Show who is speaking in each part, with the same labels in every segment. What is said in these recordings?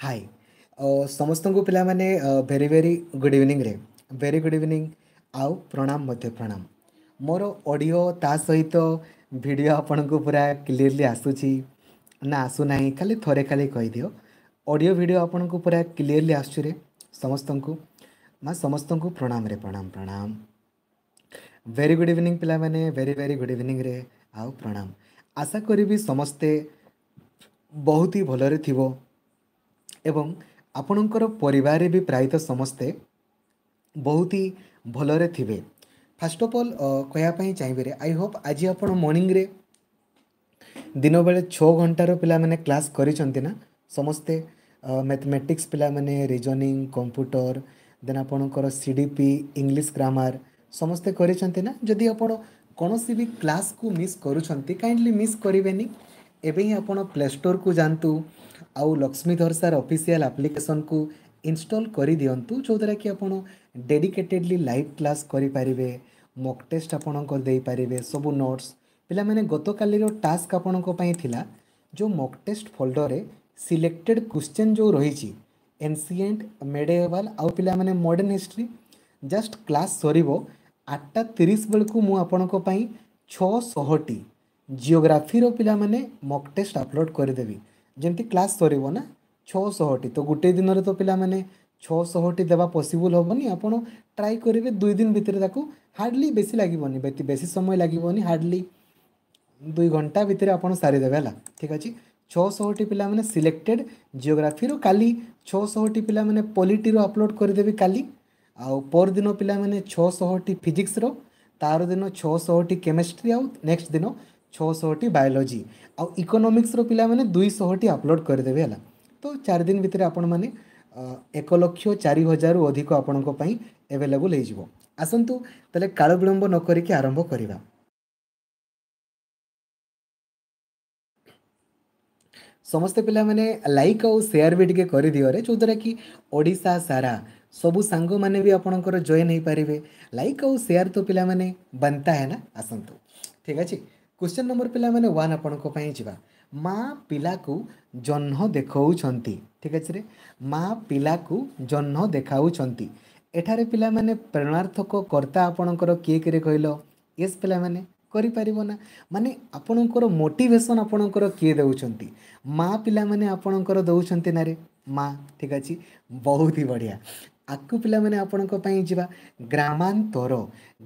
Speaker 1: High ସମସ୍ତଙ୍କୁ ପିଲାମାନେ very very good ଇଭିନିଂରେ, ଭେରି ଗୁଡ଼୍ ଇଭିନିଂ ଆଉ ପ୍ରଣାମ ମଧ୍ୟ ପ୍ରଣାମ। ମୋର ଅଡ଼ିଓ ତା ସହିତ ଭିଡ଼ିଓ ଆପଣଙ୍କୁ ପୁରା କ୍ଲିଅରଲି ଆସୁଛି ନା ଆସୁନାହିଁ? ଖାଲି ଥରେ ଖାଲି କହିଦିଅ। ଅଡ଼ିଓ ଭିଡ଼ିଓ ଆପଣଙ୍କୁ ପୁରା କ୍ଲିଅରଲି ଆସୁଛି ରେ ସମସ୍ତଙ୍କୁ? ମା ସମସ୍ତଙ୍କୁ ପ୍ରଣାମରେ, ପ୍ରଣାମ ପ୍ରଣାମ। ଭେରି ଗୁଡ଼୍ ଇଭିନିଂ ପିଲାମାନେ, ଭେରି ଭେରି ଗୁଡ଼୍ ଇଭିନିଂରେ ଆଉ ପ୍ରଣାମ। ଆଶା କରିବି ସମସ୍ତେ ବହୁତ ହି ଭଲରେ ଥିବ ଏବଂ ଆପଣଙ୍କର ପରିବାରରେ ବି ପ୍ରାୟତଃ ସମସ୍ତେ ବହୁତ ହି ଭଲରେ ଥିବେ। ଫାର୍ଷ୍ଟ ଅଫ୍ ଅଲ୍ କହିବା ପାଇଁ ଚାହିଁବି, I Hope ଆଜି ଆପଣ ମର୍ଣ୍ଣିଂରେ ଦିନବେଳେ 6 ଘଣ୍ଟାର ପିଲାମାନେ କ୍ଲାସ୍ କରିଛନ୍ତି ନା ସମସ୍ତେ? ମ୍ୟାଥମେଟିକ୍ସ ପିଲାମାନେ, ରିଜନିଂ, କମ୍ପ୍ୟୁଟର, ଦେନ୍ ଆପଣଙ୍କର CDP, English grammar ସମସ୍ତେ କରିଛନ୍ତି ନା? ଯଦି ଆପଣ କୌଣସି ବି କ୍ଲାସ୍କୁ ମିସ୍ କରୁଛନ୍ତି, କାଇଣ୍ଡଲି ମିସ୍ କରିବେନି। ଏବେ ହିଁ ଆପଣ ପ୍ଲେ ଷ୍ଟୋରକୁ ଯାଆନ୍ତୁ ଆଉ ଲକ୍ଷ୍ମୀଧର ସାର୍ ଅଫିସିଆଲ୍ ଆପ୍ଲିକେସନ୍କୁ ଇନଷ୍ଟଲ୍ କରିଦିଅନ୍ତୁ, ଯେଉଁଦ୍ୱାରା କି ଆପଣ ଡେଡିକେଟେଡ଼ଲି ଲାଇଭ୍ କ୍ଲାସ୍ କରିପାରିବେ, ମକ୍ ଟେଷ୍ଟ ଆପଣଙ୍କର ଦେଇପାରିବେ, ସବୁ ନୋଟ୍ସ। ପିଲାମାନେ, ଗତକାଲିର ଟାସ୍କ ଆପଣଙ୍କ ପାଇଁ ଥିଲା ଯେଉଁ ମକ୍ ଟେଷ୍ଟ ଫୋଲ୍ଡରରେ ସିଲେକ୍ଟେଡ଼ କ୍ୱେଶ୍ଚନ୍ ଯେଉଁ ରହିଛି, ଏନ୍ସିଏଣ୍ଟ, ମେଡିଏଭାଲ୍ ଆଉ ପିଲାମାନେ ମଡ଼ର୍ଣ୍ଣ ହିଷ୍ଟ୍ରି। ଜଷ୍ଟ କ୍ଲାସ୍ ସରିବ 8:30 ବେଳକୁ ମୁଁ ଆପଣଙ୍କ ପାଇଁ 600ଟି ଜିଓଗ୍ରାଫିର ପିଲାମାନେ ମକ୍ ଟେଷ୍ଟ ଅପଲୋଡ଼ କରିଦେବି। ଯେମିତି କ୍ଲାସ୍ ସରିବ ନା, 600ଟି ତ ଗୋଟେ ଦିନରେ ତ ପିଲାମାନେ 600ଟି ଦେବା ପସିବୁଲ୍ ହେବନି। ଆପଣ ଟ୍ରାଏ କରିବେ 2 ଦିନ ଭିତରେ ତାକୁ, ହାର୍ଡ଼ଲି ବେଶୀ ଲାଗିବନି, ବେଶୀ ସମୟ ଲାଗିବନି, ହାର୍ଡ଼ଲି 2 ଘଣ୍ଟା ଭିତରେ ଆପଣ ସାରିଦେବେ। ହେଲା, ଠିକ୍ ଅଛି। 600ଟି ପିଲାମାନେ ସିଲେକ୍ଟେଡ଼ ଜିଓଗ୍ରାଫିର କାଲି, 600ଟି ପିଲାମାନେ ପଲିଟିର ଅପଲୋଡ଼ କରିଦେବି କାଲି, ଆଉ ପରଦିନ ପିଲାମାନେ 600ଟି ଫିଜିକ୍ସର, ତାର ଦିନ 600ଟି କେମିଷ୍ଟ୍ରି, ଆଉ ନେକ୍ସଟ ଦିନ 600ଟି ବାୟୋଲୋଜି ଆଉ ଇକୋନୋମିକ୍ସର ପିଲାମାନେ 200ଟି ଅପଲୋଡ଼ କରିଦେବେ। ହେଲା, ତ 4 ଦିନ ଭିତରେ ଆପଣମାନେ 1,04,000ରୁ ଅଧିକ ଆପଣଙ୍କ ପାଇଁ ଆଭେଲେବୁଲ୍ ହେଇଯିବ। ଆସନ୍ତୁ ତାହେଲେ କାଳ ବିଳମ୍ବ ନ କରିକି ଆରମ୍ଭ କରିବା। ସମସ୍ତେ ପିଲାମାନେ ଲାଇକ୍ ଆଉ ସେୟାର ବି ଟିକେ କରିଦିଅରେ, ଯେଉଁଦ୍ୱାରା କି ଓଡ଼ିଶା ସାରା ସବୁ ସାଙ୍ଗମାନେ ବି ଆପଣଙ୍କର ଜଏନ୍ ହେଇପାରିବେ। ଲାଇକ୍ ଆଉ ସେୟାର ତ ପିଲାମାନେ ବନତା ହେ ନା। ଆସନ୍ତୁ, ଠିକ୍ ଅଛି। କ୍ୱେଶ୍ଚନ୍ ନମ୍ବର ପିଲାମାନେ 1 ଆପଣଙ୍କ ପାଇଁ ଯିବା। ମା ପିଲାକୁ ଜହ୍ନ ଦେଖାଉଛନ୍ତି। ଠିକ୍ ଅଛି ରେ, ମା ପିଲାକୁ ଜହ୍ନ ଦେଖାଉଛନ୍ତି। ଏଠାରେ ପିଲାମାନେ ପ୍ରେରଣାର୍ଥକ କର୍ତ୍ତା ଆପଣଙ୍କର କିଏ କିରେ କହିଲ? ୟେସ୍ ପିଲାମାନେ କରିପାରିବ ନା, ମାନେ ଆପଣଙ୍କର ମୋଟିଭେସନ୍ ଆପଣଙ୍କର କିଏ ଦେଉଛନ୍ତି? ମା ପିଲାମାନେ ଆପଣଙ୍କର ଦେଉଛନ୍ତି ନା ରେ ମା। ଠିକ୍ ଅଛି, ବହୁତ ହି ବଢ଼ିଆ। ଆଗକୁ ପିଲାମାନେ ଆପଣଙ୍କ ପାଇଁ ଯିବା। ଗ୍ରାମାନ୍ତର।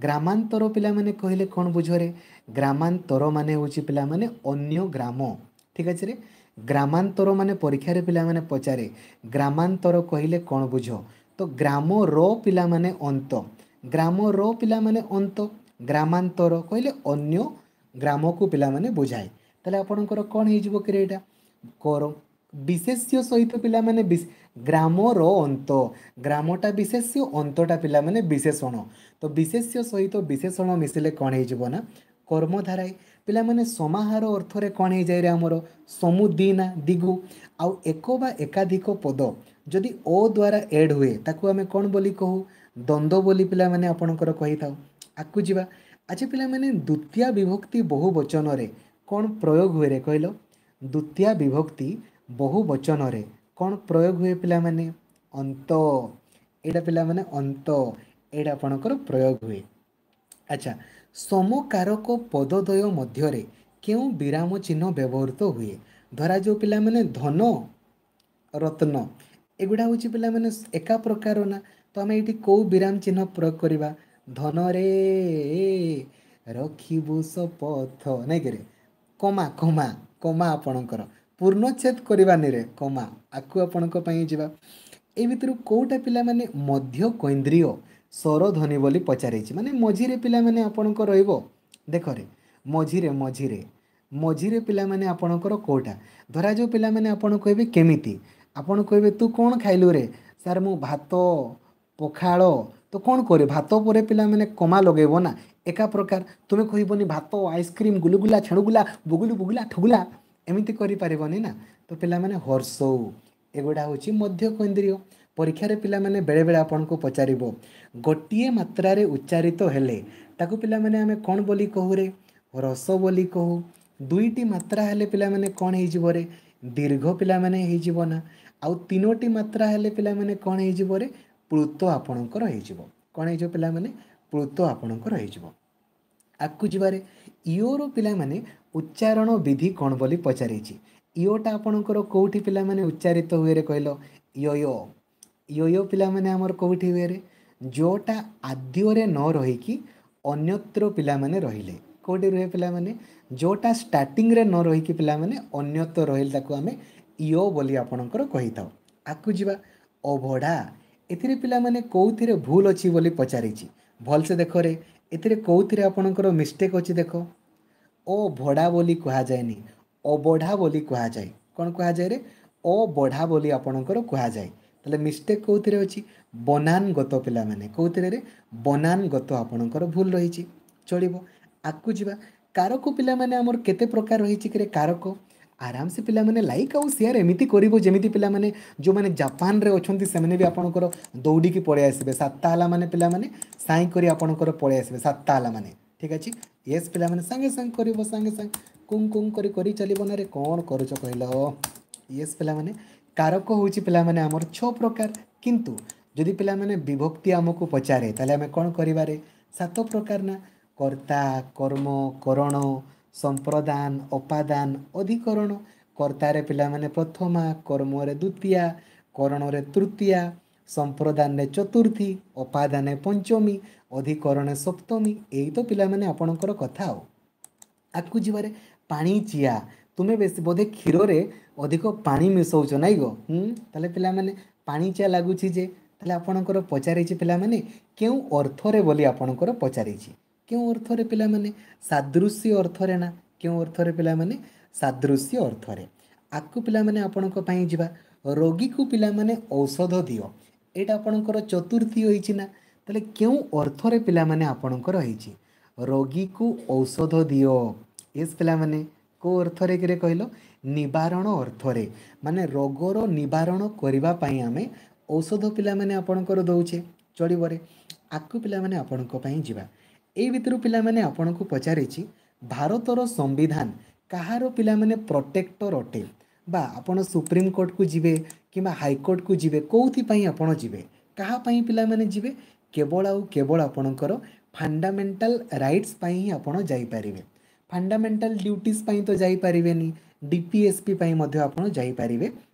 Speaker 1: ଗ୍ରାମାନ୍ତର ପିଲାମାନେ କହିଲେ କ'ଣ ବୁଝରେ? ଗ୍ରାମାନ୍ତର ମାନେ ହେଉଛି ପିଲାମାନେ ଅନ୍ୟ ଗ୍ରାମ। ଠିକ୍ ଅଛି ରେ, ଗ୍ରାମାନ୍ତର ମାନେ ପରୀକ୍ଷାରେ ପିଲାମାନେ ପଚାରେ ଗ୍ରାମାନ୍ତର କହିଲେ କ'ଣ ବୁଝ? ତ ଗ୍ରାମର ପିଲାମାନେ ଅନ୍ତ, ଗ୍ରାମର ପିଲାମାନେ ଅନ୍ତ, ଗ୍ରାମାନ୍ତର କହିଲେ ଅନ୍ୟ ଗ୍ରାମକୁ ପିଲାମାନେ ବୁଝାଏ। ତାହେଲେ ଆପଣଙ୍କର କ'ଣ ହେଇଯିବ କିରେ? ଏଇଟା କର ବିଶେଷ୍ୟ ସହିତ ପିଲାମାନେ ଗ୍ରାମର ଅନ୍ତ, ଗ୍ରାମଟା ବିଶେଷ୍ୟ, ଅନ୍ତଟା ପିଲାମାନେ ବିଶେଷଣ। ତ ବିଶେଷ୍ୟ ସହିତ ବିଶେଷଣ ମିଶିଲେ କ'ଣ ହେଇଯିବ ନା କର୍ମଧାରାଏ। ପିଲାମାନେ ସମାହାର ଅର୍ଥରେ କ'ଣ ହେଇଯାଏ ରେ ଆମର? ସମୁଦି ନା ଦିଗୁ। ଆଉ ଏକ ବା ଏକାଧିକ ପଦ ଯଦି ଓ ଦ୍ୱାରା ଏଡ଼୍ ହୁଏ ତାକୁ ଆମେ କ'ଣ ବୋଲି କହୁ? ଦ୍ୱନ୍ଦ୍ୱ ବୋଲି ପିଲାମାନେ ଆପଣଙ୍କର କହିଥାଉ। ଆଗକୁ ଯିବା। ଆଚ୍ଛା ପିଲାମାନେ, ଦ୍ୱିତୀୟା ବିଭକ୍ତି ବହୁ ବଚନରେ କ'ଣ ପ୍ରୟୋଗ ହୁଏ ରେ କହିଲ? ଦ୍ୱିତୀୟା ବିଭକ୍ତି ବହୁ ବଚନରେ କ'ଣ ପ୍ରୟୋଗ ହୁଏ ପିଲାମାନେ? ଅନ୍ତ। ଏଇଟା ପିଲାମାନେ ଅନ୍ତ, ଏଇଟା ଆପଣଙ୍କର ପ୍ରୟୋଗ ହୁଏ। ଆଚ୍ଛା, ସମକାରକ ପଦଦ୍ୱୟ ମଧ୍ୟରେ କେଉଁ ବିରାମ ଚିହ୍ନ ବ୍ୟବହୃତ ହୁଏ? ଧରାଯାଉ ପିଲାମାନେ ଧନ ରତ୍ନ ଏଗୁଡ଼ା ହେଉଛି ପିଲାମାନେ ଏକା ପ୍ରକାର ନା, ତ ଆମେ ଏଇଠି କେଉଁ ବିରାମ ଚିହ୍ନ ପ୍ରୟୋଗ କରିବା? ଧନରେ ରଖିବୁ ଶପଥ, ନାଇଁ କିରେ? କମା କମା କମା ଆପଣଙ୍କର ପୂର୍ଣ୍ଣଚ୍ଛେଦ କରିବାନି ରେ, କମା। ଆକୁ ଆପଣଙ୍କ ପାଇଁ ଯିବା। ଏଇ ଭିତରୁ କେଉଁଟା ପିଲାମାନେ ମଧ୍ୟ କୈନ୍ଦ୍ରୀୟ ସ୍ୱରଧ୍ୱନି ବୋଲି ପଚାରିଛି? ମାନେ ମଝିରେ ପିଲାମାନେ ଆପଣଙ୍କ ରହିବ, ଦେଖରେ ମଝିରେ ମଝିରେ ମଝିରେ ପିଲାମାନେ ଆପଣଙ୍କର କେଉଁଟା? ଧରାଯାଉ ପିଲାମାନେ ଆପଣ କହିବେ କେମିତି? ଆପଣ କହିବେ ତୁ କ'ଣ ଖାଇଲୁ ରେ? ସାର୍ ମୁଁ ଭାତ ପଖାଳ। ତ କ'ଣ କରିବେ? ଭାତ ପରେ ପିଲାମାନେ କମା ଲଗେଇବ ନା, ଏକା ପ୍ରକାର। ତୁମେ କହିବନି ଭାତ ଆଇସ୍କ୍ରିମ୍ ଗୁଲୁଗୁଲା ଛେଣୁଗୁଲା ବୁଗୁଲୁ ବୁଗୁଲା ଠୁଗୁଲା, ଏମିତି କରିପାରିବନି ନା। ତ ପିଲାମାନେ ହର୍ଷଉ ଏଗୁଡ଼ା ହେଉଛି ମଧ୍ୟକୈନ୍ଦ୍ରୀୟ। ପରୀକ୍ଷାରେ ପିଲାମାନେ ବେଳେବେଳେ ଆପଣଙ୍କୁ ପଚାରିବ ଗୋଟିଏ ମାତ୍ରାରେ ଉଚ୍ଚାରିତ ହେଲେ ତାକୁ ପିଲାମାନେ ଆମେ କ'ଣ ବୋଲି କହୁରେ? ରସ ବୋଲି କହୁ। ଦୁଇଟି ମାତ୍ରା ହେଲେ ପିଲାମାନେ କ'ଣ ହେଇଯିବ ରେ? ଦୀର୍ଘ ପିଲାମାନେ ହେଇଯିବ ନା। ଆଉ 3ଟି ମାତ୍ରା ହେଲେ ପିଲାମାନେ କ'ଣ ହେଇଯିବ ରେ? ପ୍ଳୁତ ଆପଣଙ୍କର ହେଇଯିବ। କ'ଣ ହେଇଯିବ ପିଲାମାନେ? ପ୍ଳୁତ ଆପଣଙ୍କର ହେଇଯିବ। ଆଗକୁ ଯିବାରେ, ଇଓର ପିଲାମାନେ ଉଚ୍ଚାରଣ ବିଧି କ'ଣ ବୋଲି ପଚାରିଛି। ଇଓଟା ଆପଣଙ୍କର କେଉଁଠି ପିଲାମାନେ ଉଚ୍ଚାରିତ ହୁଏରେ କହିଲ? ୟୟ। ୟୟ ପିଲାମାନେ ଆମର କେଉଁଠି ହୁଏରେ? ଯେଉଁଟା ଆଦ୍ୟରେ ନ ରହିକି ଅନ୍ୟତ୍ର ପିଲାମାନେ ରହିଲେ। କେଉଁଠି ରୁହେ ପିଲାମାନେ? ଯେଉଁଟା ଷ୍ଟାର୍ଟିଂରେ ନ ରହିକି ପିଲାମାନେ ଅନ୍ୟତ୍ର ରହିଲେ ତାକୁ ଆମେ ଇଓ ବୋଲି ଆପଣଙ୍କର କହିଥାଉ। ଆଗକୁ ଯିବା, ଅଭଡ଼ା। ଏଥିରେ ପିଲାମାନେ କେଉଁଥିରେ ଭୁଲ ଅଛି ବୋଲି ପଚାରିଛି। ଭଲସେ ଦେଖରେ, ଏଥିରେ କେଉଁଥିରେ ଆପଣଙ୍କର ମିଷ୍ଟେକ୍ ଅଛି ଦେଖ। ଓ ଭଡ଼ା ବୋଲି କୁହାଯାଏନି, ଅବଢ଼ା ବୋଲି କୁହାଯାଏ। କ'ଣ କୁହାଯାଏ ରେ? ଅବଢ଼ା ବୋଲି ଆପଣଙ୍କର କୁହାଯାଏ। ତାହେଲେ ମିଷ୍ଟେକ୍ କେଉଁଥିରେ ଅଛି? ବନାନଗତ ପିଲାମାନେ। କେଉଁଥିରେ ରେ? ବନାନଗତ ଆପଣଙ୍କର ଭୁଲ ରହିଛି। ଚଳିବ, ଆଗକୁ ଯିବା। କାରକ ପିଲାମାନେ ଆମର କେତେ ପ୍ରକାର ରହିଛି କିରେ କାରକ? ଆରାମସେ ପିଲାମାନେ ଲାଇକ୍ ଆଉ ସେୟାର ଏମିତି କରିବ ଯେମିତି ପିଲାମାନେ ଯେଉଁମାନେ ଜାପାନରେ ଅଛନ୍ତି ସେମାନେ ବି ଆପଣଙ୍କର ଦୌଡ଼ିକି ପଳେଇ ଆସିବେ। 7ଟା ହେଲା ମାନେ ପିଲାମାନେ ସାଇଁ କରି ଆପଣଙ୍କର ପଳେଇ ଆସିବେ। 7ଟା ହେଲା ମାନେ ଠିକ୍ ଅଛି। ୟେସ୍ ପିଲାମାନେ ସାଙ୍ଗେ ସାଙ୍ଗେ କରିବ, ସାଙ୍ଗେ ସାଙ୍ଗେ କୁଂ କୁଂ କରି କରି ଚାଲିବ ନା ରେ, କ'ଣ କରୁଛ କହିଲ? ୟେସ୍ ପିଲାମାନେ, କାରକ ହେଉଛି ପିଲାମାନେ ଆମର 6 ପ୍ରକାର। କିନ୍ତୁ ଯଦି ପିଲାମାନେ ବିଭକ୍ତି ଆମକୁ ପଚାରେ ତାହେଲେ ଆମେ କ'ଣ କରିବାରେ? 7 ପ୍ରକାର ନା। କର୍ତ୍ତା, କର୍ମ, କରଣ, ସମ୍ପ୍ରଦାନ, ଅପାଦାନ, ଅଧିକରଣ। କର୍ତ୍ତାରେ ପିଲାମାନେ ପ୍ରଥମା, କର୍ମରେ ଦ୍ୱିତୀୟା, କରଣରେ ତୃତୀୟା, ସମ୍ପ୍ରଦାନରେ ଚତୁର୍ଥୀ, ଅପାଦାନେ ପଞ୍ଚମୀ, ଅଧିକରଣେ ସପ୍ତମୀ। ଏଇ ତ ପିଲାମାନେ ଆପଣଙ୍କର କଥା। ଆଉ ଆଗକୁ ଯିବାରେ, ପାଣି ଚିଆ। ତୁମେ ବେଶୀ ବୋଧେ କ୍ଷୀରରେ ଅଧିକ ପାଣି ମିଶାଉଛ ନାଇଁ ଗୋ? ତାହେଲେ ପିଲାମାନେ ପାଣି ଚିଆ ଲାଗୁଛି ଯେ। ତାହେଲେ ଆପଣଙ୍କର ପଚାରିଛି ପିଲାମାନେ କେଉଁ ଅର୍ଥରେ ବୋଲି ଆପଣଙ୍କର ପଚାରିଛି। କେଉଁ ଅର୍ଥରେ ପିଲାମାନେ? ସାଦୃଶ୍ୟ ଅର୍ଥରେ ନା। କେଉଁ ଅର୍ଥରେ ପିଲାମାନେ? ସାଦୃଶ୍ୟ ଅର୍ଥରେ। ଆଗକୁ ପିଲାମାନେ ଆପଣଙ୍କ ପାଇଁ ଯିବା। ରୋଗୀକୁ ପିଲାମାନେ ଔଷଧ ଦିଅ। ଏଇଟା ଆପଣଙ୍କର ଚତୁର୍ଥୀ ହୋଇଛି ନା? ତାହେଲେ କେଉଁ ଅର୍ଥରେ ପିଲାମାନେ ଆପଣଙ୍କର ହେଇଛି? ରୋଗୀକୁ ଔଷଧ ଦିଅ। ୟେସ୍ ପିଲାମାନେ, କେଉଁ ଅର୍ଥରେ କିରେ କହିଲ? ନିବାରଣ ଅର୍ଥରେ। ମାନେ ରୋଗର ନିବାରଣ କରିବା ପାଇଁ ଆମେ ଔଷଧ ପିଲାମାନେ ଆପଣଙ୍କର ଦେଉଛେ। ଚଳିବରେ, ଆଗକୁ ପିଲାମାନେ ଆପଣଙ୍କ ପାଇଁ ଯିବା। ଏଇ ଭିତରୁ ପିଲାମାନେ ଆପଣଙ୍କୁ ପଚାରିଛି, ଭାରତର ସମ୍ବିଧାନ କାହାର ପିଲାମାନେ ପ୍ରୋଟେକ୍ଟର ଅଟେ? ବା ଆପଣ ସୁପ୍ରିମକୋର୍ଟକୁ ଯିବେ କିମ୍ବା ହାଇକୋର୍ଟକୁ ଯିବେ, କେଉଁଥିପାଇଁ ଆପଣ ଯିବେ? କାହା ପାଇଁ ପିଲାମାନେ ଯିବେ? କେବଳ ଆଉ କେବଳ ଆପଣଙ୍କର ଫଣ୍ଡାମେଣ୍ଟାଲ ରାଇଟ୍ସ ପାଇଁ ହିଁ ଆପଣ ଯାଇପାରିବେ। ଫଣ୍ଡାମେଣ୍ଟାଲ ଡ୍ୟୁଟିଜ୍ ପାଇଁ ତ ଯାଇପାରିବେନି, ଡିପିଏସ୍ପି ପାଇଁ ମଧ୍ୟ ଆପଣ ଯାଇପାରିବେ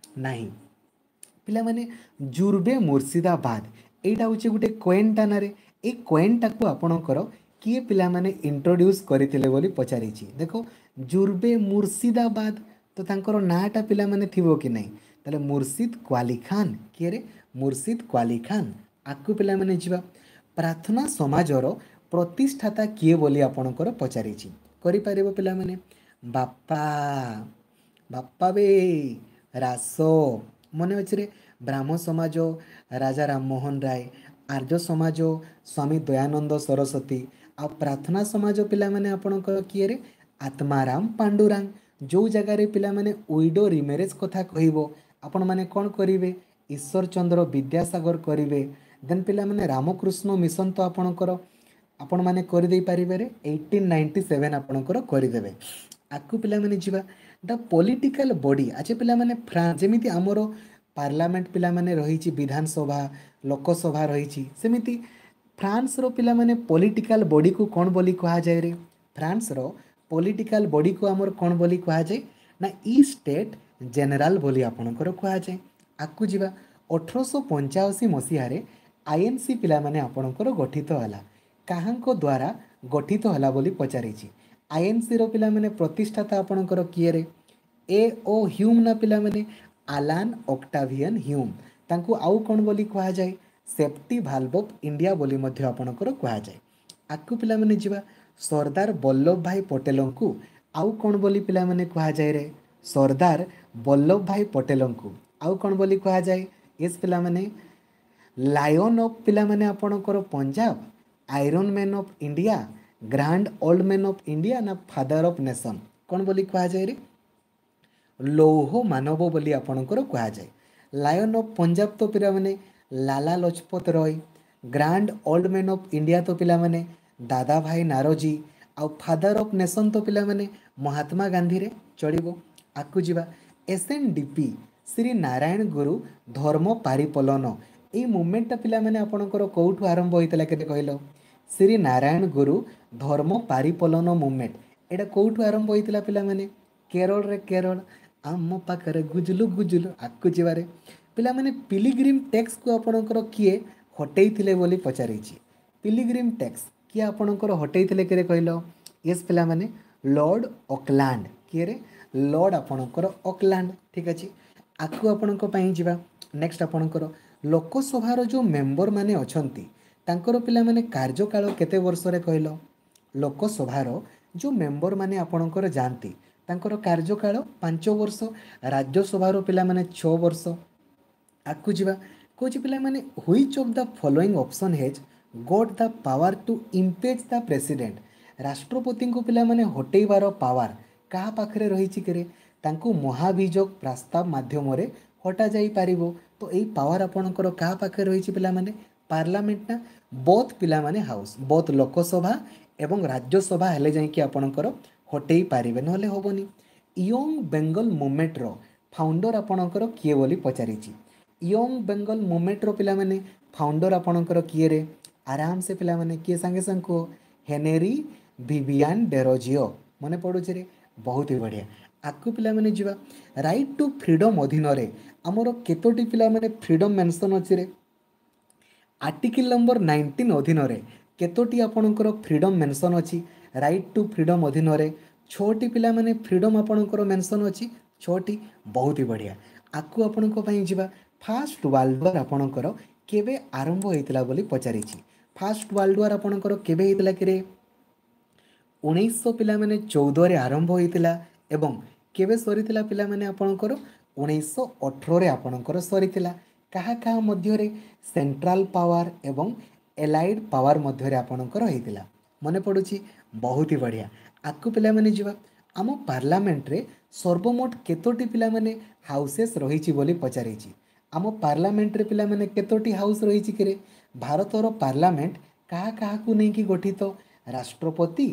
Speaker 1: ନାହିଁ। ପିଲାମାନେ ଜୁର୍ବେ ମୁର୍ଶିଦାବାଦ ଏଇଟା ହେଉଛି ଗୋଟେ କଏନ୍ଟା ନାରେ। ଏଇ କଏନ୍ଟାକୁ ଆପଣଙ୍କର କିଏ ପିଲାମାନେ ଇଣ୍ଟ୍ରୋଡ୍ୟୁସ୍ କରିଥିଲେ ବୋଲି ପଚାରିଛି। ଦେଖ, ଜୁର୍ବେ ମୁର୍ଶିଦାବାଦ ତ ତାଙ୍କର ନାଁଟା ପିଲାମାନେ ଥିବ କି ନାହିଁ? ତାହେଲେ ମୁର୍ଶିଦ କ୍ୱାଲି ଖାନ। କିଏ ରେ? ମୁର୍ଶିଦ କ୍ୱାଲି ଖାନ। ଆଗକୁ ପିଲାମାନେ ଯିବା। ପ୍ରାର୍ଥନା ସମାଜର ପ୍ରତିଷ୍ଠାତା କିଏ ବୋଲି ଆପଣଙ୍କର ପଚାରିଛି। କରିପାରିବ ପିଲାମାନେ? ବାପା, ବାପା ବେ ରାସ ମନେ ଅଛି ରେ? ବ୍ରାହ୍ମ ସମାଜ ରାଜା ରାମମୋହନ ରାୟ, ଆର୍ଯ୍ୟ ସମାଜ ସ୍ୱାମୀ ଦୟାନନ୍ଦ ସରସ୍ୱତୀ, ଆଉ ପ୍ରାର୍ଥନା ସମାଜ ପିଲାମାନେ ଆପଣଙ୍କର କିଏରେ? ଆତ୍ମାରାମ ପାଣ୍ଡୁରାଙ୍ଗ। ଯେଉଁ ଜାଗାରେ ପିଲାମାନେ ୱିଡୋ ରିମ୍ୟାରେଜ୍ କଥା କହିବ ଆପଣମାନେ କ'ଣ କରିବେ? ଈଶ୍ୱର ଚନ୍ଦ୍ର ବିଦ୍ୟାସାଗର କରିବେ। ଦେନ୍ ପିଲାମାନେ ରାମକୃଷ୍ଣ ମିଶନ ତ ଆପଣଙ୍କର ଆପଣମାନେ କରିଦେଇପାରିବେ 1897 ଆପଣଙ୍କର କରିଦେବେ। ଆଗକୁ ପିଲାମାନେ ଯିବା। ଦ ପଲିଟିକାଲ ବଡି। ଆଚ୍ଛା ପିଲାମାନେ, ଫ୍ରାନ୍ସ ଯେମିତି ଆମର ପାର୍ଲାମେଣ୍ଟ ପିଲାମାନେ ରହିଛି, ବିଧାନସଭା ଲୋକସଭା ରହିଛି, ସେମିତି ଫ୍ରାନ୍ସର ପିଲାମାନେ ପଲିଟିକାଲ ବଡିକୁ କ'ଣ ବୋଲି କୁହାଯାଏ ରେ? ଫ୍ରାନ୍ସର ପଲିଟିକାଲ ବଡିକୁ ଆମର କ'ଣ ବୋଲି କୁହାଯାଏ ନା ଇ ଷ୍ଟେଟ୍ ଜେନେରାଲ ବୋଲି ଆପଣଙ୍କର କୁହାଯାଏ। ଆଗକୁ ଯିବା। 1885 ମସିହାରେ ଆଇଏନ୍ସି ପିଲାମାନେ ଆପଣଙ୍କର ଗଠିତ ହେଲା। କାହାଙ୍କ ଦ୍ୱାରା ଗଠିତ ହେଲା ବୋଲି ପଚାରିଛି। ଆଇଏନ୍ସିର ପିଲାମାନେ ପ୍ରତିଷ୍ଠାତା ଆପଣଙ୍କର କିଏରେ? ଏ ଓ ହ୍ୟୁମ୍ ନା ପିଲାମାନେ ଆଲାନ୍ ଅକ୍ଟାଭିଆନ୍ ହ୍ୟୁମ୍। ତାଙ୍କୁ ଆଉ କ'ଣ ବୋଲି କୁହାଯାଏ? ସେଫ୍ଟି ଭାଲ୍ଭ ଅଫ୍ ଇଣ୍ଡିଆ ବୋଲି ମଧ୍ୟ ଆପଣଙ୍କର କୁହାଯାଏ। ଆଗକୁ ପିଲାମାନେ ଯିବା। ସର୍ଦ୍ଦାର ବଲ୍ଲଭ ଭାଇ ପଟେଲଙ୍କୁ ଆଉ କ'ଣ ବୋଲି ପିଲାମାନେ କୁହାଯାଏ ରେ? ସର୍ଦ୍ଦାର ବଲ୍ଲଭ ଭାଇ ପଟେଲଙ୍କୁ ଆଉ କ'ଣ ବୋଲି କୁହାଯାଏ? ୟେସ୍ ପିଲାମାନେ, ଲାୟନ୍ ଅଫ୍ ପିଲାମାନେ ଆପଣଙ୍କର Punjab, iron man of India, grand old man of India ନା ଫାଦର ଅଫ୍ ନେସନ୍? କ'ଣ ବୋଲି କୁହାଯାଏ ରେ? ଲୌହ ମାନବ ବୋଲି ଆପଣଙ୍କର କୁହାଯାଏ। ଲାୟନ୍ ଅଫ୍ ପଞ୍ଜାବ ତ ପିଲାମାନେ Lala Lajpat Rai, grand old man of India ତ ପିଲାମାନେ ଦାଦା ଭାଇ ନାରୋଜୀ, ଆଉ ଫାଦର ଅଫ୍ ନେସନ୍ ତ ପିଲାମାନେ ମହାତ୍ମା ଗାନ୍ଧୀରେ। ଚଳିବ, ଆଗକୁ ଯିବା। S N D P Shri Narayan ଗୁରୁ ଧର୍ମ ପାରିପଲନ, ଏଇ ମୁଭମେଣ୍ଟଟା ପିଲାମାନେ ଆପଣଙ୍କର କେଉଁଠୁ ଆରମ୍ଭ ହୋଇଥିଲା କେତେ କହିଲ? ଶ୍ରୀ ନାରାୟଣ ଗୁରୁ ଧର୍ମ ପାରିପଲନ ମୁଭମେଣ୍ଟ ଏଇଟା କେଉଁଠୁ ଆରମ୍ଭ ହୋଇଥିଲା ପିଲାମାନେ? କେରଳରେ। କେରଳ ଆମ ପାଖରେ ଗୁଜୁଲୁ ଗୁଜୁଲୁ। ଆଗକୁ ଯିବାରେ ପିଲାମାନେ, ପିଲିଗ୍ରିମ୍ ଟ୍ୟାକ୍ସକୁ ଆପଣଙ୍କର କିଏ ହଟେଇଥିଲେ ବୋଲି ପଚାରିଛି। ପିଲିଗ୍ରିମ୍ ଟ୍ୟାକ୍ସ କିଏ ଆପଣଙ୍କର ହଟେଇଥିଲେ କିରେ କହିଲ? ୟେସ୍ ପିଲାମାନେ, ଲର୍ଡ଼ ଅକଲାଣ୍ଡ। କିଏରେ? ଲର୍ଡ଼ ଆପଣଙ୍କର ଅକଲାଣ୍ଡ। ଠିକ୍ ଅଛି, ଆଗକୁ ଆପଣଙ୍କ ପାଇଁ ଯିବା। ନେକ୍ସଟ ଆପଣଙ୍କର ଲୋକସଭାର ଯେଉଁ ମେମ୍ବର ମାନେ ଅଛନ୍ତି ତାଙ୍କର ପିଲାମାନେ କାର୍ଯ୍ୟକାଳ କେତେ ବର୍ଷରେ କହିଲ? ଲୋକସଭାର ଯେଉଁ ମେମ୍ବର ମାନେ ଆପଣଙ୍କର ଯାଆନ୍ତି ତାଙ୍କର କାର୍ଯ୍ୟକାଳ 5 ବର୍ଷ, ରାଜ୍ୟସଭାର ପିଲାମାନେ 6 ବର୍ଷ। ଆଗକୁ ଯିବା। କହୁଛି ପିଲାମାନେ, which of the following option has got the power to impeach the president? ରାଷ୍ଟ୍ରପତିଙ୍କୁ ପିଲାମାନେ ହଟେଇବାର ପାୱାର କାହା ପାଖରେ ରହିଛି କିରେ? ତାଙ୍କୁ ମହାଭିଯୋଗ ପ୍ରସ୍ତାବ ମାଧ୍ୟମରେ ହଟାଯାଇପାରିବ। ତ ଏଇ ପାୱାର ଆପଣଙ୍କର କାହା ପାଖରେ ରହିଛି ପିଲାମାନେ? ପାର୍ଲାମେଣ୍ଟ ନା ବୋଥ୍ ପିଲାମାନେ ହାଉସ୍, ବୋଥ୍ ଲୋକସଭା ଏବଂ ରାଜ୍ୟସଭା ହେଲେ ଯାଇକି ଆପଣଙ୍କର ହଟେଇ ପାରିବେ, ନହେଲେ ହେବନି। ୟଙ୍ଗ ବେଙ୍ଗଲ ମୁଭମେଣ୍ଟର ଫାଉଣ୍ଡର ଆପଣଙ୍କର କିଏ ବୋଲି ପଚାରିଛି। ୟଙ୍ଗ ବେଙ୍ଗଲ ମୁଭମେଣ୍ଟର ପିଲାମାନେ ଫାଉଣ୍ଡର ଆପଣଙ୍କର କିଏରେ? ଆରାମସେ ପିଲାମାନେ କିଏ ସାଙ୍ଗେ ସାଙ୍ଗେ କୁହ। Henry Vivian Derozio. ମନେ ପଡ଼ୁଛି ରେ? ବହୁତ ହି ବଢ଼ିଆ। ଆଗକୁ ପିଲାମାନେ ଯିବା। ରାଇଟ୍ ଟୁ ଫ୍ରିଡ଼ମ୍ ଅଧୀନରେ ଆମର କେତୋଟି ପିଲାମାନେ ଫ୍ରିଡ଼ମ୍ ମେନସନ୍ ଅଛି ରେ? ଆର୍ଟିକିଲ୍ ନମ୍ବର 19 ଅଧୀନରେ କେତୋଟି ଆପଣଙ୍କର ଫ୍ରିଡ଼ମ୍ ମେନସନ୍ ଅଛି? ରାଇଟ୍ ଟୁ ଫ୍ରିଡ଼ମ୍ ଅଧୀନରେ 6ଟି ପିଲାମାନେ ଫ୍ରିଡ଼ମ୍ ଆପଣଙ୍କର ମେନସନ୍ ଅଛି, 6ଟି। ବହୁତ ହି ବଢ଼ିଆ। ଆଗକୁ ଆପଣଙ୍କ ପାଇଁ ଯିବା। ଫାଷ୍ଟ ୱାର୍ଲଡ ୱାର୍ ଆପଣଙ୍କର କେବେ ଆରମ୍ଭ ହୋଇଥିଲା ବୋଲି ପଚାରିଛି। ଫାଷ୍ଟ ୱାର୍ଲଡ ୱାର୍ ଆପଣଙ୍କର କେବେ ହେଇଥିଲା କିରେ? 1900 ପିଲାମାନେ 14ରେ ଆରମ୍ଭ ହୋଇଥିଲା ଏବଂ କେବେ ସରିଥିଲା ପିଲାମାନେ ଆପଣଙ୍କର? 1918ରେ ଆପଣଙ୍କର ସରିଥିଲା। କାହା କାହା ମଧ୍ୟରେ? ସେଣ୍ଟ୍ରାଲ ପାୱାର ଏବଂ ଏଲାଇଡ୍ ପାୱାର ମଧ୍ୟରେ ଆପଣଙ୍କର ହେଇଥିଲା। ମନେ ପଡ଼ୁଛି? ବହୁତ ହି ବଢ଼ିଆ। ଆଗକୁ ପିଲାମାନେ ଯିବା। ଆମ ପାର୍ଲାମେଣ୍ଟରେ ସର୍ବମୋଟ କେତୋଟି ପିଲାମାନେ ହାଉସେସ୍ ରହିଛି ବୋଲି ପଚାରିଛି। ଆମ ପାର୍ଲାମେଣ୍ଟରେ ପିଲାମାନେ କେତୋଟି ହାଉସ୍ ରହିଛି କିରେ? ଭାରତର ପାର୍ଲାମେଣ୍ଟ କାହା କାହାକୁ ନେଇକି ଗଠିତ? ରାଷ୍ଟ୍ରପତି,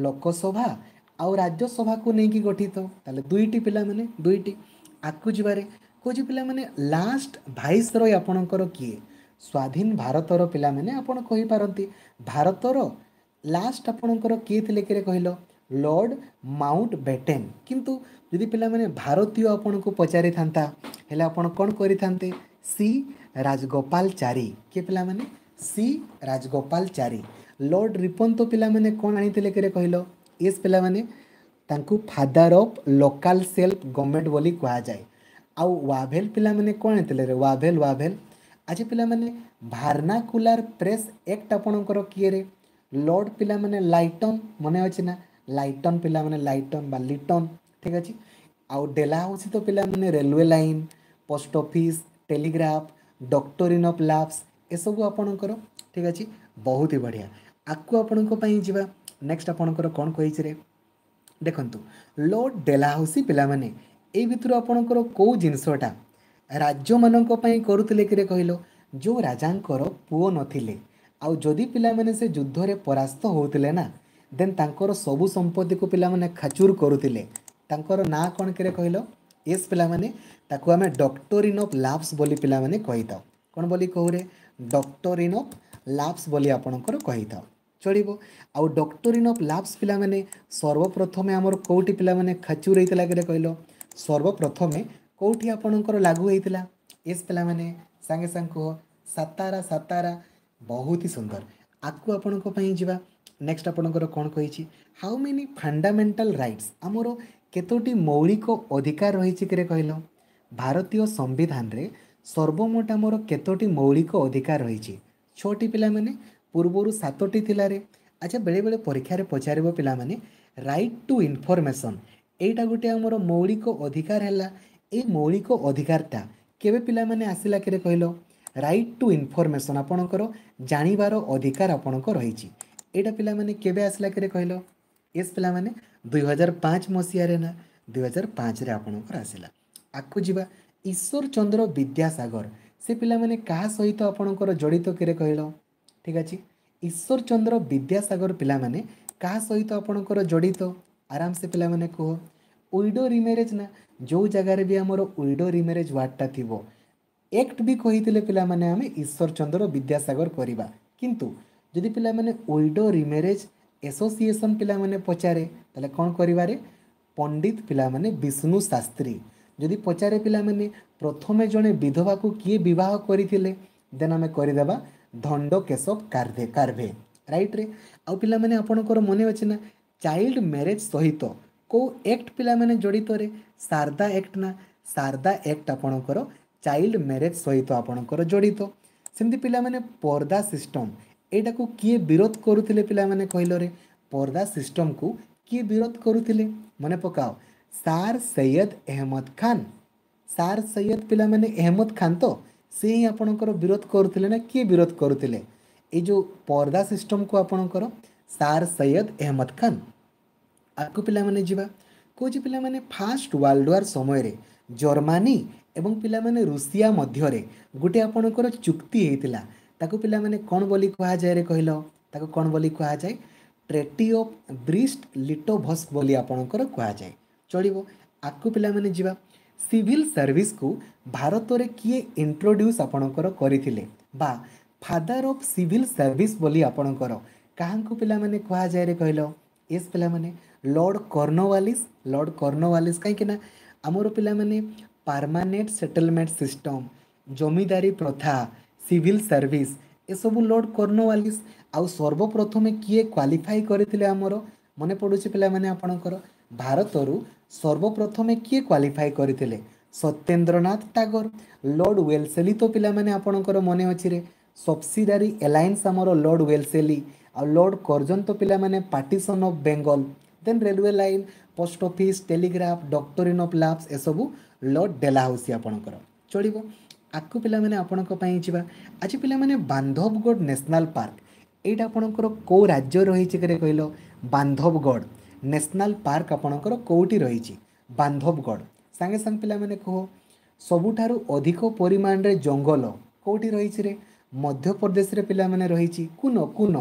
Speaker 1: ଲୋକସଭା ଆଉ ରାଜ୍ୟସଭାକୁ ନେଇକି ଗଠିତ। ତାହେଲେ 2ଟି ପିଲାମାନେ, 2ଟି। ଆଗକୁ ଯିବାରେ କହୁଛି ପିଲାମାନେ, ଲାଷ୍ଟ ଭାଇସରୟ ଆପଣଙ୍କର କିଏ? ସ୍ୱାଧୀନ ଭାରତର ପିଲାମାନେ ଆପଣ କହିପାରନ୍ତି ଭାରତର ଲାଷ୍ଟ ଆପଣଙ୍କର କିଏ ଥିଲେ କିରେ କହିଲ? Lord Mountbatten. କିନ୍ତୁ ଯଦି ପିଲାମାନେ ଭାରତୀୟ ଆପଣଙ୍କୁ ପଚାରିଥାନ୍ତା ହେଲେ ଆପଣ କ'ଣ କରିଥାନ୍ତେ? ସି ରାଜଗୋପାଲଚାରୀ। କିଏ ପିଲାମାନେ? ସି ରାଜଗୋପାଲଚାରୀ। ଲର୍ଡ଼ ରିପନ୍ ତ ପିଲାମାନେ କ'ଣ ଆଣିଥିଲେ କିରେ କହିଲ? ୟେସ୍ ପିଲାମାନେ, ତାଙ୍କୁ father of local self government ବୋଲି କୁହାଯାଏ। ଆଉ ୱାଭେଲ ପିଲାମାନେ କ'ଣ ଆଣିଥିଲେ ରେ? Wavell, Wavell. ଆଚ୍ଛା ପିଲାମାନେ, ଭାର୍ନାକୁଲାର ପ୍ରେସ୍ ଆକ୍ଟ ଆପଣଙ୍କର କିଏରେ? ଲର୍ଡ଼ ପିଲାମାନେ ଲାଇଟନ୍। ମନେ ଅଛି ନା? ଲାଇଟନ୍ ପିଲାମାନେ, ଲାଇଟନ୍ ବା ଲିଟନ୍। ଠିକ୍ ଅଛି। ଆଉ ଡେଲା ହେଉଛି ତ ପିଲାମାନେ railway line, post office, telegraph, doctrine of lapse ଏସବୁ ଆପଣଙ୍କର। ଠିକ୍ ଅଛି, ବହୁତ ହି ବଢ଼ିଆ। ଆଗକୁ ଆପଣଙ୍କ ପାଇଁ ଯିବା। ନେକ୍ସଟ ଆପଣଙ୍କର କ'ଣ କହିଛି ରେ? ଦେଖନ୍ତୁ, ଲର୍ଡ଼ ଡେଲାହାଉସି ପିଲାମାନେ ଏଇ ଭିତରୁ ଆପଣଙ୍କର କେଉଁ ଜିନିଷଟା ରାଜ୍ୟମାନଙ୍କ ପାଇଁ କରୁଥିଲେ କିରେ କହିଲ? ଯେଉଁ ରାଜାଙ୍କର ପୁଅ ନଥିଲେ ଆଉ ଯଦି ପିଲାମାନେ ସେ ଯୁଦ୍ଧରେ ପରାସ୍ତ ହେଉଥିଲେ ନା, ଦେନ୍ ତାଙ୍କର ସବୁ ସମ୍ପତ୍ତିକୁ ପିଲାମାନେ ଖାଚୁର କରୁଥିଲେ। ତାଙ୍କର ନାଁ କ'ଣ କିରେ କହିଲ? ୟେସ୍ ପିଲାମାନେ, ତାକୁ ଆମେ ଡକ୍ଟରିନ୍ ଅଫ୍ ଲାପ୍ସ ବୋଲି ପିଲାମାନେ କହିଥାଉ। କ'ଣ ବୋଲି କହୁରେ? ଡକ୍ଟରିନ୍ ଅଫ୍ ଲାପ୍ସ ବୋଲି ଆପଣଙ୍କର କହିଥାଉ। ଚଳିବ। ଆଉ ଡକ୍ଟରିନ୍ ଅଫ୍ ଲାପ୍ସ ପିଲାମାନେ ସର୍ବପ୍ରଥମେ ଆମର କେଉଁଠି ପିଲାମାନେ ଖାଚୁର ହେଇଥିଲା କିରେ କହିଲ? ସର୍ବପ୍ରଥମେ କେଉଁଠି ଆପଣଙ୍କର ଲାଗୁ ହେଇଥିଲା? ୟେସ୍ ପିଲାମାନେ ସାଙ୍ଗେ ସାଙ୍ଗେ କୁହ। ସାତାରା, ସାତାରା। ବହୁତ ହି ସୁନ୍ଦର। ଆଗକୁ ଆପଣଙ୍କ ପାଇଁ ଯିବା। ନେକ୍ସଟ ଆପଣଙ୍କର କ'ଣ କହିଛି? ହାଉ ମେନି ଫଣ୍ଡାମେଣ୍ଟାଲ ରାଇଟ୍ସ, ଆମର କେତୋଟି ମୌଳିକ ଅଧିକାର ରହିଛି କିରେ କହିଲ? ଭାରତୀୟ ସମ୍ବିଧାନରେ ସର୍ବମୋଟ ଆମର କେତୋଟି ମୌଳିକ ଅଧିକାର ରହିଛି? 6ଟି ପିଲାମାନେ, ପୂର୍ବରୁ 7ଟି ଥିଲାରେ। ଆଚ୍ଛା, ବେଳେବେଳେ ପରୀକ୍ଷାରେ ପଚାରିବ ପିଲାମାନେ, ରାଇଟ୍ ଟୁ ଇନଫର୍ମେସନ୍ ଏଇଟା ଗୋଟେ ଆମର ମୌଳିକ ଅଧିକାର ହେଲା। ଏଇ ମୌଳିକ ଅଧିକାରଟା କେବେ ପିଲାମାନେ ଆସିଲା କିରେ କହିଲ? ରାଇଟ୍ ଟୁ ଇନଫର୍ମେସନ୍ ଆପଣଙ୍କର ଜାଣିବାର ଅଧିକାର ଆପଣଙ୍କ ରହିଛି। ଏଇଟା ପିଲାମାନେ କେବେ ଆସିଲା କିରେ କହିଲ? ୟେସ୍ ପିଲାମାନେ, 2005 ମସିହାରେ ନା, 2005ରେ ଆପଣଙ୍କର ଆସିଲା। ଆଗକୁ ଯିବା। ଈଶ୍ୱର ଚନ୍ଦ୍ର ବିଦ୍ୟାସାଗର ସେ ପିଲାମାନେ କାହା ସହିତ ଆପଣଙ୍କର ଜଡ଼ିତ କିରେ କହିଲ? ଠିକ୍ ଅଛି, ଈଶ୍ୱର ଚନ୍ଦ୍ର ବିଦ୍ୟାସାଗର ପିଲାମାନେ କାହା ସହିତ ଆପଣଙ୍କର ଜଡ଼ିତ? ଆରାମସେ ପିଲାମାନେ କୁହ। ୱିଡୋ ରିମ୍ୟାରେଜ୍ ନା, ଯେଉଁ ଜାଗାରେ ବି ଆମର ୱିଡୋ ରିମ୍ୟାରେଜ୍ ୱାର୍ଡ଼ଟା ଥିବ, ଆକ୍ଟ ବି କହିଥିଲେ ପିଲାମାନେ ଆମେ ଈଶ୍ୱର ଚନ୍ଦ୍ର ବିଦ୍ୟାସାଗର କରିବା। କିନ୍ତୁ ଯଦି ପିଲାମାନେ ୱିଡୋ ରିମ୍ୟାରେଜ୍ ଆସୋସିଏସନ୍ ପିଲାମାନେ ପଚାରେ, ତାହେଲେ କ'ଣ କରିବାରେ? ପଣ୍ଡିତ ପିଲାମାନେ ବିଷ୍ଣୁ ଶାସ୍ତ୍ରୀ। ଯଦି ପଚାରେ ପିଲାମାନେ ପ୍ରଥମେ ଜଣେ ବିଧବାକୁ କିଏ ବିବାହ କରିଥିଲେ, ଦେନ୍ ଆମେ କରିଦେବା ଧଣ୍ଡ କେଶବ କାର୍ଭେ, ରାଇଟ୍ରେ। ଆଉ ପିଲାମାନେ ଆପଣଙ୍କର ମନେ ଅଛି ନା, ଚାଇଲ୍ଡ ମ୍ୟାରେଜ୍ ସହିତ କେଉଁ ଆକ୍ଟ ପିଲାମାନେ ଜଡ଼ିତରେ? ଶାରଦା ଆକ୍ଟ ନା, ଶାରଦା ଆକ୍ଟ ଆପଣଙ୍କର ଚାଇଲ୍ଡ ମ୍ୟାରେଜ୍ ସହିତ ଆପଣଙ୍କର ଜଡ଼ିତ। ସେମିତି ପିଲାମାନେ ପର୍ଦା ସିଷ୍ଟମ୍, ଏଇଟାକୁ କିଏ ବିରୋଧ କରୁଥିଲେ ପିଲାମାନେ କହିଲରେ? ପର୍ଦା ସିଷ୍ଟମ୍କୁ କିଏ ବିରୋଧ କରୁଥିଲେ? ମନେ ପକାଅ, ସାର୍ ସୈୟଦ ଅହମ୍ମଦ ଖାନ। ସାର୍ ସୈୟଦ ପିଲାମାନେ ଅହମ୍ମଦ ଖାନ ତ ସେ ହିଁ ଆପଣଙ୍କର ବିରୋଧ କରୁଥିଲେ ନା କିଏ ବିରୋଧ କରୁଥିଲେ ଏଇ ଯେଉଁ ପର୍ଦା ସିଷ୍ଟମ୍କୁ ଆପଣଙ୍କର? ସାର୍ ସୈୟଦ ଅହମ୍ମଦ ଖାନ। ଆଗକୁ ପିଲାମାନେ ଯିବା। କହୁଛି ପିଲାମାନେ ଫାଷ୍ଟ ୱାର୍ଲଡ ୱାର୍ ସମୟରେ ଜର୍ମାନୀ ଏବଂ ପିଲାମାନେ ରୁଷିଆ ମଧ୍ୟରେ ଗୋଟେ ଆପଣଙ୍କର ଚୁକ୍ତି ହେଇଥିଲା, ତାକୁ ପିଲାମାନେ କ'ଣ ବୋଲି କୁହାଯାଏ କହିଲ? ତାକୁ କ'ଣ ବୋଲି କୁହାଯାଏ? ଟ୍ରେଟି ଅଫ୍ ବ୍ରିଷ୍ଟ ଲିଟୋଭସ୍କ ବୋଲି ଆପଣଙ୍କର କୁହାଯାଏ। ଚଳିବ, ଆଗକୁ ପିଲାମାନେ ଯିବା। ସିଭିଲ୍ ସର୍ଭିସକୁ ଭାରତରେ କିଏ ଇଣ୍ଟ୍ରୋଡ୍ୟୁସ୍ ଆପଣଙ୍କର କରିଥିଲେ ବା ଫାଦର ଅଫ୍ ସିଭିଲ୍ ସର୍ଭିସ୍ ବୋଲି ଆପଣଙ୍କର କାହାଙ୍କୁ ପିଲାମାନେ କୁହାଯାଏ କହିଲ? ଏସ୍ ପିଲାମାନେ ଲର୍ଡ଼ କର୍ଣ୍ଣୱାଲିସ୍। ଲର୍ଡ଼ କର୍ଣ୍ଣୱାଲିସ୍, କାହିଁକି ନା ଆମର ପିଲାମାନେ ପାର୍ମାନେଣ୍ଟ ସେଟଲମେଣ୍ଟ ସିଷ୍ଟମ୍, ଜମିଦାରୀ ପ୍ରଥା, ସିଭିଲ୍ ସର୍ଭିସ୍ ଏସବୁ ଲର୍ଡ଼ କର୍ଣ୍ଣୱାଲିସ୍। ଆଉ ସର୍ବପ୍ରଥମେ କିଏ କ୍ୱାଲିଫାଇ କରିଥିଲେ ଆମର ମନେ ପଡ଼ୁଛି ପିଲାମାନେ ଆପଣଙ୍କର? ଭାରତରୁ ସର୍ବପ୍ରଥମେ କିଏ କ୍ୱାଲିଫାଇ କରିଥିଲେ? ସତ୍ୟେନ୍ଦ୍ରନାଥ ଟାଗୋର। ଲର୍ଡ଼ ୱେଲସେଲି ତ ପିଲାମାନେ ଆପଣଙ୍କର ମନେ ଅଛି ରେ, ସବସିଡାରୀ ଆଲାଏନ୍ସ ଆମର ଲର୍ଡ଼ ୱେଲସେଲି। ଆଉ ଲର୍ଡ଼ କର୍ଜନ ତ ପିଲାମାନେ partition of Bengal, then railway line, post office, telegraph, doctrine of lapse ଏସବୁ ଲର୍ଡ଼ ଡେଲାହାଉସି ଆପଣଙ୍କର। ଚଳିବ, ଆଗକୁ ପିଲାମାନେ ଆପଣଙ୍କ ପାଇଁ ଯିବା। ଆଜି ପିଲାମାନେ ବାନ୍ଧବଗଡ଼ ନ୍ୟାସନାଲ୍ ପାର୍କ ଏଇଟା ଆପଣଙ୍କର କେଉଁ ରାଜ୍ୟ ରହିଛି କିରେ କହିଲ? ବାନ୍ଧବଗଡ଼ ନ୍ୟାସନାଲ୍ ପାର୍କ ଆପଣଙ୍କର କେଉଁଠି ରହିଛି? ବାନ୍ଧବଗଡ଼ ସାଙ୍ଗେ ସାଙ୍ଗେ ପିଲାମାନେ କୁହ, ସବୁଠାରୁ ଅଧିକ ପରିମାଣରେ ଜଙ୍ଗଲ କେଉଁଠି ରହିଛି ରେ? ମଧ୍ୟପ୍ରଦେଶରେ ପିଲାମାନେ ରହିଛି। କୁନ କୁନ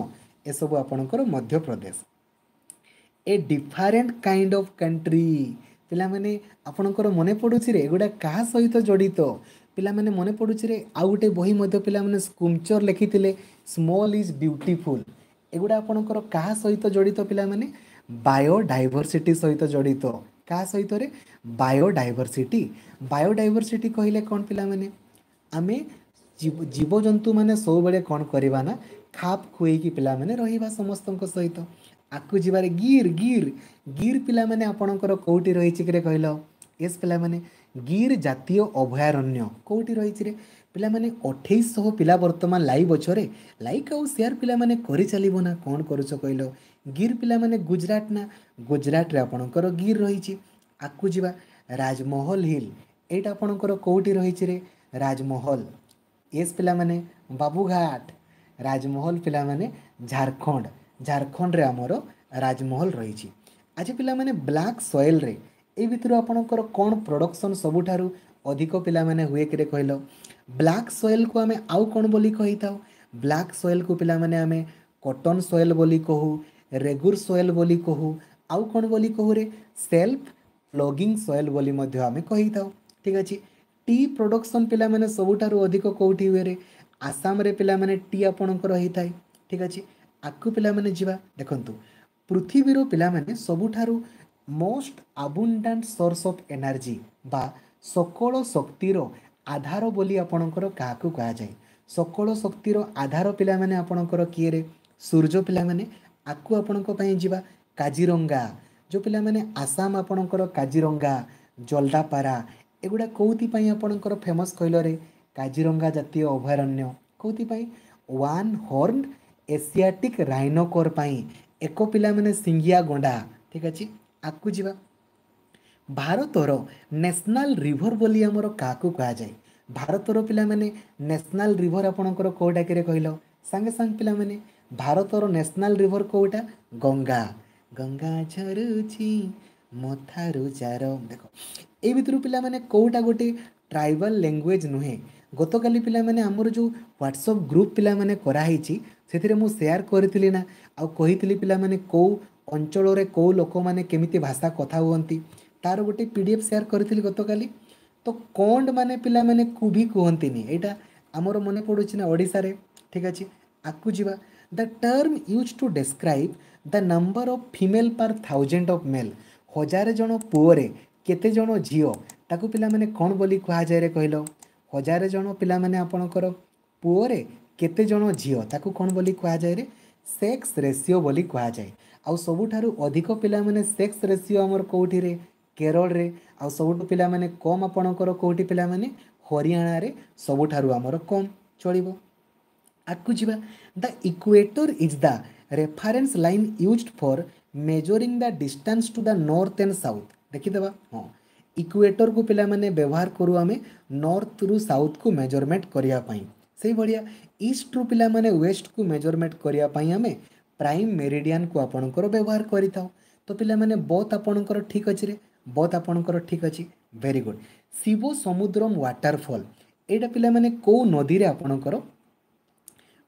Speaker 1: ଏସବୁ ଆପଣଙ୍କର Madhya Pradesh. A different kind of country ପିଲାମାନେ ଆପଣଙ୍କର ମନେ ପଡ଼ୁଛି ରେ, ଏଗୁଡ଼ା କାହା ସହିତ ଜଡ଼ିତ ପିଲାମାନେ ମନେ ପଡ଼ୁଛି ରେ? ଆଉ ଗୋଟେ ବହି ମଧ୍ୟ ପିଲାମାନେ ସ୍କୁମଚର ଲେଖିଥିଲେ, ସ୍ମଲ୍ is beautiful. ଏଗୁଡ଼ା ଆପଣଙ୍କର କାହା ସହିତ ଜଡ଼ିତ ପିଲାମାନେ? ବାୟୋଡାଇଭରସିଟି ସହିତ ଜଡ଼ିତ। କାହା ସହିତରେ? ବାୟୋଡାଇଭରସିଟି। ବାୟୋଡାଇଭରସିଟି କହିଲେ କ'ଣ ପିଲାମାନେ? ଆମେ ଜୀବଜନ୍ତୁମାନେ ସବୁବେଳେ କ'ଣ କରିବା ନା ଖାପ ଖୁଏଇକି ପିଲାମାନେ ରହିବା ସମସ୍ତଙ୍କ ସହିତ। ଆଗକୁ ଯିବାରେ ଗିର୍, ଗିର୍, ଗିର୍ ପିଲାମାନେ ଆପଣଙ୍କର କେଉଁଠି ରହିଛି କିରେ କହିଲ? ଏସ୍ ପିଲାମାନେ ଗିର୍ ଜାତୀୟ ଅଭୟାରଣ୍ୟ କେଉଁଠି ରହିଛି ରେ ପିଲାମାନେ? 2800 ପିଲା ବର୍ତ୍ତମାନ ଲାଇଭ୍ ଅଛରେ, ଲାଇକ୍ ଆଉ ସେୟାର ପିଲାମାନେ କରିଚାଲିବ ନା କ'ଣ କରୁଛ କହିଲ? ଗିର୍ ପିଲାମାନେ ଗୁଜରାଟ ନା, ଗୁଜରାଟରେ ଆପଣଙ୍କର ଗିର୍ ରହିଛି। ଆଗକୁ ଯିବା। ରାଜମହଲ ହିଲ୍ ଏଇଟା ଆପଣଙ୍କର କେଉଁଠି ରହିଛି ରେ? ରାଜମହଲ ଏସ୍ ପିଲାମାନେ ବାବୁଘାଟ। ରାଜମହଲ ପିଲାମାନେ ଝାଡ଼ଖଣ୍ଡ, ଝାଡ଼ଖଣ୍ଡରେ ଆମର ରାଜମହଲ ରହିଛି। ଆଜି ପିଲାମାନେ ବ୍ଲାକ୍ ସଏଲ୍ରେ ଏଇ ଭିତରୁ ଆପଣଙ୍କର କ'ଣ ପ୍ରଡ଼କ୍ସନ୍ ସବୁଠାରୁ ଅଧିକ ପିଲାମାନେ ହୁଏ କିରେ କହିଲ? ବ୍ଲାକ୍ ସଏଲ୍କୁ ଆମେ ଆଉ କ'ଣ ବୋଲି କହିଥାଉ? ବ୍ଲାକ୍ ସଏଲ୍କୁ ପିଲାମାନେ ଆମେ କଟନ୍ ସଏଲ୍ ବୋଲି କହୁ, ରେଗୁର ସଏଲ୍ ବୋଲି କହୁ, ଆଉ କ'ଣ ବୋଲି କହୁରେ? ସେଲ୍ଫ ପ୍ଲଗିଂ ସଏଲ୍ ବୋଲି ମଧ୍ୟ ଆମେ କହିଥାଉ। ଠିକ୍ ଅଛି। ଟି ପ୍ରଡ଼କ୍ସନ୍ ପିଲାମାନେ ସବୁଠାରୁ ଅଧିକ କେଉଁଠି ହୁଏରେ? ଆସାମରେ ପିଲାମାନେ ଟି ଆପଣଙ୍କର ହେଇଥାଏ। ଠିକ୍ ଅଛି, ଆଗକୁ ପିଲାମାନେ ଯିବା। ଦେଖନ୍ତୁ, ପୃଥିବୀର ପିଲାମାନେ ସବୁଠାରୁ ମୋଷ୍ଟ ଆବୁଣ୍ଡାଣ୍ଟ ସୋର୍ସ ଅଫ୍ ଏନର୍ଜି ବା ସକଳ ଶକ୍ତିର ଆଧାର ବୋଲି ଆପଣଙ୍କର କାହାକୁ କୁହାଯାଏ? ସକଳ ଶକ୍ତିର ଆଧାର ପିଲାମାନେ ଆପଣଙ୍କର କିଏରେ? ସୂର୍ଯ୍ୟ ପିଲାମାନେ। ଆଗକୁ ଆପଣଙ୍କ ପାଇଁ ଯିବା। କାଜିରଙ୍ଗା, ଯେଉଁ ପିଲାମାନେ ଆସାମ ଆପଣଙ୍କର କାଜିରଙ୍ଗା, ଜଲଦାପାରା ଏଗୁଡ଼ା କେଉଁଥିପାଇଁ ଆପଣଙ୍କର ଫେମସ୍ କହିଲରେ? କାଜିରଙ୍ଗା ଜାତୀୟ ଅଭୟାରଣ୍ୟ କେଉଁଥିପାଇଁ? ୱାନ୍ ହର୍ନ ଏସିଆଟିକ୍ ରାଇନୋକର ପାଇଁ, ଏକ ପିଲାମାନେ ସିଙ୍ଗିଆ ଗଣ୍ଡା। ଠିକ୍ ଅଛି, ଆଗକୁ ଯିବା। ଭାରତର ନ୍ୟାସନାଲ୍ ରିଭର ବୋଲି ଆମର କାହାକୁ କୁହାଯାଏ? ଭାରତର ପିଲାମାନେ ନ୍ୟାସନାଲ୍ ରିଭର ଆପଣଙ୍କର କେଉଁଟା କିରେ କହିଲ? ସାଙ୍ଗେ ସାଙ୍ଗେ ପିଲାମାନେ ଭାରତର ନ୍ୟାସନାଲ୍ ରିଭର କେଉଁଟା? ଗଙ୍ଗା। ଗଙ୍ଗା ଝରୁଛି ମଥାରୁ ଚାର। ଦେଖ, ଏଇ ଭିତରୁ ପିଲାମାନେ କେଉଁଟା ଗୋଟେ ଟ୍ରାଇବାଲ୍ ଲାଙ୍ଗୁଏଜ୍ ନୁହେଁ? ଗତକାଲି ପିଲାମାନେ ଆମର ଯେଉଁ ହ୍ୱାଟ୍ସଅପ୍ ଗ୍ରୁପ୍ ପିଲାମାନେ କରାହେଇଛି, ସେଥିରେ ମୁଁ ସେୟାର କରିଥିଲି ନା, ଆଉ କହିଥିଲି ପିଲାମାନେ କେଉଁ ଅଞ୍ଚଳରେ କେଉଁ ଲୋକମାନେ କେମିତି ଭାଷା କଥା ହୁଅନ୍ତି। ତାର ଗୋଟେ PDF share କରିଥିଲି ଗତକାଲି। ତ କଣ୍ଡ ମାନେ ପିଲାମାନେ କୁଭି କୁହନ୍ତିନି, ଏଇଟା ଆମର ମନେ ପଡ଼ୁଛି ନା ଓଡ଼ିଶାରେ। ଠିକ୍ ଅଛି, ଆଗକୁ ଯିବା। The term use to describe the number of female per thousand of male. 1000 ଜଣ ପୁଅରେ କେତେ ଜଣ ଝିଅ, ତାକୁ ପିଲାମାନେ କ'ଣ ବୋଲି କୁହାଯାଏ ରେ କହିଲ? 1000 ଜଣ ପିଲାମାନେ ଆପଣଙ୍କର ପୁଅରେ କେତେ ଜଣ ଝିଅ, ତାକୁ କ'ଣ ବୋଲି କୁହାଯାଏ ରେ? ସେକ୍ସ ରେସିଓ ବୋଲି କୁହାଯାଏ। ଆଉ ସବୁଠାରୁ ଅଧିକ ପିଲାମାନେ ସେକ୍ସ ରେସିଓ ଆମର କେଉଁଠିରେ? କେରଳରେ। ଆଉ ସବୁଠୁ ପିଲାମାନେ କମ୍ ଆପଣଙ୍କର କେଉଁଠି ପିଲାମାନେ? ହରିୟାଣାରେ ସବୁଠାରୁ ଆମର କମ୍। ଚଳିବ, ଆଗକୁ ଯିବା। The equator is the reference line used for measuring the distance to the north and south. ଦେଖିଦେବା। ହଁ, ଇକ୍ୱେଟରକୁ ପିଲାମାନେ ବ୍ୟବହାର କରୁ ଆମେ ନର୍ଥରୁ ସାଉଥକୁ ମେଜରମେଣ୍ଟ କରିବା ପାଇଁ। ସେଇଭଳିଆ ଇଷ୍ଟରୁ ପିଲାମାନେ ୱେଷ୍ଟକୁ ମେଜରମେଣ୍ଟ କରିବା ପାଇଁ ଆମେ ପ୍ରାଇମ୍ ମେରିଡ଼ିଆନକୁ ଆପଣଙ୍କର ବ୍ୟବହାର କରିଥାଉ। ତ ପିଲାମାନେ ବୋଥ୍ ଆପଣଙ୍କର ଠିକ୍ ଅଛି ରେ, ବୋଥ୍ ଆପଣଙ୍କର ଠିକ୍ ଅଛି। Very good. Shiva Samudram waterfall ଏଇଟା ପିଲାମାନେ କେଉଁ ନଦୀରେ ଆପଣଙ୍କର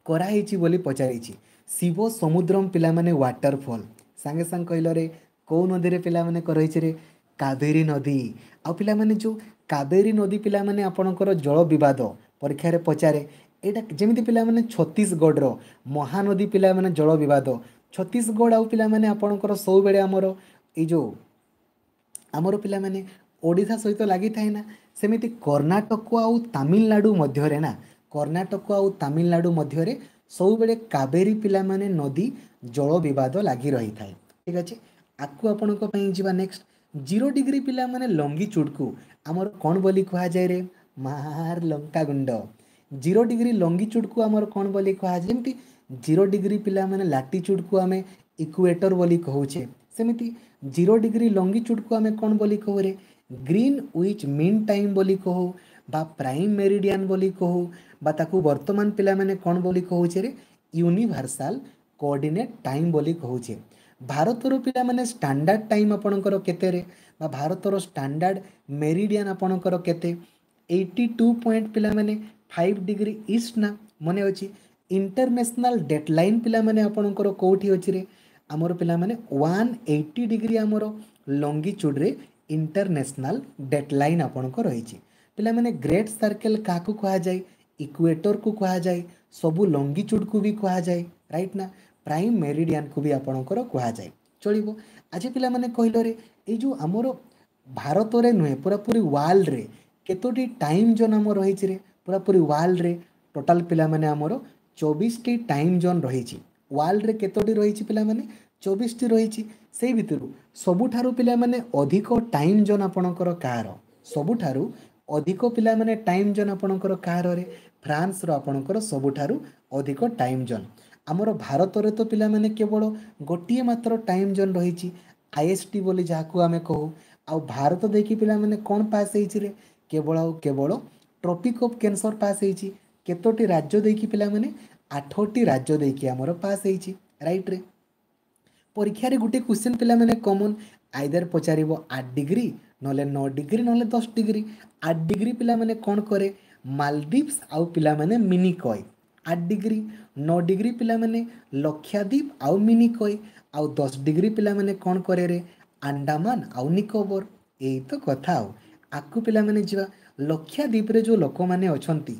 Speaker 1: କରାହେଇଛି ବୋଲି ପଚାରିଛି। ଶିବ ସମୁଦ୍ରମ ପିଲାମାନେ ୱାଟରଫଲ୍, ସାଙ୍ଗେ ସାଙ୍ଗେ କହିଲରେ କେଉଁ ନଦୀରେ ପିଲାମାନେ କରାହେଇଛି ରେ? କାବେରୀ ନଦୀ। ଆଉ ପିଲାମାନେ ଯେଉଁ କାବେରୀ ନଦୀ ପିଲାମାନେ ଆପଣଙ୍କର ଜଳ ବିବାଦ ପରୀକ୍ଷାରେ ପଚାରେ ଏଇଟା। ଯେମିତି ପିଲାମାନେ ଛତିଶଗଡ଼ର ମହାନଦୀ ପିଲାମାନେ ଜଳ ବିବାଦ, ଛତିଶଗଡ଼ ଆଉ ପିଲାମାନେ ଆପଣଙ୍କର ସବୁବେଳେ ଆମର ଏଇ ଯେଉଁ ଆମର ପିଲାମାନେ ଓଡ଼ିଶା ସହିତ ଲାଗିଥାଏ ନା, ସେମିତି କର୍ଣ୍ଣାଟକ ଆଉ ତାମିଲନାଡ଼ୁ ମଧ୍ୟରେ ନା, କର୍ଣ୍ଣାଟକ ଆଉ ତାମିଲନାଡ଼ୁ ମଧ୍ୟରେ ସବୁବେଳେ କାବେରୀ ପିଲାମାନେ ନଦୀ ଜଳ ବିବାଦ ଲାଗି ରହିଥାଏ। ଠିକ୍ ଅଛି, ଆଗକୁ ଆପଣଙ୍କ ପାଇଁ ଯିବା। ନେକ୍ସଟ, 0 ଡିଗ୍ରୀ ପିଲାମାନେ ଲଙ୍ଗିଚୁଡ଼କୁ ଆମର କ'ଣ ବୋଲି କୁହାଯାଏ ରେ? ମାର ଲଙ୍କାଗୁଣ୍ଡ। 0 ଡିଗ୍ରୀ ଲଙ୍ଗିଚୁଡ଼କୁ ଆମର କ'ଣ ବୋଲି କୁହାଯାଏ? ଯେମିତି 0 ଡିଗ୍ରୀ ପିଲାମାନେ ଲାଟିଚୁଡ଼କୁ ଆମେ ଇକ୍ୱେଟର ବୋଲି କହୁଛେ, ସେମିତି 0 ଡିଗ୍ରୀ ଲଙ୍ଗିଚୁଡ଼କୁ ଆମେ କ'ଣ ବୋଲି କହୁରେ? ଗ୍ରୀନ୍ which mean time ବୋଲି କହୁ, ବା ପ୍ରାଇମ୍ ମେରିଡ଼ିଆନ୍ ବୋଲି କହୁ, ବା ତାକୁ ବର୍ତ୍ତମାନ ପିଲାମାନେ କ'ଣ ବୋଲି କହୁଛେ ରେ? ୟୁନିଭର୍ସାଲ କୋଅର୍ଡ଼ିନେଟ୍ ଟାଇମ୍ ବୋଲି କହୁଛେ। ଭାରତର ପିଲାମାନେ ଷ୍ଟାଣ୍ଡାର୍ଡ଼ ଟାଇମ୍ ଆପଣଙ୍କର କେତେରେ, ବା ଭାରତର ଷ୍ଟାଣ୍ଡାର୍ଡ଼ ମେରିଡ଼ିଆନ୍ ଆପଣଙ୍କର କେତେ? 82 ପଏଣ୍ଟ ପିଲାମାନେ 5 ଡିଗ୍ରୀ ଇଷ୍ଟ ନା, ମନେ ଅଛି? ଇଣ୍ଟରନ୍ୟାସନାଲ୍ ଡେଟ୍ ଲାଇନ୍ ପିଲାମାନେ ଆପଣଙ୍କର କେଉଁଠି ଅଛି ରେ? ଆମର ପିଲାମାନେ 180 ଡିଗ୍ରୀ ଆମର ଲଙ୍ଗିଚୁଡ଼ରେ ଇଣ୍ଟରନ୍ୟାସନାଲ୍ ଡେଟ୍ ଲାଇନ୍ ଆପଣଙ୍କ ରହିଛି। ପିଲାମାନେ ଗ୍ରେଟ୍ ସର୍କେଲ୍ କାହାକୁ କୁହାଯାଏ? ଇକ୍ୱେଟରକୁ କୁହାଯାଏ, ସବୁ ଲଙ୍ଗିଚୁଡ଼କୁ ବି କୁହାଯାଏ, ରାଇଟ୍ ନା? ପ୍ରାଇମ୍ ମେରିଡ଼ିଆନକୁ ବି ଆପଣଙ୍କର କୁହାଯାଏ। ଚଳିବ। ଆଜି ପିଲାମାନେ କହିଲରେ ଏଇ ଯେଉଁ ଆମର ଭାରତରେ ନୁହେଁ, ପୁରାପୁରି ୱାର୍ଲଡ଼ରେ କେତୋଟି ଟାଇମ୍ ଜୋନ୍ ଆମର ରହିଛି ରେ? ପୁରାପୁରି ୱାର୍ଲଡ଼ରେ ଟୋଟାଲ୍ ପିଲାମାନେ ଆମର 24ଟି ଟାଇମ୍ ଜୋନ୍ ରହିଛି। ୱାର୍ଲଡ଼ରେ କେତୋଟି ରହିଛି ପିଲାମାନେ? 24ଟି ରହିଛି। ସେଇ ଭିତରୁ ସବୁଠାରୁ ପିଲାମାନେ ଅଧିକ ଟାଇମ୍ ଜୋନ୍ ଆପଣଙ୍କର କାହାର? ସବୁଠାରୁ ଅଧିକ ପିଲାମାନେ ଟାଇମ୍ ଜୋନ୍ ଆପଣଙ୍କର କାହାରରେ? ଫ୍ରାନ୍ସର ଆପଣଙ୍କର ସବୁଠାରୁ ଅଧିକ ଟାଇମ୍ ଜୋନ୍। ଆମର ଭାରତରେ ତ ପିଲାମାନେ କେବଳ ଗୋଟିଏ ମାତ୍ର ଟାଇମ୍ ଜୋନ୍ ରହିଛି, IST ବୋଲି ଯାହାକୁ ଆମେ କହୁ। ଆଉ ଭାରତ ଦେଇକି ପିଲାମାନେ କ'ଣ ପାସ୍ ହେଇଛି ରେ? କେବଳ ଆଉ କେବଳ ଟ୍ରପିକ୍ ଅଫ୍ କ୍ୟାନ୍ସର ପାସ୍ ହେଇଛି। କେତୋଟି ରାଜ୍ୟ ଦେଇକି ପିଲାମାନେ? 8ଟି ରାଜ୍ୟ ଦେଇକି ଆମର ପାସ୍ ହେଇଛି, ରାଇଟ୍ରେ? ପରୀକ୍ଷାରେ ଗୋଟେ କ୍ୱେଶ୍ଚନ୍ ପିଲାମାନେ କମନ୍ ଆଇଦର ପଚାରିବ 8 ଡିଗ୍ରୀ, ନହେଲେ 9 ଡିଗ୍ରୀ, ନହେଲେ 10 ଡିଗ୍ରୀ। 8 ଡିଗ୍ରୀ ପିଲାମାନେ କ'ଣ କରେ? ମାଲଦ୍ୱୀପ୍ସ ଆଉ ପିଲାମାନେ ମିନିକୟ, 8 ଡିଗ୍ରୀ। 9 ଡିଗ୍ରୀ ପିଲାମାନେ ଲକ୍ଷାଦ୍ୱୀପ ଆଉ ମିନିକୟ, ଆଉ 10 ଡିଗ୍ରୀ ପିଲାମାନେ କ'ଣ କରେ ରେ? ଆଣ୍ଡାମାନ ଆଉ ନିକୋବର। ଏଇ ତ କଥା। ଆଉ ଆଗକୁ ପିଲାମାନେ ଯିବା। ଲକ୍ଷାଦ୍ୱୀପରେ ଯେଉଁ ଲୋକମାନେ ଅଛନ୍ତି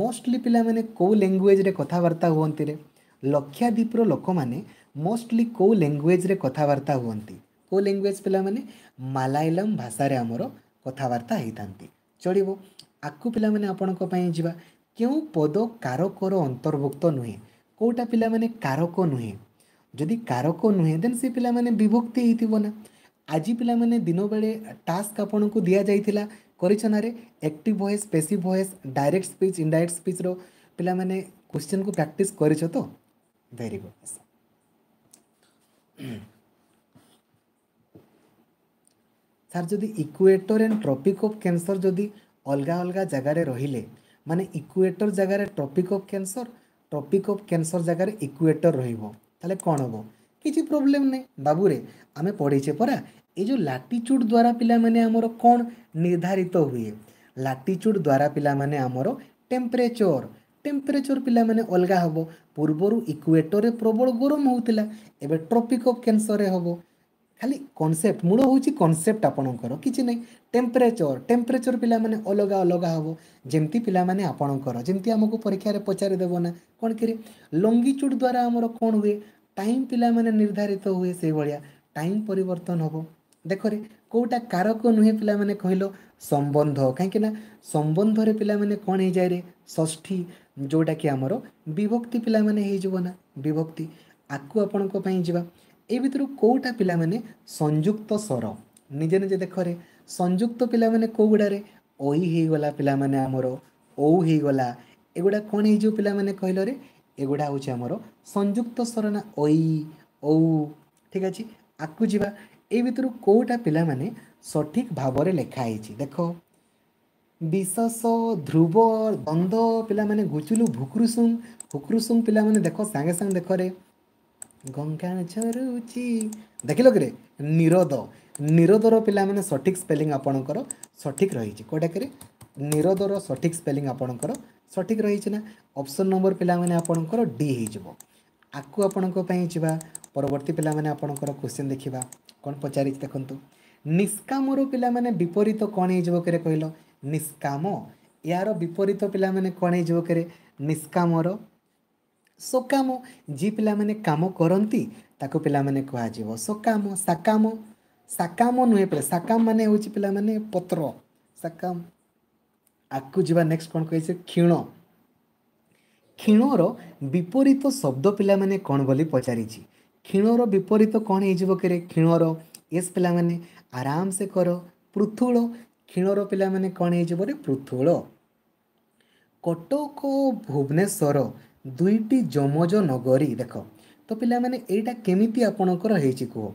Speaker 1: ମୋଷ୍ଟଲି ପିଲାମାନେ କେଉଁ ଲାଙ୍ଗୁଏଜରେ କଥାବାର୍ତ୍ତା ହୁଅନ୍ତି ରେ? ଲକ୍ଷାଦ୍ୱୀପର ଲୋକମାନେ ମୋଷ୍ଟଲି କେଉଁ ଲାଙ୍ଗୁଏଜରେ କଥାବାର୍ତ୍ତା ହୁଅନ୍ତି? କେଉଁ ଲାଙ୍ଗୁଏଜ ପିଲାମାନେ? ମାଲାୟାଲମ ଭାଷାରେ ଆମର କଥାବାର୍ତ୍ତା ହେଇଥାନ୍ତି। ଚଳିବ, ଆଗକୁ ପିଲାମାନେ ଆପଣଙ୍କ ପାଇଁ ଯିବା। କେଉଁ ପଦ କାରକର ଅନ୍ତର୍ଭୁକ୍ତ ନୁହେଁ? କେଉଁଟା ପିଲାମାନେ କାରକ ନୁହେଁ? ଯଦି କାରକ ନୁହେଁ ଦେନ୍ ସେ ପିଲାମାନେ ବିଭକ୍ତି ହେଇଥିବ ନା। ଆଜି ପିଲାମାନେ ଦିନବେଳେ ଟାସ୍କ ଆପଣଙ୍କୁ ଦିଆଯାଇଥିଲା, କରିଛ ନାରେ? Active voice, passive voice, direct speech, indirect ସ୍ପିଚ୍ର ପିଲାମାନେ କ୍ୱେଶ୍ଚନ୍କୁ ପ୍ରାକ୍ଟିସ୍ କରିଛ ତ? Very good. Sir ଯଦି equator and tropic of cancer ଯଦି ଅଲଗା ଅଲଗା ଜାଗାରେ ରହିଲେ, ମାନେ ଇକ୍ୱେଟର ଜାଗାରେ tropic of cancer, tropic of cancer ଜାଗାରେ ଇକ୍ୱେଟର ରହିବ, ତାହେଲେ କ'ଣ ହେବ? କିଛି ପ୍ରୋବ୍ଲେମ୍ ନାହିଁ ବାବୁରେ, ଆମେ ପଢ଼ିଛେ ପରା। ଏ ଯେଉଁ ଲାଟିଚ୍ୟୁଡ଼ ଦ୍ୱାରା ପିଲାମାନେ ଆମର କ'ଣ ନିର୍ଦ୍ଧାରିତ ହୁଏ? ଲାଟିଚ୍ୟୁଡ଼ ଦ୍ୱାରା ପିଲାମାନେ ଆମର ଟେମ୍ପରେଚର ପିଲାମାନେ ଅଲଗା ହେବ। ପୂର୍ବରୁ ଇକ୍ୱେଟରରେ ପ୍ରବଳ ଗରମ ହେଉଥିଲା, ଏବେ ଟ୍ରପିକ୍ ଅଫ୍ କ୍ୟାନ୍ସରରେ ହେବ। ଖାଲି କନସେପ୍ଟ, ମୂଳ ହେଉଛି କନସେପ୍ଟ ଆପଣଙ୍କର, କିଛି ନାହିଁ। ଟେମ୍ପରେଚର, ଟେମ୍ପରେଚର ପିଲାମାନେ ଅଲଗା ଅଲଗା ହେବ। ଯେମିତି ପିଲାମାନେ ଆପଣଙ୍କର ଯେମିତି ଆମକୁ ପରୀକ୍ଷାରେ ପଚାରିଦେବ ନା କ'ଣ କିରେ, ଲଙ୍ଗିଚୁଡ଼ ଦ୍ୱାରା ଆମର କ'ଣ ହୁଏ? ଟାଇମ୍ ପିଲାମାନେ ନିର୍ଦ୍ଧାରିତ ହୁଏ, ସେଇଭଳିଆ ଟାଇମ୍ ପରିବର୍ତ୍ତନ ହେବ। ଦେଖରେ, କେଉଁଟା କାରକ ନୁହେଁ ପିଲାମାନେ କହିଲ? ସମ୍ବନ୍ଧ। କାହିଁକି ନା ସମ୍ବନ୍ଧରେ ପିଲାମାନେ କ'ଣ ହେଇଯାଏ ରେ? ଷଷ୍ଠୀ, ଯେଉଁଟାକି ଆମର ବିଭକ୍ତି ପିଲାମାନେ ହେଇଯିବ ନା ବିଭକ୍ତି। ଆକୁ ଆପଣଙ୍କ ପାଇଁ ଯିବା। ଏଇ ଭିତରୁ କେଉଁଟା ପିଲାମାନେ ସଂଯୁକ୍ତ ସ୍ୱର? ନିଜେ ନିଜେ ଦେଖରେ, ସଂଯୁକ୍ତ ପିଲାମାନେ କେଉଁ ଗୁଡ଼ାରେ? ଐ ହେଇଗଲା ପିଲାମାନେ ଆମର, ଔ ହେଇଗଲା, ଏଗୁଡ଼ା କ'ଣ ହେଇଯିବ ପିଲାମାନେ କହିଲରେ? ଏଗୁଡ଼ା ହେଉଛି ଆମର ସଂଯୁକ୍ତ ସ୍ୱର ନା, ଐ, ଔ। ଠିକ୍ ଅଛି, ଆକୁ ଯିବା। ଏଇ ଭିତରୁ କେଉଁଟା ପିଲାମାନେ ସଠିକ୍ ଭାବରେ ଲେଖା ହେଇଛି ଦେଖ। ବିଶେଷ, ଧ୍ରୁବ, ଦ୍ୱନ୍ଦ୍ୱ ପିଲାମାନେ, ଗୁଚୁଲୁ, ଭୁକ୍ରୁସୁଂ। ଭୁକ୍ରୁସୁଂ ପିଲାମାନେ ଦେଖ, ସାଙ୍ଗେ ସାଙ୍ଗେ ଦେଖରେ, ଗଙ୍ଗା ଝରୁଛି, ଦେଖିଲ କିରେ? ନିରୋଦ। ନିରୋଦର ପିଲାମାନେ ସଠିକ୍ ସ୍ପେଲିଂ ଆପଣଙ୍କର ସଠିକ୍ ରହିଛି କେଉଁଟାକରେ? ନିରୋଦର ସଠିକ୍ ସ୍ପେଲିଂ ଆପଣଙ୍କର ସଠିକ୍ ରହିଛି ନା, ଅପସନ୍ ନମ୍ବର ପିଲାମାନେ ଆପଣଙ୍କର ଡି ହେଇଯିବ। ଆକୁ ଆପଣଙ୍କ ପାଇଁ ଯିବା। ପରବର୍ତ୍ତୀ ପିଲାମାନେ ଆପଣଙ୍କର କ୍ୱେଶ୍ଚିନ୍ ଦେଖିବା କ'ଣ ପଚାରିଛି ଦେଖନ୍ତୁ। ନିଷ୍କାମର ପିଲାମାନେ ବିପରୀତ କ'ଣ ହେଇଯିବ କିରେ କହିଲ? ନିଷ୍କାମ, ଏହାର ବିପରୀତ ପିଲାମାନେ କ'ଣ ହେଇଯିବ କିରେ? ନିଷ୍କାମର ସକାମ। ଯିଏ ପିଲାମାନେ କାମ କରନ୍ତି ତାକୁ ପିଲାମାନେ କୁହାଯିବ ସକାମ। ସାକାମ, ସାକାମ ନୁହେଁ ପିଲା, ସାକାମ ମାନେ ହେଉଛି ପିଲାମାନେ ପତ୍ର, ସାକାମ। ଆଗକୁ ଯିବା। ନେକ୍ସଟ କ'ଣ କହିছে? କ୍ଷୀଣ। କ୍ଷୀଣର ବିପରୀତ ଶବ୍ଦ ପିଲାମାନେ କ'ଣ ବୋଲି ପଚାରିଛି। କ୍ଷୀଣର ବିପରୀତ କ'ଣ ହେଇଯିବ କିରେ କ୍ଷୀଣର? ଏସ୍ ପିଲାମାନେ, ଆରାମସେ କର। ପୃଥୁଳ। କ୍ଷୀଣର ପିଲାମାନେ କ'ଣ ହେଇଯିବ ରେ? ପୃଥୁଳ। କଟକ ଭୁବନେଶ୍ୱର ଦୁଇଟି ଯମଜ ନଗରୀ। ଦେଖ ତ ପିଲାମାନେ, ଏଇଟା କେମିତି ଆପଣଙ୍କର ହେଇଛି କୁହ।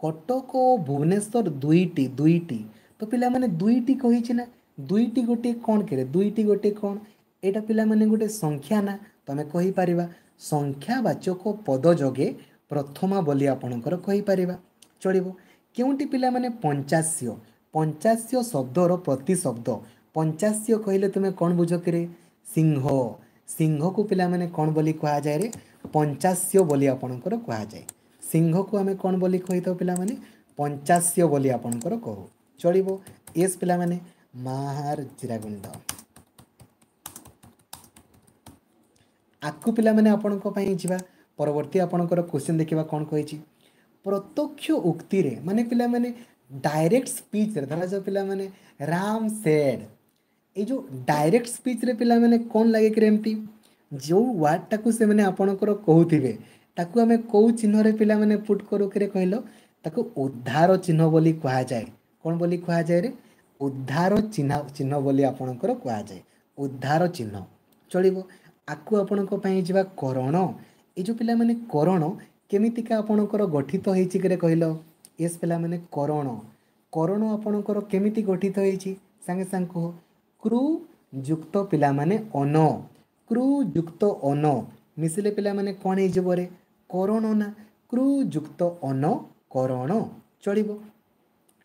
Speaker 1: କଟକ ଓ ଭୁବନେଶ୍ୱର ଦୁଇଟି, ଦୁଇଟି ତ ପିଲାମାନେ ଦୁଇଟି କହିଛି ନା, ଦୁଇଟି ଗୋଟିଏ କ'ଣ କିରେ? ଦୁଇଟି ଗୋଟିଏ କ'ଣ? ଏଇଟା ପିଲାମାନେ ଗୋଟେ ସଂଖ୍ୟା ନା, ତମେ କହିପାରିବା ସଂଖ୍ୟାବାଚକ ପଦ ଯୋଗେ ପ୍ରଥମା ବୋଲି ଆପଣଙ୍କର କହିପାରିବା, ଚଳିବ। କେଉଁଟି ପିଲାମାନେ ପଞ୍ଚାସ୍ୟ? ପଞ୍ଚାସ୍ୟ ଶବ୍ଦର ପ୍ରତିଶବ୍ଦ। ପଞ୍ଚାସ୍ୟ କହିଲେ ତୁମେ କ'ଣ ବୁଝ କିରେ? ସିଂହ। ସିଂହକୁ ପିଲାମାନେ କ'ଣ ବୋଲି କୁହାଯାଏ ରେ? ପଞ୍ଚାସ୍ୟ ବୋଲି ଆପଣଙ୍କର କୁହାଯାଏ। ସିଂହକୁ ଆମେ କ'ଣ ବୋଲି କହିଥାଉ ପିଲାମାନେ? ପଞ୍ଚାସ୍ୟ ବୋଲି ଆପଣଙ୍କର କହୁ, ଚଳିବ। ଏସ୍ ପିଲାମାନେ, ମାହାର ଜିରାଗୁଣ୍ଡ। ଆକୁ ପିଲାମାନେ ଆପଣଙ୍କ ପାଇଁ ଯିବା। ପରବର୍ତ୍ତୀ ଆପଣଙ୍କର କ୍ୱେଶ୍ଚିନ୍ ଦେଖିବା କ'ଣ କହିଛି। ପ୍ରତ୍ୟକ୍ଷ ଉକ୍ତିରେ, ମାନେ ପିଲାମାନେ ଡାଇରେକ୍ଟ ସ୍ପିଚ୍ରେ, ଧରାଯାଉ ପିଲାମାନେ ରାମ ସେଡ୍, ଏଇ ଯେଉଁ ଡାଇରେକ୍ଟ ସ୍ପିଚ୍ରେ ପିଲାମାନେ କ'ଣ ଲାଗେ କିରେ? ଏମିତି ଯେଉଁ ୱାର୍ଡ଼ଟାକୁ ସେମାନେ ଆପଣଙ୍କର କହୁଥିବେ ତାକୁ ଆମେ କେଉଁ ଚିହ୍ନରେ ପିଲାମାନେ ପୁଟ୍ କରୁ କିରେ କହିଲ? ତାକୁ ଉଦ୍ଧାର ଚିହ୍ନ ବୋଲି କୁହାଯାଏ। କ'ଣ ବୋଲି କୁହାଯାଏ ରେ? ଉଦ୍ଧାର ଚିହ୍ନ ବୋଲି ଆପଣଙ୍କର କୁହାଯାଏ, ଉଦ୍ଧାର ଚିହ୍ନ, ଚଳିବ। ଆକୁ ଆପଣଙ୍କ ପାଇଁ ଯିବା। କରଣ। ଏଇ ଯେଉଁ ପିଲାମାନେ କରଣ କେମିତିକା ଆପଣଙ୍କର ଗଠିତ ହେଇଛି କିରେ କହିଲ? ଏସ୍ ପିଲାମାନେ, କରଣ, କରଣ ଆପଣଙ୍କର କେମିତି ଗଠିତ ହେଇଛି ସାଙ୍ଗେ ସାଙ୍ଗେ କୁହ। କୃ ଯୁକ୍ତ ପିଲାମାନେ ଅନ, କୃ ଯୁକ୍ତ ଅନ ମିଶିଲେ ପିଲାମାନେ କ'ଣ ହେଇଯିବ ରେ? କରଣ ନା, କୃ ଯୁକ୍ତ ଅନ କରଣ, ଚଳିବ।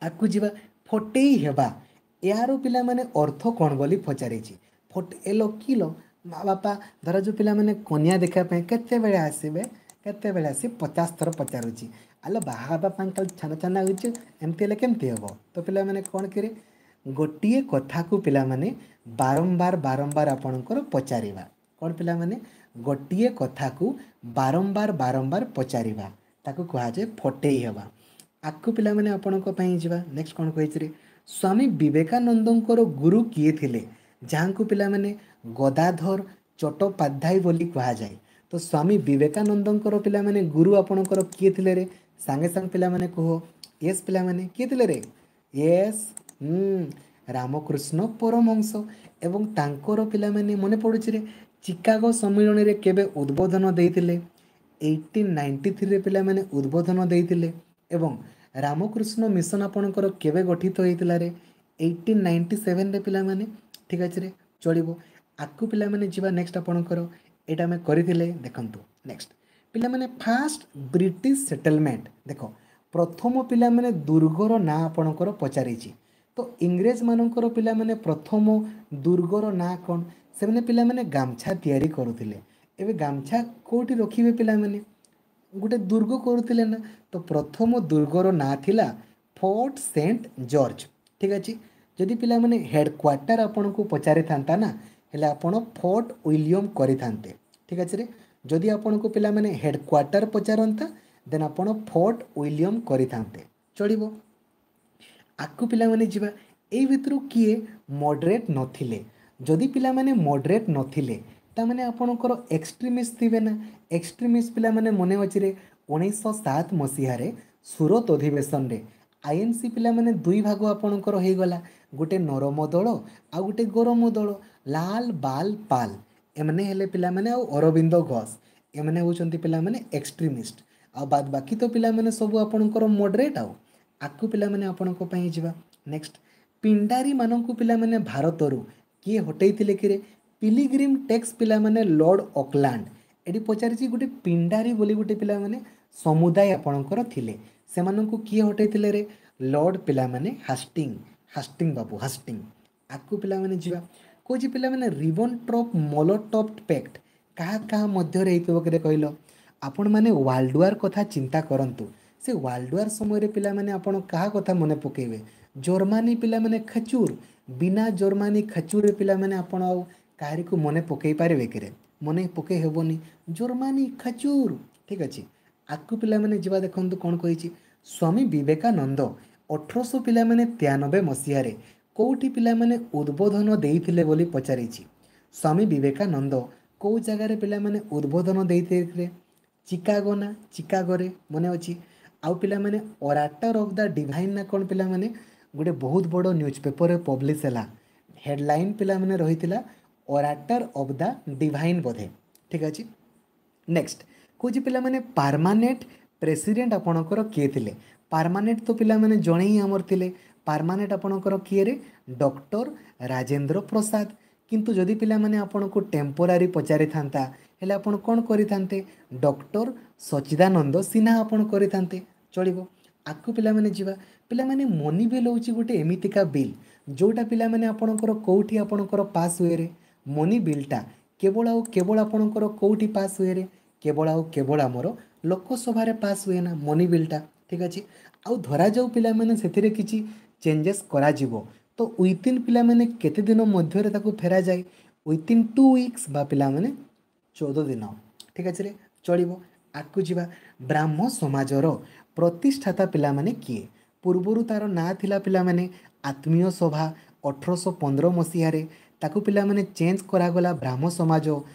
Speaker 1: ଆକୁ ଯିବା। ଫଟେଇ ହେବା, ଏହାର ପିଲାମାନେ ଅର୍ଥ କ'ଣ ବୋଲି ପଚାରିଛି। ଫଟେ ଏଲ କିଲ ମା ବାପା, ଧର ଯେଉଁ ପିଲାମାନେ କନ୍ୟା ଦେଖିବା ପାଇଁ କେତେବେଳେ ଆସିବେ, କେତେବେଳେ ଆସିବେ 50 ଥର ପଚାରୁଛି, ଆଲୋ ବାହା ହେବା ପାଇଁ ଖାଲି ଛାନ ଛାନ ହେଉଛି, ଏମିତି ହେଲେ କେମିତି ହେବ? ତ ପିଲାମାନେ କ'ଣ କିରେ? ଗୋଟିଏ କଥାକୁ ପିଲାମାନେ ବାରମ୍ବାର ବାରମ୍ବାର ଆପଣଙ୍କର ପଚାରିବା। କ'ଣ ପିଲାମାନେ? ଗୋଟିଏ କଥାକୁ ବାରମ୍ବାର ବାରମ୍ବାର ପଚାରିବା, ତାକୁ କୁହାଯାଏ ଫଟେଇ ହେବା। ଆକୁ ପିଲାମାନେ ଆପଣଙ୍କ ପାଇଁ ଯିବା। ନେକ୍ସଟ କ'ଣ କହିଛି ରେ? ସ୍ୱାମୀ ବିବେକାନନ୍ଦଙ୍କର ଗୁରୁ କିଏ ଥିଲେ, ଯାହାଙ୍କୁ ପିଲାମାନେ ଗଦାଧର ଚଟ୍ଟୋପାଧ୍ୟାୟ ବୋଲି କୁହାଯାଏ? ତ ସ୍ୱାମୀ ବିବେକାନନ୍ଦଙ୍କର ପିଲାମାନେ ଗୁରୁ ଆପଣଙ୍କର କିଏ ଥିଲେ ରେ? ସାଙ୍ଗେ ସାଙ୍ଗେ ପିଲାମାନେ କୁହ। ୟେସ୍ ପିଲାମାନେ, କିଏ ଥିଲେ ରେ? ୟେସ୍, ରାମକୃଷ୍ଣ ପରମହଂସ। ଏବଂ ତାଙ୍କର ପିଲାମାନେ ମନେ ପଡ଼ୁଛି ରେ, ଚିକାଗୋ ସମ୍ମିଳନୀରେ କେବେ ଉଦ୍ବୋଧନ ଦେଇଥିଲେ? 1893ରେ ପିଲାମାନେ ଉଦ୍ବୋଧନ ଦେଇଥିଲେ। ଏବଂ ରାମକୃଷ୍ଣ ମିଶନ ଆପଣଙ୍କର କେବେ ଗଠିତ ହେଇଥିଲା ରେ? 1897ରେ ପିଲାମାନେ। ଠିକ୍ ଅଛି ରେ, ଚଳିବ। ଆକୁ ପିଲାମାନେ ଯିବା। ନେକ୍ସଟ ଆପଣଙ୍କର ଏଇଟା ଆମେ କରିଥିଲେ, ଦେଖନ୍ତୁ। ନେକ୍ସଟ ପିଲାମାନେ ଫାଷ୍ଟ ବ୍ରିଟିଶ ସେଟଲମେଣ୍ଟ। ଦେଖ, ପ୍ରଥମ ପିଲାମାନେ ଦୁର୍ଗର ନାଁ ଆପଣଙ୍କର ପଚାରିଛି। ତ ଇଂରେଜମାନଙ୍କର ପିଲାମାନେ ପ୍ରଥମ ଦୁର୍ଗର ନାଁ କ'ଣ? ସେମାନେ ପିଲାମାନେ ଗାମଛା ତିଆରି କରୁଥିଲେ। ଏବେ ଗାମଛା କେଉଁଠି ରଖିବେ ପିଲାମାନେ? ଗୋଟେ ଦୁର୍ଗ କରୁଥିଲେ ନା। ତ ପ୍ରଥମ ଦୁର୍ଗର ନାଁ ଥିଲା ଫୋର୍ଟ ସେଣ୍ଟ ଜର୍ଜ। ଠିକ୍ ଅଛି, ଯଦି ପିଲାମାନେ ହେଡ଼କ୍ୱାର୍ଟର ଆପଣଙ୍କୁ ପଚାରିଥାନ୍ତା ନା, ହେଲେ ଆପଣ ଫୋର୍ଟ ୱିଲିୟମ୍ କରିଥାନ୍ତେ। ଠିକ୍ ଅଛି ରେ, ଯଦି ଆପଣଙ୍କୁ ପିଲାମାନେ ହେଡ଼କ୍ୱାର୍ଟର ପଚାରନ୍ତା, ଦେନ୍ ଆପଣ ଫୋର୍ଟ ୱିଲିୟମ୍ କରିଥାନ୍ତେ, ଚଳିବ। ଆଗକୁ ପିଲାମାନେ ଯିବା। ଏଇ ଭିତରୁ କିଏ ମଡରେଟ୍ ନଥିଲେ? ଯଦି ପିଲାମାନେ ମଡରେଟ୍ ନଥିଲେ, ତାମାନେ ଆପଣଙ୍କର ଏକ୍ସଟ୍ରିମିଷ୍ଟ ଥିବେ ନା। ଏକ୍ସଟ୍ରିମିଷ୍ଟ ପିଲାମାନେ ମନେ ଅଛି ରେ, 1907 ମସିହାରେ ସୁରତ ଅଧିବେଶନରେ ଆଇଏନ୍ସି ପିଲାମାନେ ଦୁଇ ଭାଗ ଆପଣଙ୍କର ହେଇଗଲା, ଗୋଟେ ନରମ ଦଳ ଆଉ ଗୋଟେ ଗରମ ଦଳ। ଲାଲ ବାଲ ପାଲ ଏମାନେ ହେଲେ ପିଲାମାନେ, ଆଉ ଅରବିନ୍ଦ ଘୋଷ, ଏମାନେ ହେଉଛନ୍ତି ପିଲାମାନେ ଏକ୍ସଟ୍ରିମିଷ୍ଟ, ଆଉ ବାଦ ବାକି ତ ପିଲାମାନେ ସବୁ ଆପଣଙ୍କର ମଡରେଟ୍। ଆଉ ଆଗକୁ ପିଲାମାନେ ଆପଣଙ୍କ ପାଇଁ ଯିବା। ନେକ୍ସଟ, ପିଣ୍ଡାରୀମାନଙ୍କୁ ପିଲାମାନେ ଭାରତରୁ କିଏ ହଟେଇଥିଲେ କିରେ? ପିଲିଗ୍ରିମ୍ ଟେକ୍ସ ପିଲାମାନେ ଲର୍ଡ଼ ଅକଲାଣ୍ଡ। ଏଠି ପଚାରିଛି, ଗୋଟେ ପିଣ୍ଡାରୀ ବୋଲି ଗୋଟେ ପିଲାମାନେ ସମୁଦାୟ ଆପଣଙ୍କର ଥିଲେ, ସେମାନଙ୍କୁ କିଏ ହଟେଇଥିଲେ ରେ? ଲର୍ଡ଼ ପିଲାମାନେ ହାଷ୍ଟିଂ, ହାଷ୍ଟିଂ ବାବୁ, ହାଷ୍ଟିଂ। ଆଗକୁ ପିଲାମାନେ ଯିବା। କହୁଛି ପିଲାମାନେ, ରିବନ୍ ଟ୍ରପ୍ ମଲୋଟପ୍ ପ୍ୟାକ୍ଟ କାହା କାହା ମଧ୍ୟରେ ହେଇଥିବ କିରେ କହିଲ? ଆପଣମାନେ ୱାର୍ଲଡ ୱାର୍ କଥା ଚିନ୍ତା କରନ୍ତୁ। ସେ ୱାର୍ଲଡ ୱାର୍ ସମୟରେ ପିଲାମାନେ ଆପଣ କାହା କଥା ମନେ ପକାଇବେ? ଜର୍ମାନୀ ପିଲାମାନେ ଖଚୁର। ବିନା ଜର୍ମାନୀ ଖଚୁରରେ ପିଲାମାନେ ଆପଣ ଆଉ କାହାରିକୁ ମନେ ପକାଇ ପାରିବେ କିରେ? ମନେ ପକାଇ ହେବନି। ଜର୍ମାନୀ ଖଚୁର। ଠିକ୍ ଅଛି, ଆଗକୁ ପିଲାମାନେ ଯିବା। ଦେଖନ୍ତୁ କ'ଣ କହିଛି, ସ୍ୱାମୀ ବିବେକାନନ୍ଦ 1800 ପିଲାମାନେ 93 ମସିହାରେ କେଉଁଠି ପିଲାମାନେ ଉଦ୍ବୋଧନ ଦେଇଥିଲେ ବୋଲି ପଚାରିଛି। ସ୍ୱାମୀ ବିବେକାନନ୍ଦ କେଉଁ ଜାଗାରେ ପିଲାମାନେ ଉଦ୍ବୋଧନ ଦେଇଥିଲେ? ଚିକାଗୋ ନା, ଚିକାଗୋରେ ମନେ ଅଛି। ଆଉ ପିଲାମାନେ ଅରାଟର ଅଫ୍ the divine ନା କ'ଣ ପିଲାମାନେ ଗୋଟେ ବହୁତ ବଡ଼ ନ୍ୟୁଜ୍ ପେପରରେ ପବ୍ଲିଶ ହେଲା, ହେଡ଼ଲାଇନ୍ ପିଲାମାନେ ରହିଥିଲା ଅରାଟର ଅଫ୍ the divine ବୋଧେ। ଠିକ୍ ଅଛି, ନେକ୍ସଟ କହୁଛି ପିଲାମାନେ, ପାର୍ମାନେଣ୍ଟ ପ୍ରେସିଡେଣ୍ଟ ଆପଣଙ୍କର କିଏ ଥିଲେ? ପାର୍ମାନେଣ୍ଟ ତ ପିଲାମାନେ ଜଣେ ହିଁ ଆମର ଥିଲେ। ପାର୍ମାନେଣ୍ଟ ଆପଣଙ୍କର କିଏରେ? ଡକ୍ଟର ରାଜେନ୍ଦ୍ର ପ୍ରସାଦ। କିନ୍ତୁ ଯଦି ପିଲାମାନେ ଆପଣଙ୍କୁ ଟେମ୍ପୋରାରୀ ପଚାରିଥାନ୍ତା, ହେଲେ ଆପଣ କ'ଣ କରିଥାନ୍ତେ? ଡକ୍ଟର ସଚିଦାନନ୍ଦ ସିହ୍ନା ଆପଣ କରିଥାନ୍ତେ, ଚଳିବ। ଆଗକୁ ପିଲାମାନେ ଯିବା। ପିଲାମାନେ ମନି ବିଲ୍ ହେଉଛି ଗୋଟେ ଏମିତିକା ବିଲ୍ ଯେଉଁଟା ପିଲାମାନେ ଆପଣଙ୍କର କେଉଁଠି ଆପଣଙ୍କର ପାସ୍ ହୁଏରେ? ମନି ବିଲ୍ଟା କେବଳ ଆଉ କେବଳ ଆପଣଙ୍କର କେଉଁଠି ପାସ୍ ହୁଏରେ? କେବଳ ଆଉ କେବଳ ଆମର ଲୋକସଭାରେ ପାସ୍ ହୁଏ ନା ମନି ବିଲ୍ଟା। ଠିକ୍ ଅଛି, ଆଉ ଧରାଯାଉ ପିଲାମାନେ ସେଥିରେ କିଛି ଚେଞ୍ଜେସ୍ କରାଯିବ, ତ ୱିଥିନ୍ ପିଲାମାନେ କେତେ ଦିନ ମଧ୍ୟରେ ତାକୁ ଫେରାଯାଏ? ୱିଥିନ୍ 2 ୱିକ୍ସ ବା ପିଲାମାନେ 14 ଦିନ। ଠିକ୍ ଅଛି ରେ, ଚଳିବ। ଆଗକୁ ଯିବା। ବ୍ରାହ୍ମ ସମାଜର ପ୍ରତିଷ୍ଠାତା ପିଲାମାନେ କିଏ? ପୂର୍ବରୁ ତା'ର ନାଁ ଥିଲା ପିଲାମାନେ ଆତ୍ମୀୟ ସଭା। 1815 ମସିହାରେ ତାକୁ ପିଲାମାନେ ଚେଞ୍ଜ କରାଗଲା ବ୍ରାହ୍ମ ସମାଜ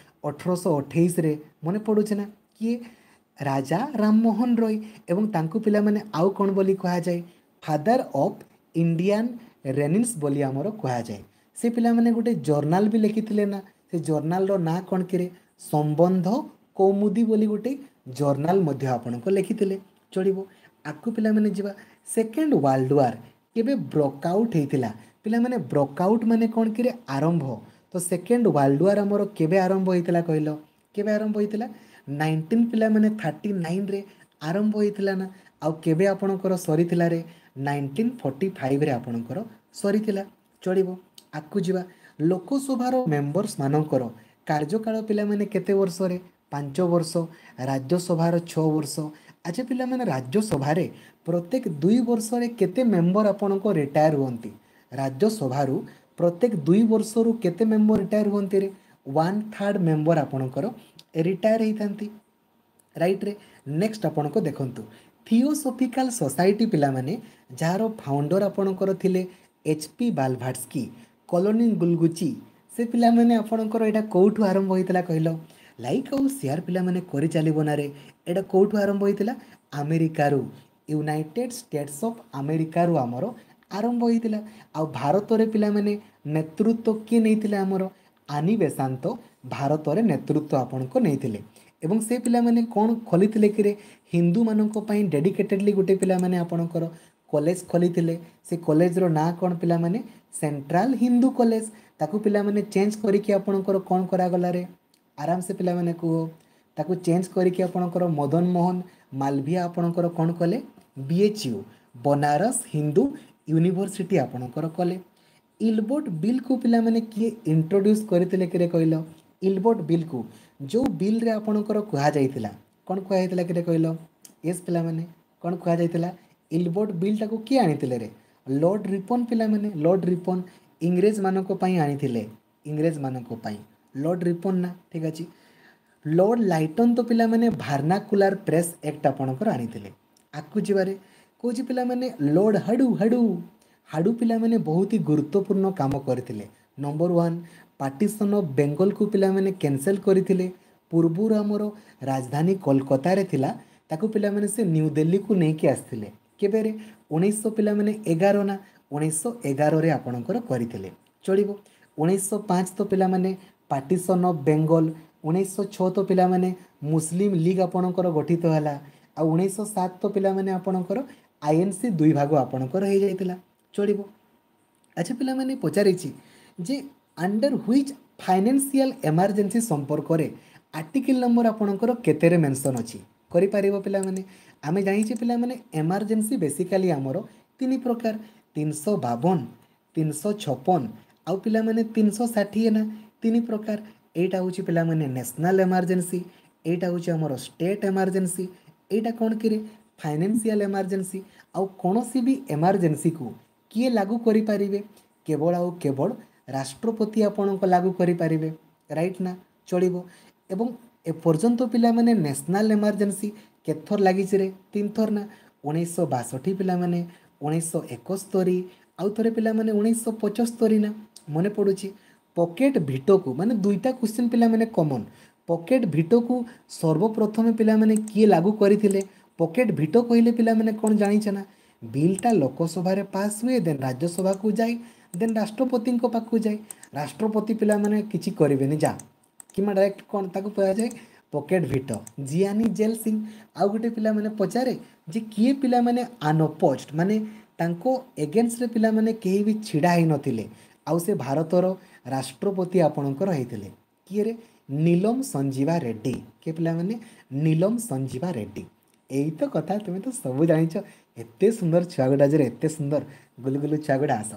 Speaker 1: 1828ରେ। ମନେ ପଡ଼ୁଛି ନା? କିଏ? ରାଜା ରାମମୋହନ ରୟ। ଏବଂ ତାଙ୍କୁ ପିଲାମାନେ ଆଉ କ'ଣ ବୋଲି କୁହାଯାଏ? ଫାଦର ଅଫ୍ ଇଣ୍ଡିଆନ୍ ରେନିନ୍ସ ବୋଲି ଆମର କୁହାଯାଏ। ସେ ପିଲାମାନେ ଗୋଟେ ଜର୍ନାଲ ବି ଲେଖିଥିଲେ ନା, ସେ ଜର୍ନାଲର ନାଁ କ'ଣ କିରେ? ସମ୍ବନ୍ଧ କୌମୁଦୀ ବୋଲି ଗୋଟେ ଜର୍ନାଲ ମଧ୍ୟ ଆପଣଙ୍କ ଲେଖିଥିଲେ, ଚଳିବ। ଆଗକୁ ପିଲାମାନେ ଯିବା। ସେକେଣ୍ଡ ୱାର୍ଲଡ ୱାର୍ କେବେ ବ୍ରକଆଉଟ୍ ହେଇଥିଲା? ପିଲାମାନେ ବ୍ରକଆଉଟ୍ ମାନେ କ'ଣ କିରେ? ଆରମ୍ଭ। ତ ସେକେଣ୍ଡ ୱାର୍ଲଡ ୱାର୍ ଆମର କେବେ ଆରମ୍ଭ ହେଇଥିଲା କହିଲ? କେବେ ଆରମ୍ଭ ହେଇଥିଲା? 19 ପିଲାମାନେ 39ରେ ଆରମ୍ଭ ହେଇଥିଲା ନା। ଆଉ କେବେ ଆପଣଙ୍କର ସରିଥିଲା ରେ? 1945ରେ ଆପଣଙ୍କର ସରିଥିଲା, ଚଳିବ। ଆଗକୁ ଯିବା। ଲୋକସଭାର ମେମ୍ବର୍ସ ମାନଙ୍କର କାର୍ଯ୍ୟକାଳ ପିଲାମାନେ କେତେ ବର୍ଷରେ? 5 ବର୍ଷ। ରାଜ୍ୟସଭାର 6 ବର୍ଷ। ଆଚ୍ଛା ପିଲାମାନେ, ରାଜ୍ୟସଭାରେ ପ୍ରତ୍ୟେକ 2 ବର୍ଷରେ କେତେ ମେମ୍ବର ଆପଣଙ୍କ ରିଟାୟାର ହୁଅନ୍ତି? ରାଜ୍ୟସଭାରୁ ପ୍ରତ୍ୟେକ 2 ବର୍ଷରୁ କେତେ ମେମ୍ବର ରିଟାୟାର ହୁଅନ୍ତି ରେ? 1/3 ମେମ୍ବର ଆପଣଙ୍କର ରିଟାୟାର ହେଇଥାନ୍ତି, ରାଇଟ୍ରେ। ନେକ୍ସଟ ଆପଣଙ୍କୁ ଦେଖନ୍ତୁ, ଥିଓସଫିକାଲ ସୋସାଇଟି ପିଲାମାନେ ଯାହାର ଫାଉଣ୍ଡର ଆପଣଙ୍କର ଥିଲେ ଏଚ୍ ପି ବାଲଭାଟ୍ସ୍କି, କଲୋନି ଗୁଲଗୁଚି, ସେ ପିଲାମାନେ ଆପଣଙ୍କର ଏଇଟା କେଉଁଠୁ ଆରମ୍ଭ ହେଇଥିଲା କହିଲ? ଲାଇକ୍ ଆଉ ସେୟାର ପିଲାମାନେ କରିଚାଲିବ ନାରେ। ଏଇଟା କେଉଁଠୁ ଆରମ୍ଭ ହେଇଥିଲା? ଆମେରିକାରୁ, ୟୁନାଇଟେଡ୍ ଷ୍ଟେଟ୍ସ ଅଫ୍ ଆମେରିକାରୁ ଆମର ଆରମ୍ଭ ହେଇଥିଲା। ଆଉ ଭାରତରେ ପିଲାମାନେ ନେତୃତ୍ୱ କିଏ ନେଇଥିଲେ? ଆମର ଆନି ବେସାନ୍ତ ଭାରତରେ ନେତୃତ୍ୱ ଆପଣଙ୍କ ନେଇଥିଲେ। ଏବଂ ସେ ପିଲାମାନେ କ'ଣ ଖୋଲିଥିଲେ କିରେ? ହିନ୍ଦୁମାନଙ୍କ ପାଇଁ ଡେଡିକେଟେଡ଼ଲି ଗୋଟେ ପିଲାମାନେ ଆପଣଙ୍କର କଲେଜ ଖୋଲିଥିଲେ। ସେ କଲେଜର ନାଁ କ'ଣ ପିଲାମାନେ? Central Hindu college. ତାକୁ ପିଲାମାନେ ଚେଞ୍ଜ କରିକି ଆପଣଙ୍କର କ'ଣ କରାଗଲାରେ? ଆରାମସେ ପିଲାମାନେ କୁହ। ତାକୁ ଚେଞ୍ଜ କରିକି ଆପଣଙ୍କର ମଦନ ମୋହନ ମାଲଭିଆ ଆପଣଙ୍କର କ'ଣ କଲେ? B H U, Banaras Hindu university ଆପଣଙ୍କର କଲେ। ଇଲବର୍ଟ ବିଲ୍କୁ ପିଲାମାନେ କିଏ ଇଣ୍ଟ୍ରୋଡ୍ୟୁସ୍ କରିଥିଲେ କିରେ କହିଲ? ଇଲବର୍ଟ ବିଲ୍କୁ, ଯେଉଁ ବିଲ୍ରେ ଆପଣଙ୍କର କୁହାଯାଇଥିଲା, କ'ଣ କୁହାଯାଇଥିଲା କିରେ କହିଲ? ୟେସ୍ ପିଲାମାନେ, କ'ଣ କୁହାଯାଇଥିଲା? ଇଲବର୍ଟ ବିଲ୍ଟାକୁ କିଏ ଆଣିଥିଲେ ରେ? ଲର୍ଡ଼ ରିପନ୍ ପିଲାମାନେ, ଲର୍ଡ଼ ରିପନ୍ ଇଂରେଜମାନଙ୍କ ପାଇଁ ଆଣିଥିଲେ, ଇଂରେଜମାନଙ୍କ ପାଇଁ ଲର୍ଡ଼ ରିପନ୍ ନା, ଠିକ୍ ଅଛି। ଲର୍ଡ଼ ଲାଇଟନ୍ ତ ପିଲାମାନେ ଭାର୍ନାକୁଲାର ପ୍ରେସ୍ ଆକ୍ଟ ଆପଣଙ୍କର ଆଣିଥିଲେ। ଆଗକୁ ଯିବାରେ କହୁଛି ପିଲାମାନେ, ଲର୍ଡ଼ ହାଡୁ ହାଡୁ ହାଡୁ ପିଲାମାନେ ବହୁତ ହି ଗୁରୁତ୍ୱପୂର୍ଣ୍ଣ କାମ କରିଥିଲେ। ନମ୍ବର 1, ପାର୍ଟିସନ୍ ଅଫ୍ ବେଙ୍ଗଲକୁ ପିଲାମାନେ କ୍ୟାନସେଲ୍ କରିଥିଲେ। ପୂର୍ବରୁ ଆମର ରାଜଧାନୀ କୋଲକାତାରେ ଥିଲା, ତାକୁ ପିଲାମାନେ ସେ ନ୍ୟୁ ଦିଲ୍ଲୀକୁ ନେଇକି ଆସିଥିଲେ। କେବେରେ? 1900 ପିଲାମାନେ 11 ନା, 1911ରେ ଆପଣଙ୍କର କରିଥିଲେ, ଚଳିବ। 1905 ତ ପିଲାମାନେ ପାର୍ଟିସନ୍ ଅଫ୍ ବେଙ୍ଗଲ। 1906 ତ ପିଲାମାନେ ମୁସଲିମ ଲିଗ୍ ଆପଣଙ୍କର ଗଠିତ ହେଲା। ଆଉ 1907 ତ ପିଲାମାନେ ଆପଣଙ୍କର ଆଇଏନ୍ସି ଦୁଇ ଭାଗ ଆପଣଙ୍କର ହେଇଯାଇଥିଲା, ଚଳିବ। ଆଚ୍ଛା ପିଲାମାନେ, ପଚାରିଛି ଯେ ଅଣ୍ଡର which financial emergency ସମ୍ପର୍କରେ ଆର୍ଟିକିଲ୍ ନମ୍ବର ଆପଣଙ୍କର କେତେରେ ମେନସନ୍ ଅଛି? କରିପାରିବ ପିଲାମାନେ? ଆମେ ଜାଣିଛେ ପିଲାମାନେ, ଏମର୍ଜେନ୍ସି ବେସିକାଲି ଆମର 3 ପ୍ରକାର, 352, 356 ଆଉ ପିଲାମାନେ 360 ନା, 3 ପ୍ରକାର। ଏଇଟା ହେଉଛି ପିଲାମାନେ ନ୍ୟାସନାଲ୍ ଏମର୍ଜେନ୍ସି, ଏଇଟା ହେଉଛି ଆମର ଷ୍ଟେଟ୍ ଏମର୍ଜେନ୍ସି, ଏଇଟା କ'ଣ କିରେ? Financial emergency. ଆଉ କୌଣସି ବି ଏମର୍ଜେନ୍ସିକୁ କିଏ ଲାଗୁ କରିପାରିବେ? କେବଳ ଆଉ କେବଳ ରାଷ୍ଟ୍ରପତି ଆପଣଙ୍କ ଲାଗୁ କରିପାରିବେ, ରାଇଟ୍ ନା, ଚଳିବ। ଏବଂ ଏପର୍ଯ୍ୟନ୍ତ ପିଲାମାନେ ନ୍ୟାସନାଲ୍ ଏମର୍ଜେନ୍ସି କେତେଥର ଲାଗିଛି ରେ? 3 ଥର ନା, 1962 ପିଲାମାନେ, 1971 ଆଉ ଥରେ ପିଲାମାନେ 1975 ନା, ମନେ ପଡ଼ୁଛି। ପକେଟ୍ ଭିଟୋକୁ ମାନେ ଦୁଇଟା କ୍ୱେଶ୍ଚିନ୍ ପିଲାମାନେ କମନ୍। ପକେଟ୍ ଭିଟୋକୁ ସର୍ବପ୍ରଥମେ ପିଲାମାନେ କିଏ ଲାଗୁ କରିଥିଲେ? ପକେଟ୍ ଭିଟୋ କହିଲେ ପିଲାମାନେ କ'ଣ ଜାଣିଛ ନା? ବିଲ୍ଟା ଲୋକସଭାରେ ପାସ୍ ହୁଏ, ଦେନ୍ ରାଜ୍ୟସଭାକୁ ଯାଏ, ଦେନ୍ ରାଷ୍ଟ୍ରପତିଙ୍କ ପାଖକୁ ଯାଏ। ରାଷ୍ଟ୍ରପତି ପିଲାମାନେ କିଛି କରିବେନି ଯା, କିମ୍ବା ଡାଇରେକ୍ଟ କ'ଣ ତାକୁ କୁହାଯାଏ? Pocket veto, Giani jail Singh. ଆଉ ଗୋଟେ ପିଲାମାନେ ପଚାରେ ଯେ କିଏ ପିଲାମାନେ ଅନଅପୋଜ୍ଡ, ମାନେ ତାଙ୍କ ଏଗେନଷ୍ଟରେ ପିଲାମାନେ କେହି ବି ଛିଡ଼ା ହେଇନଥିଲେ ଆଉ ସେ ଭାରତର ରାଷ୍ଟ୍ରପତି ଆପଣଙ୍କର ହେଇଥିଲେ, କିଏରେ? ନୀଲମ ସଞ୍ଜୀବା ରେଡ୍ଡି। କିଏ ପିଲାମାନେ? ନୀଲମ ସଞ୍ଜୀବା ରେଡ୍ଡି। ଏଇ ତ କଥା, ତୁମେ ତ ସବୁ ଜାଣିଛ। ଏତେ ସୁନ୍ଦର ଛୁଆଗୁଡ଼ା ଯେ, ଏତେ ସୁନ୍ଦର ଗୁଲୁଗୁଲୁ ଛୁଆଗୁଡ଼ା। ଆସ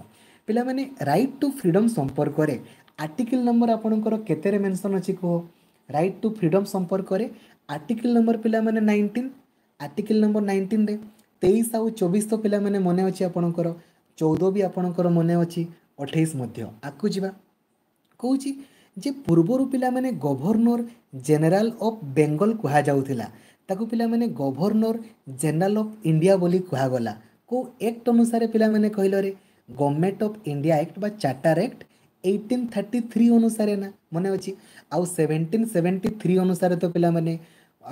Speaker 1: ପିଲାମାନେ, ରାଇଟ୍ ଟୁ ଫ୍ରିଡ଼ମ୍ ସମ୍ପର୍କରେ ଆର୍ଟିକିଲ୍ ନମ୍ବର ଆପଣଙ୍କର କେତେରେ ମେନସନ୍ ଅଛି କୁହ? ରାଇଟ୍ ଟୁ ଫ୍ରିଡ଼ମ୍ ସମ୍ପର୍କରେ ଆର୍ଟିକିଲ୍ ନମ୍ବର ପିଲାମାନେ 19, ଆର୍ଟିକିଲ୍ ନମ୍ବର 19ରେ। 23 ଆଉ 24 ତ ପିଲାମାନେ ମନେ ଅଛି ଆପଣଙ୍କର, 14 ବି ଆପଣଙ୍କର ମନେ ଅଛି, 28 ମଧ୍ୟ। ଆଗକୁ ଯିବା। କହୁଛି ଯେ ପୂର୍ବରୁ ପିଲାମାନେ ଗଭର୍ଣ୍ଣର ଜେନେରାଲ ଅଫ୍ ବେଙ୍ଗଲ କୁହାଯାଉଥିଲା, ତାକୁ ପିଲାମାନେ ଗଭର୍ଣ୍ଣର ଜେନେରାଲ ଅଫ୍ ଇଣ୍ଡିଆ ବୋଲି କୁହାଗଲା। କେଉଁ ଆକ୍ଟ ଅନୁସାରେ ପିଲାମାନେ କହିଲରେ? ଗଭର୍ଣ୍ଣମେଣ୍ଟ ଅଫ୍ ଇଣ୍ଡିଆ ଆକ୍ଟ ବା ଚାର୍ଟାର ଆକ୍ଟ 1833 ଅନୁସାରେ ନା, ମନେ ଅଛି। ଆଉ 1773 ଅନୁସାରେ ତ ପିଲାମାନେ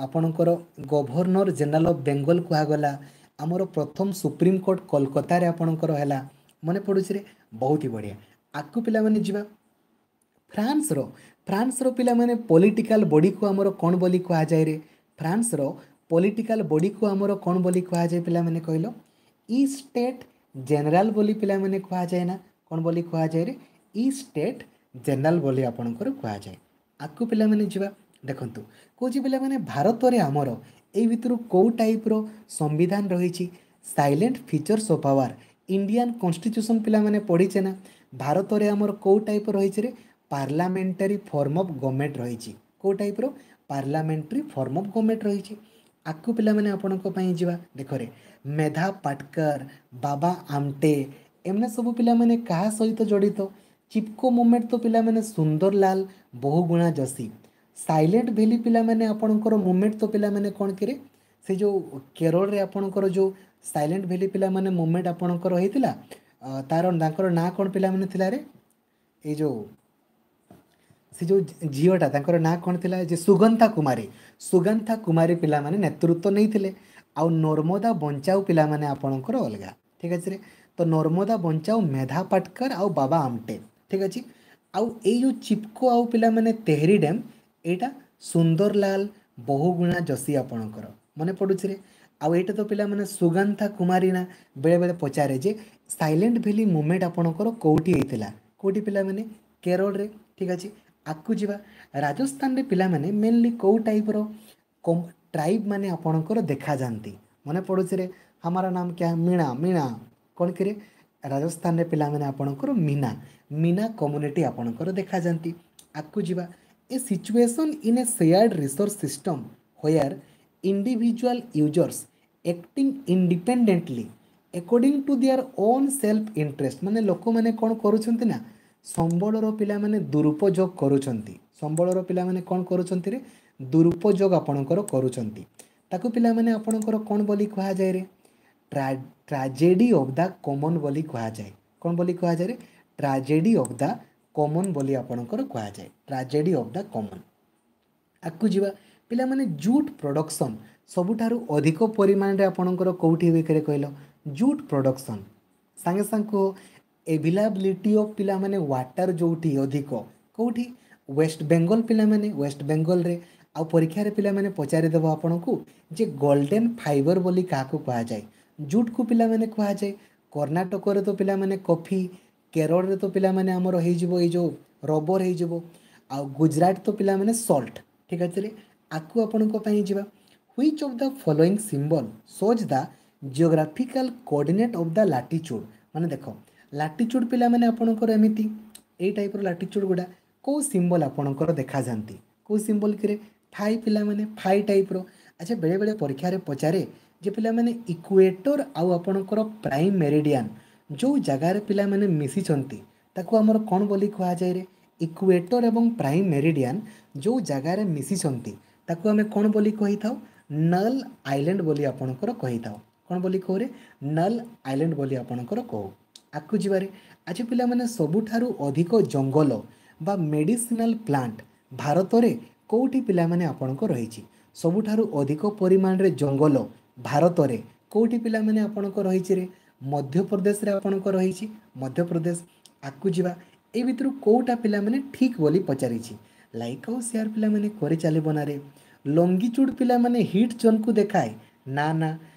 Speaker 1: ଆପଣଙ୍କର ଗଭର୍ଣ୍ଣର ଜେନେରାଲ ଅଫ୍ ବେଙ୍ଗଲ କୁହାଗଲା। ଆମର ପ୍ରଥମ ସୁପ୍ରିମକୋର୍ଟ କୋଲକାତାରେ ଆପଣଙ୍କର ହେଲା, ମନେ ପଡ଼ୁଛି ରେ? ବହୁତ ହି ବଢ଼ିଆ। ଆଗକୁ ପିଲାମାନେ ଯିବା। ଫ୍ରାନ୍ସର ପିଲାମାନେ ପଲିଟିକାଲ ବଡ଼ିକୁ ଆମର କ'ଣ ବୋଲି କୁହାଯାଏ ରେ? ଫ୍ରାନ୍ସର ପଲିଟିକାଲ ବଡ଼ିକୁ ଆମର କ'ଣ ବୋଲି କୁହାଯାଏ ପିଲାମାନେ କହିଲ? ଇ ଷ୍ଟେଟ୍ ଜେନେରାଲ ବୋଲି ପିଲାମାନେ କୁହାଯାଏ ନା। କ'ଣ ବୋଲି କୁହାଯାଏ ରେ? ଇ ଷ୍ଟେଟ୍ ଜେନେରାଲ ବୋଲି ଆପଣଙ୍କର କୁହାଯାଏ। ଆଗକୁ ପିଲାମାନେ ଯିବା। ଦେଖନ୍ତୁ, କହୁଛି ପିଲାମାନେ, ଭାରତରେ ଆମର ଏଇ ଭିତରୁ କେଉଁ ଟାଇପ୍ର ସମ୍ବିଧାନ ରହିଛି? Salient features of our Indian constitution ପିଲାମାନେ ପଢ଼ିଛେ ନା? ଭାରତରେ ଆମର କେଉଁ ଟାଇପ୍ ରହିଛି ରେ? ପାର୍ଲାମେଣ୍ଟାରୀ ଫର୍ମ ଅଫ୍ ଗଭର୍ଣ୍ଣମେଣ୍ଟ ରହିଛି। କେଉଁ ଟାଇପ୍ର? ପାର୍ଲାମେଣ୍ଟାରୀ ଫର୍ମ ଅଫ୍ ଗଭର୍ଣ୍ଣମେଣ୍ଟ ରହିଛି। ଆଗକୁ ପିଲାମାନେ ଆପଣଙ୍କ ପାଇଁ ଯିବା। ଦେଖରେ, ମେଧା ପାଟକର, ବାବା ଆମଟେ ଏମାନେ ସବୁ ପିଲାମାନେ କାହା ସହିତ ଜଡ଼ିତ? ଚିପକୋ ମୁଭମେଣ୍ଟ ତ ପିଲାମାନେ ସୁନ୍ଦରଲାଲ ବହୁଗୁଣା ଯୋଶୀ। ସାଇଲେଣ୍ଟ ଭ୍ୟାଲି ପିଲାମାନେ ଆପଣଙ୍କର ମୁଭମେଣ୍ଟ ତ ପିଲାମାନେ କ'ଣ କିରେ? ସେ ଯେଉଁ କେରଳରେ ଆପଣଙ୍କର ଯେଉଁ ସାଇଲେଣ୍ଟ ଭ୍ୟାଲି ପିଲାମାନେ ମୁଭମେଣ୍ଟ ଆପଣଙ୍କର ହେଇଥିଲା, ତାର ତାଙ୍କର ନାଁ କ'ଣ ପିଲାମାନେ ଥିଲା ରେ? ଏଇ ଯେଉଁ ସେ ଯେଉଁ ଝିଅଟା, ତାଙ୍କର ନାଁ କ'ଣ ଥିଲା ଯେ? ସୁଗନ୍ଥା କୁମାରୀ। ସୁଗନ୍ଥା କୁମାରୀ ପିଲାମାନେ ନେତୃତ୍ୱ ନେଇଥିଲେ। ଆଉ ନର୍ମଦା ବଞ୍ଚାଉ ପିଲାମାନେ ଆପଣଙ୍କର ଅଲଗା, ଠିକ୍ ଅଛି ରେ? ତ ନର୍ମଦା ବଞ୍ଚାଉ ମେଧା ପାଟକର ଆଉ ବାବା ଆମଟେ, ଠିକ୍ ଅଛି। ଆଉ ଏଇ ଯେଉଁ ଚିପକୋ ଆଉ ପିଲାମାନେ ତେହରି ଡ୍ୟାମ୍, ଏଇଟା ସୁନ୍ଦରଲାଲ ବହୁଗୁଣା ଯୋଶୀ ଆପଣଙ୍କର, ମନେ ପଡ଼ୁଛି ରେ? ଆଉ ଏଇଟା ତ ପିଲାମାନେ ସୁଗନ୍ଥା କୁମାରୀ ନା। ବେଳେବେଳେ ପଚାରେ ଯେ ସାଇଲେଣ୍ଟ ଭ୍ୟାଲି ମୁଭମେଣ୍ଟ ଆପଣଙ୍କର କେଉଁଠି ହେଇଥିଲା? କେଉଁଠି ପିଲାମାନେ? କେରଳରେ, ଠିକ୍ ଅଛି। ଆଗକୁ ଯିବା। ରାଜସ୍ଥାନରେ ପିଲାମାନେ ମେନଲି କେଉଁ ଟାଇପ୍ର ଟ୍ରାଇବ୍ ମାନେ ଆପଣଙ୍କର ଦେଖାଯାଆନ୍ତି? ମନେ ପଡ଼ୁଛି ରେ? हमारा नाम क्या? ମୀଣା। ମୀଣା କ'ଣ କିରେ? ରାଜସ୍ଥାନରେ ପିଲାମାନେ ଆପଣଙ୍କର ମୀନା, ମୀନା କମ୍ୟୁନିଟି ଆପଣଙ୍କର ଦେଖାଯାଆନ୍ତି। ଆଗକୁ ଯିବା। A situation in a shared resource system where Individual users acting independently according to their own self interest। ମାନେ ଲୋକମାନେ କ'ଣ କରୁଛନ୍ତି ନା, ସମ୍ବଳର ପିଲାମାନେ ଦୁରୁପଯୋଗ କରୁଛନ୍ତି। ସମ୍ବଳର ପିଲାମାନେ କ'ଣ କରୁଛନ୍ତି ରେ? ଦୁରୁପଯୋଗ ଆପଣଙ୍କର କରୁଛନ୍ତି। ତାକୁ ପିଲାମାନେ ଆପଣଙ୍କର କ'ଣ ବୋଲି କୁହାଯାଏ ରେ? ଟ୍ରାଜେଡି ଅଫ୍ the common ବୋଲି କୁହାଯାଏ। କ'ଣ ବୋଲି କୁହାଯାଏ ରେ? ଟ୍ରାଜେଡି ଅଫ୍ the common ବୋଲି ଆପଣଙ୍କର କୁହାଯାଏ, ଟ୍ରାଜେଡି ଅଫ୍ the common. ଆଗକୁ ଯିବା ପିଲାମାନେ। ଜୁଟ୍ ପ୍ରଡକ୍ସନ୍ ସବୁଠାରୁ ଅଧିକ ପରିମାଣରେ ଆପଣଙ୍କର କେଉଁଠି ହୁଏ କହିଲ? ଜୁଟ୍ ପ୍ରଡକ୍ସନ୍ ସାଙ୍ଗେ ସାଙ୍ଗେ କୁହ। ଏଭିଲାବିଲିଟି ଅଫ୍ ପିଲାମାନେ ୱାଟର ଯେଉଁଠି ଅଧିକ କେଉଁଠି? ୱେଷ୍ଟ ବେଙ୍ଗଲ ପିଲାମାନେ, ୱେଷ୍ଟ ବେଙ୍ଗଲରେ। ଆଉ ପରୀକ୍ଷାରେ ପିଲାମାନେ ପଚାରିଦେବ ଆପଣଙ୍କୁ ଯେ ଗୋଲ୍ଡେନ୍ ଫାଇବର ବୋଲି କାହାକୁ କୁହାଯାଏ? ଜୁଟ୍କୁ ପିଲାମାନେ କୁହାଯାଏ। କର୍ଣ୍ଣାଟକରେ ତ ପିଲାମାନେ କଫି, କେରଳରେ ତ ପିଲାମାନେ ଆମର ହେଇଯିବ ଏଇ ଯେଉଁ ରବର ହେଇଯିବ, ଆଉ ଗୁଜରାଟ ତ ପିଲାମାନେ ସଲ୍ଟ। ଠିକ୍ ଅଛି, ଆଗକୁ ଆପଣଙ୍କ ପାଇଁ ଯିବା। Which of the following symbol shows the geographical coordinate of the latitude? ମାନେ ଦେଖ, ଲାଟିଚ୍ୟୁଡ଼ ପିଲାମାନେ ଆପଣଙ୍କର ଏମିତି ଏଇ ଟାଇପ୍ର ଲାଟିଚ୍ୟୁଡ଼ ଗୁଡ଼ା କେଉଁ ସିମ୍ବଲ୍ ଆପଣଙ୍କର ଦେଖାଯାଆନ୍ତି? କେଉଁ ସିମ୍ବଲ୍ କିରେ? ଫାଇ ପିଲାମାନେ, ଫାଇ ଟାଇପ୍ର। ଆଚ୍ଛା, ବେଳେବେଳେ ପରୀକ୍ଷାରେ ପଚାରେ ଯେ ପିଲାମାନେ ଇକୁଏଟର ଆଉ ଆପଣଙ୍କର ପ୍ରାଇମ୍ ମେରିଡ଼ିଆନ୍ ଯେଉଁ ଜାଗାରେ ପିଲାମାନେ ମିଶିଛନ୍ତି ତାକୁ ଆମର କ'ଣ ବୋଲି କୁହାଯାଏ ରେ? ଇକୁଏଟର ଏବଂ ପ୍ରାଇମ୍ ମେରିଡ଼ିଆନ୍ ଯେଉଁ ଜାଗାରେ ମିଶିଛନ୍ତି ତାକୁ ଆମେ କ'ଣ ବୋଲି କହିଥାଉ? ନଲ୍ ଆଇଲ୍ୟାଣ୍ଡ ବୋଲି ଆପଣଙ୍କର କହିଥାଉ। କ'ଣ ବୋଲି କହୁରେ? ନଲ୍ ଆଇଲ୍ୟାଣ୍ଡ ବୋଲି ଆପଣଙ୍କର କହୁ। ଆଗକୁ ଯିବାରେ। ଆଚ୍ଛା ପିଲାମାନେ, ସବୁଠାରୁ ଅଧିକ ଜଙ୍ଗଲ ବା ମେଡ଼ିସିନାଲ ପ୍ଲାଣ୍ଟ ଭାରତରେ କେଉଁଠି ପିଲାମାନେ ଆପଣଙ୍କ ରହିଛି? ସବୁଠାରୁ ଅଧିକ ପରିମାଣରେ ଜଙ୍ଗଲ ଭାରତରେ କେଉଁଠି ପିଲାମାନେ ଆପଣଙ୍କ ରହିଛି ରେ? ମଧ୍ୟପ୍ରଦେଶରେ ଆପଣଙ୍କ ରହିଛି, ମଧ୍ୟପ୍ରଦେଶ। ଆଗକୁ ଯିବା। ଏଇ ଭିତରୁ କେଉଁଟା ପିଲାମାନେ ଠିକ୍ ବୋଲି ପଚାରିଛି। ଲାଇକ୍ ଆଉ ସେୟାର ପିଲାମାନେ କରିଚାଲିବ ନାରେ। ଲଙ୍ଗିଚୁଡ଼ ପିଲାମାନେ ହିଟ୍ ଜୋନ୍କୁ ଦେଖାଏ ନା? ନା,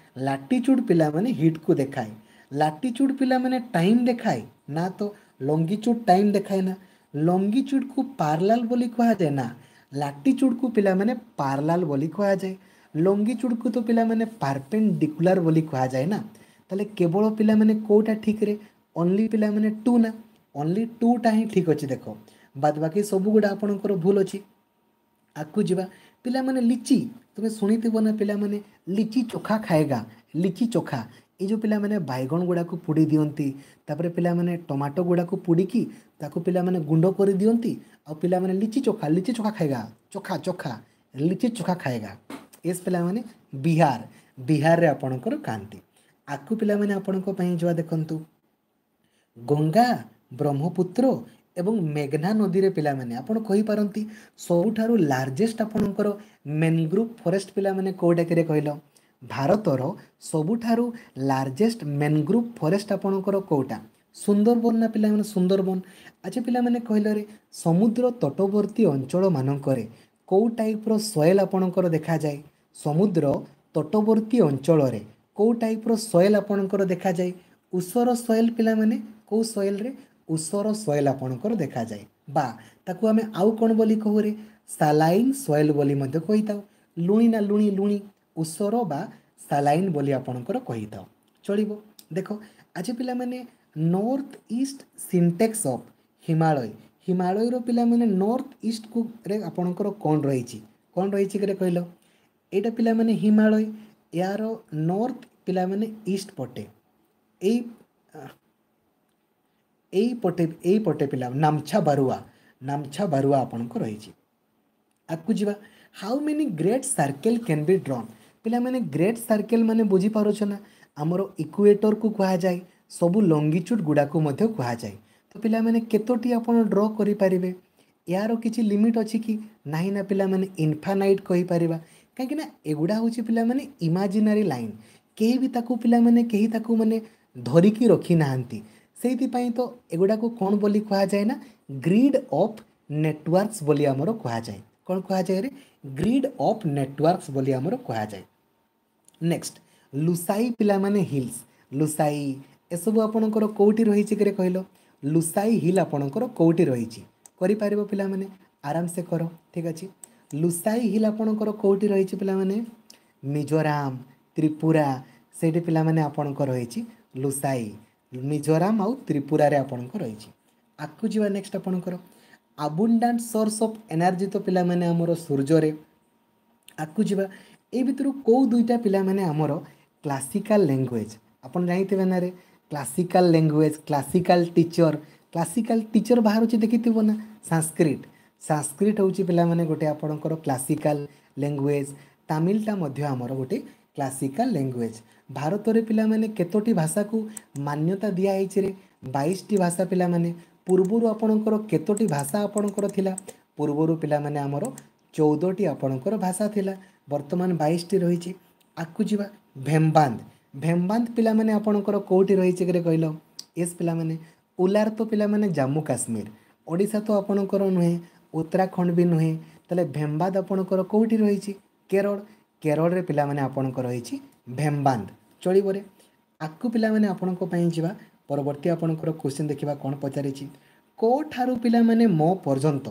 Speaker 1: ଲାଟିଚ୍ୟୁଡ଼ ପିଲାମାନେ ହିଟ୍କୁ ଦେଖାଏ। ଲାଟିଚ୍ୟୁଡ଼ ପିଲାମାନେ ଟାଇମ୍ ଦେଖାଏ ନା? ତ ଲଙ୍ଗିଚୁଡ଼ ଟାଇମ୍ ଦେଖାଏ ନା। ଲଙ୍ଗିଚୁଡ଼କୁ ପାର୍ଲାଲ ବୋଲି କୁହାଯାଏ ନା? ଲାଟିଚ୍ୟୁଡ଼କୁ ପିଲାମାନେ ପାର୍ଲାଲ ବୋଲି କୁହାଯାଏ। ଲଙ୍ଗିଚୁଡ଼କୁ ତ ପିଲାମାନେ ପାର୍ପେଣ୍ଡିକୁଲାର ବୋଲି କୁହାଯାଏ ନା। ତାହେଲେ କେବଳ ପିଲାମାନେ କେଉଁଟା ଠିକ୍ରେ? ଓନ୍ଲି ପିଲାମାନେ ଟୁ ନା, ଓନ୍ଲି ଟୁଟା ହିଁ ଠିକ୍ ଅଛି। ଦେଖ, ବାଦ ବାକି ସବୁଗୁଡ଼ା ଆପଣଙ୍କର ଭୁଲ ଅଛି। ଆଗକୁ ଯିବା ପିଲାମାନେ। ଲିଚି ତୁମେ ଶୁଣିଥିବ ନା ପିଲାମାନେ, ଲିଚି ଚୋଖା ଖାଏଗା, ଲିଚି ଚୋଖା। ଏଇ ଯେଉଁ ପିଲାମାନେ ବାଇଗଣ ଗୁଡ଼ାକୁ ପୋଡ଼ି ଦିଅନ୍ତି, ତାପରେ ପିଲାମାନେ ଟମାଟୋ ଗୁଡ଼ାକୁ ପୋଡ଼ିକି ତାକୁ ପିଲାମାନେ ଗୁଣ୍ଡ କରିଦିଅନ୍ତି, ଆଉ ପିଲାମାନେ ଲିଚି ଚୋଖା, ଲିଚି ଚୋଖା ଖାଏଗା, ଚୋଖା ଚୋଖା, ଲିଚି ଚୋଖା ଖାଏଗା। ଏସ୍ ପିଲାମାନେ, ବିହାର, ବିହାରରେ ଆପଣଙ୍କର ଖାଆନ୍ତି। ଆଗକୁ ପିଲାମାନେ ଆପଣଙ୍କ ପାଇଁ ଯିବା। ଦେଖନ୍ତୁ, ଗଙ୍ଗା, ବ୍ରହ୍ମପୁତ୍ର ଏବଂ ମେଘନା ନଦୀରେ ପିଲାମାନେ ଆପଣ କହିପାରନ୍ତି ସବୁଠାରୁ ଲାର୍ଜେଷ୍ଟ ଆପଣଙ୍କର ମେନଗ୍ରୁଭ୍ ଫରେଷ୍ଟ ପିଲାମାନେ କେଉଁଟାକିରେ କହିଲ? ଭାରତର ସବୁଠାରୁ ଲାର୍ଜେଷ୍ଟ ମେନଗ୍ରୁଭ୍ ଫରେଷ୍ଟ ଆପଣଙ୍କର କେଉଁଟା? ସୁନ୍ଦରବନ ନା ପିଲାମାନେ, ସୁନ୍ଦରବନ। ଆଚ୍ଛା ପିଲାମାନେ କହିଲରେ, ସମୁଦ୍ର ତଟବର୍ତ୍ତୀ ଅଞ୍ଚଳମାନଙ୍କରେ କେଉଁ ଟାଇପ୍ର ସଏଲ୍ ଆପଣଙ୍କର ଦେଖାଯାଏ? ସମୁଦ୍ର ତଟବର୍ତ୍ତୀ ଅଞ୍ଚଳରେ କେଉଁ ଟାଇପ୍ର ସଏଲ୍ ଆପଣଙ୍କର ଦେଖାଯାଏ? ଉଷର ସଏଲ୍ ପିଲାମାନେ। କେଉଁ ସଏଲ୍ରେ? ଉଷର ସଏଲ୍ ଆପଣଙ୍କର ଦେଖାଯାଏ, ବା ତାକୁ ଆମେ ଆଉ କ'ଣ ବୋଲି କହୁରେ? ସାଲାଇନ୍ ସଏଲ୍ ବୋଲି ମଧ୍ୟ କହିଥାଉ। ଲୁଣି ନା, ଲୁଣି, ଲୁଣି, ଉଷର ବା ସାଲାଇନ୍ ବୋଲି ଆପଣଙ୍କର କହିଥାଉ। ଚଳିବ। ଦେଖ ଆଜି ପିଲାମାନେ, north east syntax of Himalaya. ହିମାଳୟର ପିଲାମାନେ ନର୍ଥ ଇଷ୍ଟକୁ ରେ ଆପଣଙ୍କର କ'ଣ ରହିଛି? କ'ଣ ରହିଛି କିରେ କହିଲ? ଏଇଟା ପିଲାମାନେ ହିମାଳୟ, ଏହାର ନର୍ଥ ପିଲାମାନେ ଇଷ୍ଟ ପଟେ, ଏଇ ଏଇପଟେ, ଏଇପଟେ ପିଲା ନାମଛା ବାରୁଆ, ନାମଛା ବାରୁଆ ଆପଣଙ୍କ ରହିଛି। ଆଗକୁ ଯିବା। How many great circle can be drawn? ପିଲାମାନେ, ଗ୍ରେଟ୍ ସାର୍କେଲ୍ ମାନେ ବୁଝିପାରୁଛ ନା? ଆମର ଇକୁଏଟରକୁ କୁହାଯାଏ, ସବୁ ଲଙ୍ଗିଚୁଡ଼ ଗୁଡ଼ାକୁ ମଧ୍ୟ କୁହାଯାଏ। ତ ପିଲାମାନେ କେତୋଟି ଆପଣ ଡ୍ର କରିପାରିବେ? ଏହାର କିଛି ଲିମିଟ୍ ଅଛି କି ନାହିଁ? ନା ପିଲାମାନେ, ଇନଫାନାଇଟ୍ କହିପାରିବା, କାହିଁକିନା ଏଗୁଡ଼ା ହେଉଛି ପିଲାମାନେ ଇମାଜିନାରୀ ଲାଇନ୍। କେହି ବି ତାକୁ ପିଲାମାନେ, କେହି ତାକୁ ମାନେ ଧରିକି ରଖିନାହାନ୍ତି। ସେଇଥିପାଇଁ ତ ଏଗୁଡ଼ାକୁ କ'ଣ ବୋଲି କୁହାଯାଏ ନା, ଗ୍ରିଡ୍ ଅଫ୍ ନେଟୱାର୍କସ୍ ବୋଲି ଆମର କୁହାଯାଏ। କ'ଣ କୁହାଯାଏ ରେ? ଗ୍ରିଡ୍ ଅଫ୍ ନେଟୱାର୍କସ୍ ବୋଲି ଆମର କୁହାଯାଏ। ନେକ୍ସଟ, ଲୁସାଇ ପିଲାମାନେ ହିଲ୍ସ, ଲୁସାଇ ଏସବୁ ଆପଣଙ୍କର କେଉଁଠି ରହିଛି କିରେ କହିଲ? ଲୁସାଇ ହିଲ୍ ଆପଣଙ୍କର କେଉଁଠି ରହିଛି? କରିପାରିବ ପିଲାମାନେ, ଆରାମସେ କର। ଠିକ୍ ଅଛି। ଲୁସାଇ ହିଲ୍ ଆପଣଙ୍କର କେଉଁଠି ରହିଛି ପିଲାମାନେ? ମିଜୋରାମ, ତ୍ରିପୁରା, ସେଇଠି ପିଲାମାନେ ଆପଣଙ୍କର ରହିଛି ଲୁସାଇ। ମିଜୋରାମ ଆଉ ତ୍ରିପୁରାରେ ଆପଣଙ୍କ ରହିଛି। ଆଗକୁ ଯିବା। ନେକ୍ସଟ ଆପଣଙ୍କର ଆବୁଣ୍ଡାଣ୍ଟ ସୋର୍ସ ଅଫ୍ ଏନର୍ଜି ତ ପିଲାମାନେ ଆମର ସୂର୍ଯ୍ୟରେ। ଆଗକୁ ଯିବା। ଏଇ ଭିତରୁ କେଉଁ ଦୁଇଟା ପିଲାମାନେ ଆମର କ୍ଲାସିକାଲ ଲାଙ୍ଗୁଏଜ୍? ଆପଣ ଜାଣିଥିବେ ନା ରେ, classical language, classical teacher, classical teacher ବାହାରୁଛି ଦେଖିଥିବ ନା? ସାଂସ୍କ୍ରିଟ। ସାଂସ୍କ୍ରିଟ ହେଉଛି ପିଲାମାନେ ଗୋଟେ ଆପଣଙ୍କର କ୍ଲାସିକାଲ ଲାଙ୍ଗୁଏଜ୍। ତାମିଲଟା ମଧ୍ୟ ଆମର ଗୋଟେ କ୍ଲାସିକାଲ ଲାଙ୍ଗୁଏଜ୍। ଭାରତରେ ପିଲାମାନେ କେତୋଟି ଭାଷାକୁ ମାନ୍ୟତା ଦିଆହେଇଛି ରେ? 22ଟି ଭାଷା ପିଲାମାନେ। ପୂର୍ବରୁ ଆପଣଙ୍କର କେତୋଟି ଭାଷା ଆପଣଙ୍କର ଥିଲା? ପୂର୍ବରୁ ପିଲାମାନେ ଆମର 14ଟି ଆପଣଙ୍କର ଭାଷା ଥିଲା, ବର୍ତ୍ତମାନ 22ଟି ରହିଛି। ଆଗକୁ ଯିବା। ଭେମ୍ବାନ୍ଦ। ଭେମ୍ବାନ୍ଦ ପିଲାମାନେ ଆପଣଙ୍କର କେଉଁଠି ରହିଛି କିରେ କହିଲ? ଏସ୍ ପିଲାମାନେ, ଉଲାର ତ ପିଲାମାନେ ଜାମ୍ମୁ କାଶ୍ମୀର, ଓଡ଼ିଶା ତ ଆପଣଙ୍କର ନୁହେଁ, ଉତ୍ତରାଖଣ୍ଡ ବି ନୁହେଁ। ତାହେଲେ ଭେମ୍ବାଦ ଆପଣଙ୍କର କେଉଁଠି ରହିଛି? କେରଳ। କେରଳରେ ପିଲାମାନେ ଆପଣଙ୍କର ରହିଛି ଭେମ୍ବାନ୍ଦ। ଚଳିବରେ? ଆଗକୁ ପିଲାମାନେ ଆପଣଙ୍କ ପାଇଁ ଯିବା। ପରବର୍ତ୍ତୀ ଆପଣଙ୍କର କ୍ୱେଶ୍ଚିନ୍ ଦେଖିବା କ'ଣ ପଚାରିଛି। କ ଠାରୁ ପିଲାମାନେ ମ ପର୍ଯ୍ୟନ୍ତ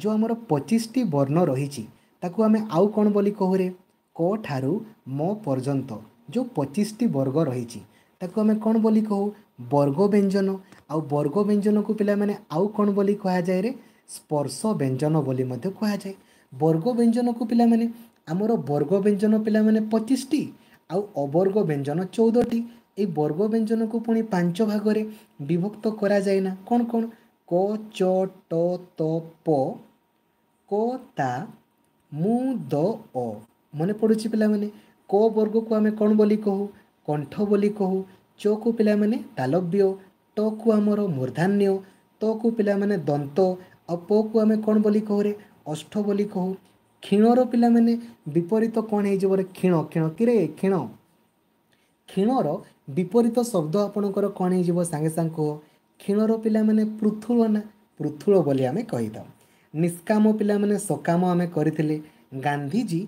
Speaker 1: ଯେଉଁ ଆମର 25ଟି ବର୍ଣ୍ଣ ରହିଛି, ତାକୁ ଆମେ ଆଉ କ'ଣ ବୋଲି କହୁରେ? କ ଠାରୁ ମ ପର୍ଯ୍ୟନ୍ତ ଯେଉଁ 25ଟି ବର୍ଗ ରହିଛି, ତାକୁ ଆମେ କ'ଣ ବୋଲି କହୁ? ବର୍ଗ ବ୍ୟଞ୍ଜନ। ଆଉ ବର୍ଗ ବ୍ୟଞ୍ଜନକୁ ପିଲାମାନେ ଆଉ କ'ଣ ବୋଲି କୁହାଯାଏ ରେ? ସ୍ପର୍ଶ ବ୍ୟଞ୍ଜନ ବୋଲି ମଧ୍ୟ କୁହାଯାଏ ବର୍ଗ ବ୍ୟଞ୍ଜନକୁ। ପିଲାମାନେ ଆମର ବର୍ଗ ବ୍ୟଞ୍ଜନ ପିଲାମାନେ 25ଟି ଆଉ ଅବର୍ଗ ବ୍ୟଞ୍ଜନ 14ଟି। ଏଇ ବର୍ଗ ବ୍ୟଞ୍ଜନକୁ ପୁଣି 5 ଭାଗରେ ବିଭକ୍ତ କରାଯାଏ ନା? କ'ଣ କ'ଣ? କ, ଚ, ଟ, ତ, ପ, କ, ତା, ମୁ, ଦ, ଅ। ମନେ ପଡ଼ୁଛି ପିଲାମାନେ? କ ବର୍ଗକୁ ଆମେ କ'ଣ ବୋଲି କହୁ? କଣ୍ଠ ବୋଲି କହୁ। ଚକୁ ପିଲାମାନେ ତାଲବ୍ୟ, ଟକୁ ଆମର ମୂର୍ଦ୍ଧାନ୍ୟ, ତକୁ ପିଲାମାନେ ଦନ୍ତ, ଆଉ ପକୁ ଆମେ କ'ଣ ବୋଲି କହୁରେ? ଅଷ୍ଠ ବୋଲି କହୁ। କ୍ଷୀଣର ପିଲାମାନେ ବିପରୀତ କ'ଣ ହେଇଯିବ ରେ? କ୍ଷୀଣ, କ୍ଷୀଣ କିରେ କ୍ଷୀଣ? କ୍ଷୀଣର ବିପରୀତ ଶବ୍ଦ ଆପଣଙ୍କର କ'ଣ ହେଇଯିବ? ସାଙ୍ଗେ ସାଙ୍ଗେ କୁହ। କ୍ଷୀଣର ପିଲାମାନେ ପୃଥୁଳ ନା? ପୃଥୁଳ ବୋଲି ଆମେ କହିଥାଉ। ନିଷ୍କାମ ପିଲାମାନେ ସକାମ ଆମେ କରିଥିଲେ। ଗାନ୍ଧିଜୀ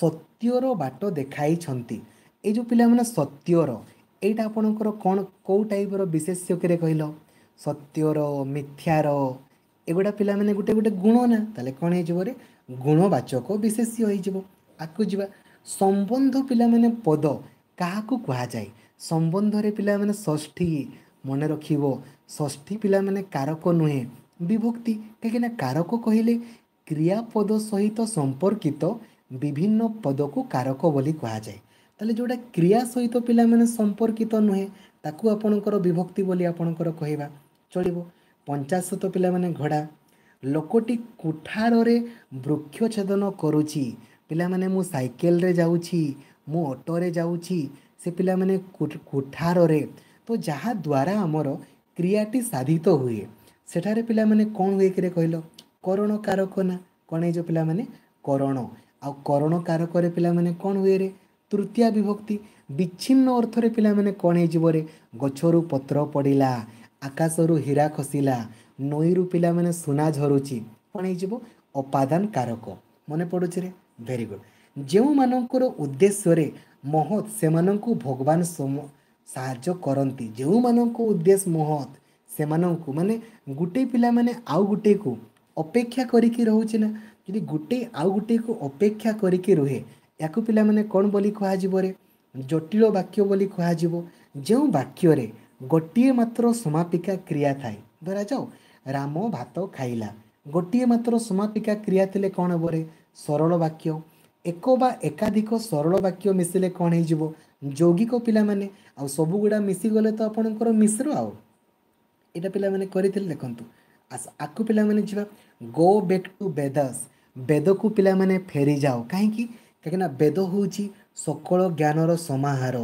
Speaker 1: ସତ୍ୟର ବାଟ ଦେଖାଇଛନ୍ତି। ଏଇ ଯେଉଁ ପିଲାମାନେ ସତ୍ୟର, ଏଇଟା ଆପଣଙ୍କର କ'ଣ, କେଉଁ ଟାଇପ୍ର ବିଶେଷ୍ୟ କିରେ କହିଲ? ସତ୍ୟର, ମିଥ୍ୟାର, ଏଗୁଡ଼ା ପିଲାମାନେ ଗୋଟେ ଗୋଟେ ଗୁଣ ନା? ତାହେଲେ କ'ଣ ହେଇଯିବ ରେ? ଗୁଣବାଚକ ବିଶେଷ୍ୟ ହେଇଯିବ। ଆଗକୁ ଯିବା। ସମ୍ବନ୍ଧ ପିଲାମାନେ ପଦ କାହାକୁ କୁହାଯାଏ? ସମ୍ବନ୍ଧରେ ପିଲାମାନେ ଷଷ୍ଠୀ। ମନେ ରଖିବ, ଷଷ୍ଠୀ ପିଲାମାନେ କାରକ ନୁହେଁ, ବିଭକ୍ତି। କାହିଁକିନା କାରକ କହିଲେ କ୍ରିୟାପଦ ସହିତ ସମ୍ପର୍କିତ ବିଭିନ୍ନ ପଦକୁ କାରକ ବୋଲି କୁହାଯାଏ। ତାହେଲେ ଯେଉଁଟା କ୍ରିୟା ସହିତ ପିଲାମାନେ ସମ୍ପର୍କିତ ନୁହେଁ, ତାକୁ ଆପଣଙ୍କର ବିଭକ୍ତି ବୋଲି ଆପଣଙ୍କର କହିବା ଚଳିବ। 85 ପିଲାମାନେ ଘୋଡ଼ା। ଲୋକଟି କୁଠାରରେ ବୃକ୍ଷ ଛେଦନ କରୁଛି। ପିଲାମାନେ ମୁଁ ସାଇକେଲରେ ଯାଉଛି, ମୁଁ ଅଟୋରେ ଯାଉଛି, ସେ ପିଲାମାନେ କୁଠାରରେ। ତ ଯାହାଦ୍ୱାରା ଆମର କ୍ରିୟାଟି ସାଧିତ ହୁଏ, ସେଠାରେ ପିଲାମାନେ କ'ଣ ହୁଏ କିରେ କହିଲ? କରଣ କାରକ ନା? କ'ଣ ହେଇଯିବ ପିଲାମାନେ? କରଣ। ଆଉ କରଣ କାରକରେ ପିଲାମାନେ କ'ଣ ହୁଏ ରେ? ତୃତୀୟା ବିଭକ୍ତି। ବିଚ୍ଛିନ୍ନ ଅର୍ଥରେ ପିଲାମାନେ କ'ଣ ହେଇଯିବ ରେ? ଗଛରୁ ପତ୍ର ପଡ଼ିଲା, ଆକାଶରୁ ହୀରା ଖସିଲା, ନଈରୁ ପିଲାମାନେ ସୁନା ଝରୁଛି, କ'ଣ ହେଇଯିବ? ଅପାଦାନ କାରକ। ମନେ ପଡ଼ୁଛି ରେ? Very good. ଯେଉଁମାନଙ୍କର ଉଦ୍ଦେଶ୍ୟରେ ମହତ୍, ସେମାନଙ୍କୁ ଭଗବାନ ସାହାଯ୍ୟ କରନ୍ତି। ଯେଉଁମାନଙ୍କ ଉଦ୍ଦେଶ୍ୟ ମହତ୍ ସେମାନଙ୍କୁ, ମାନେ ଗୋଟେ ପିଲାମାନେ ଆଉ ଗୋଟେକୁ ଅପେକ୍ଷା କରିକି ରହୁଛି ନା? ଯଦି ଗୋଟେ ଆଉ ଗୋଟେକୁ ଅପେକ୍ଷା କରିକି ରୁହେ, ୟାକୁ ପିଲାମାନେ କ'ଣ ବୋଲି କୁହାଯିବ ରେ? ଜଟିଳ ବାକ୍ୟ ବୋଲି କୁହାଯିବ। ଯେଉଁ ବାକ୍ୟରେ ଗୋଟିଏ ମାତ୍ର ସମାପିକା କ୍ରିୟା ଥାଏ, ଧରାଯାଉ ରାମ ଭାତ ଖାଇଲା, ଗୋଟିଏ ମାତ୍ର ସମାପିକା କ୍ରିୟା ଥିଲେ କ'ଣ ହେବ ରେ? ସରଳ ବାକ୍ୟ। ଏକ ବା ଏକାଧିକ ସରଳ ବାକ୍ୟ ମିଶିଲେ କ'ଣ ହେଇଯିବ? ଯୌଗିକ ପିଲାମାନେ। ଆଉ ସବୁଗୁଡ଼ା ମିଶିଗଲେ ତ ଆପଣଙ୍କର ମିଶ୍ର। ଆଉ ଏଇଟା ପିଲାମାନେ କରିଥିଲେ ଦେଖନ୍ତୁ। ଆସ ଆକୁ ପିଲାମାନେ ଯିବା। ଗୋ ବ୍ୟାକ୍ ଟୁ ବେଦସ୍, ବେଦକୁ ପିଲାମାନେ ଫେରିଯାଅ। କାହିଁକି? କାହିଁକିନା ବେଦ ହେଉଛି ସକଳ ଜ୍ଞାନର ସମାହାର।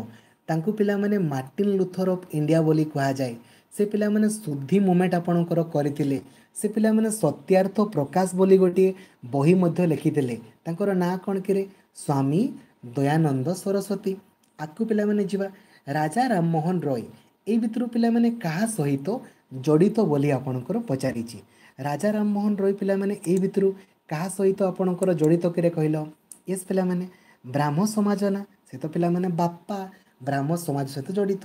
Speaker 1: ତାଙ୍କୁ ପିଲାମାନେ ମାର୍ଟିନ୍ ଲୁଥର ଅଫ୍ ଇଣ୍ଡିଆ ବୋଲି କୁହାଯାଏ। ସେ ପିଲାମାନେ ଶୁଦ୍ଧି ମୁଭମେଣ୍ଟ ଆପଣଙ୍କର କରିଥିଲେ। ସେ ପିଲାମାନେ ସତ୍ୟାର୍ଥ ପ୍ରକାଶ ବୋଲି ଗୋଟିଏ ବହି ମଧ୍ୟ ଲେଖିଥିଲେ। ତାଙ୍କର ନାଁ କ'ଣ କିରେ? ସ୍ୱାମୀ ଦୟାନନ୍ଦ ସରସ୍ୱତୀ। ଆଗକୁ ପିଲାମାନେ ଯିବା। ରାଜା ରାମମୋହନ ରୟ ଏଇ ଭିତରୁ ପିଲାମାନେ କାହା ସହିତ ଜଡ଼ିତ ବୋଲି ଆପଣଙ୍କର ପଚାରିଛି। ରାଜା ରାମମୋହନ ରୟ ପିଲାମାନେ ଏଇ ଭିତରୁ କାହା ସହିତ ଆପଣଙ୍କର ଜଡ଼ିତ କିରେ କହିଲ? ୟେସ୍ ପିଲାମାନେ, ବ୍ରାହ୍ମ ସମାଜ ନା? ସେ ତ ପିଲାମାନେ ବାପା ବ୍ରାହ୍ମ ସମାଜ ସହିତ ଜଡ଼ିତ।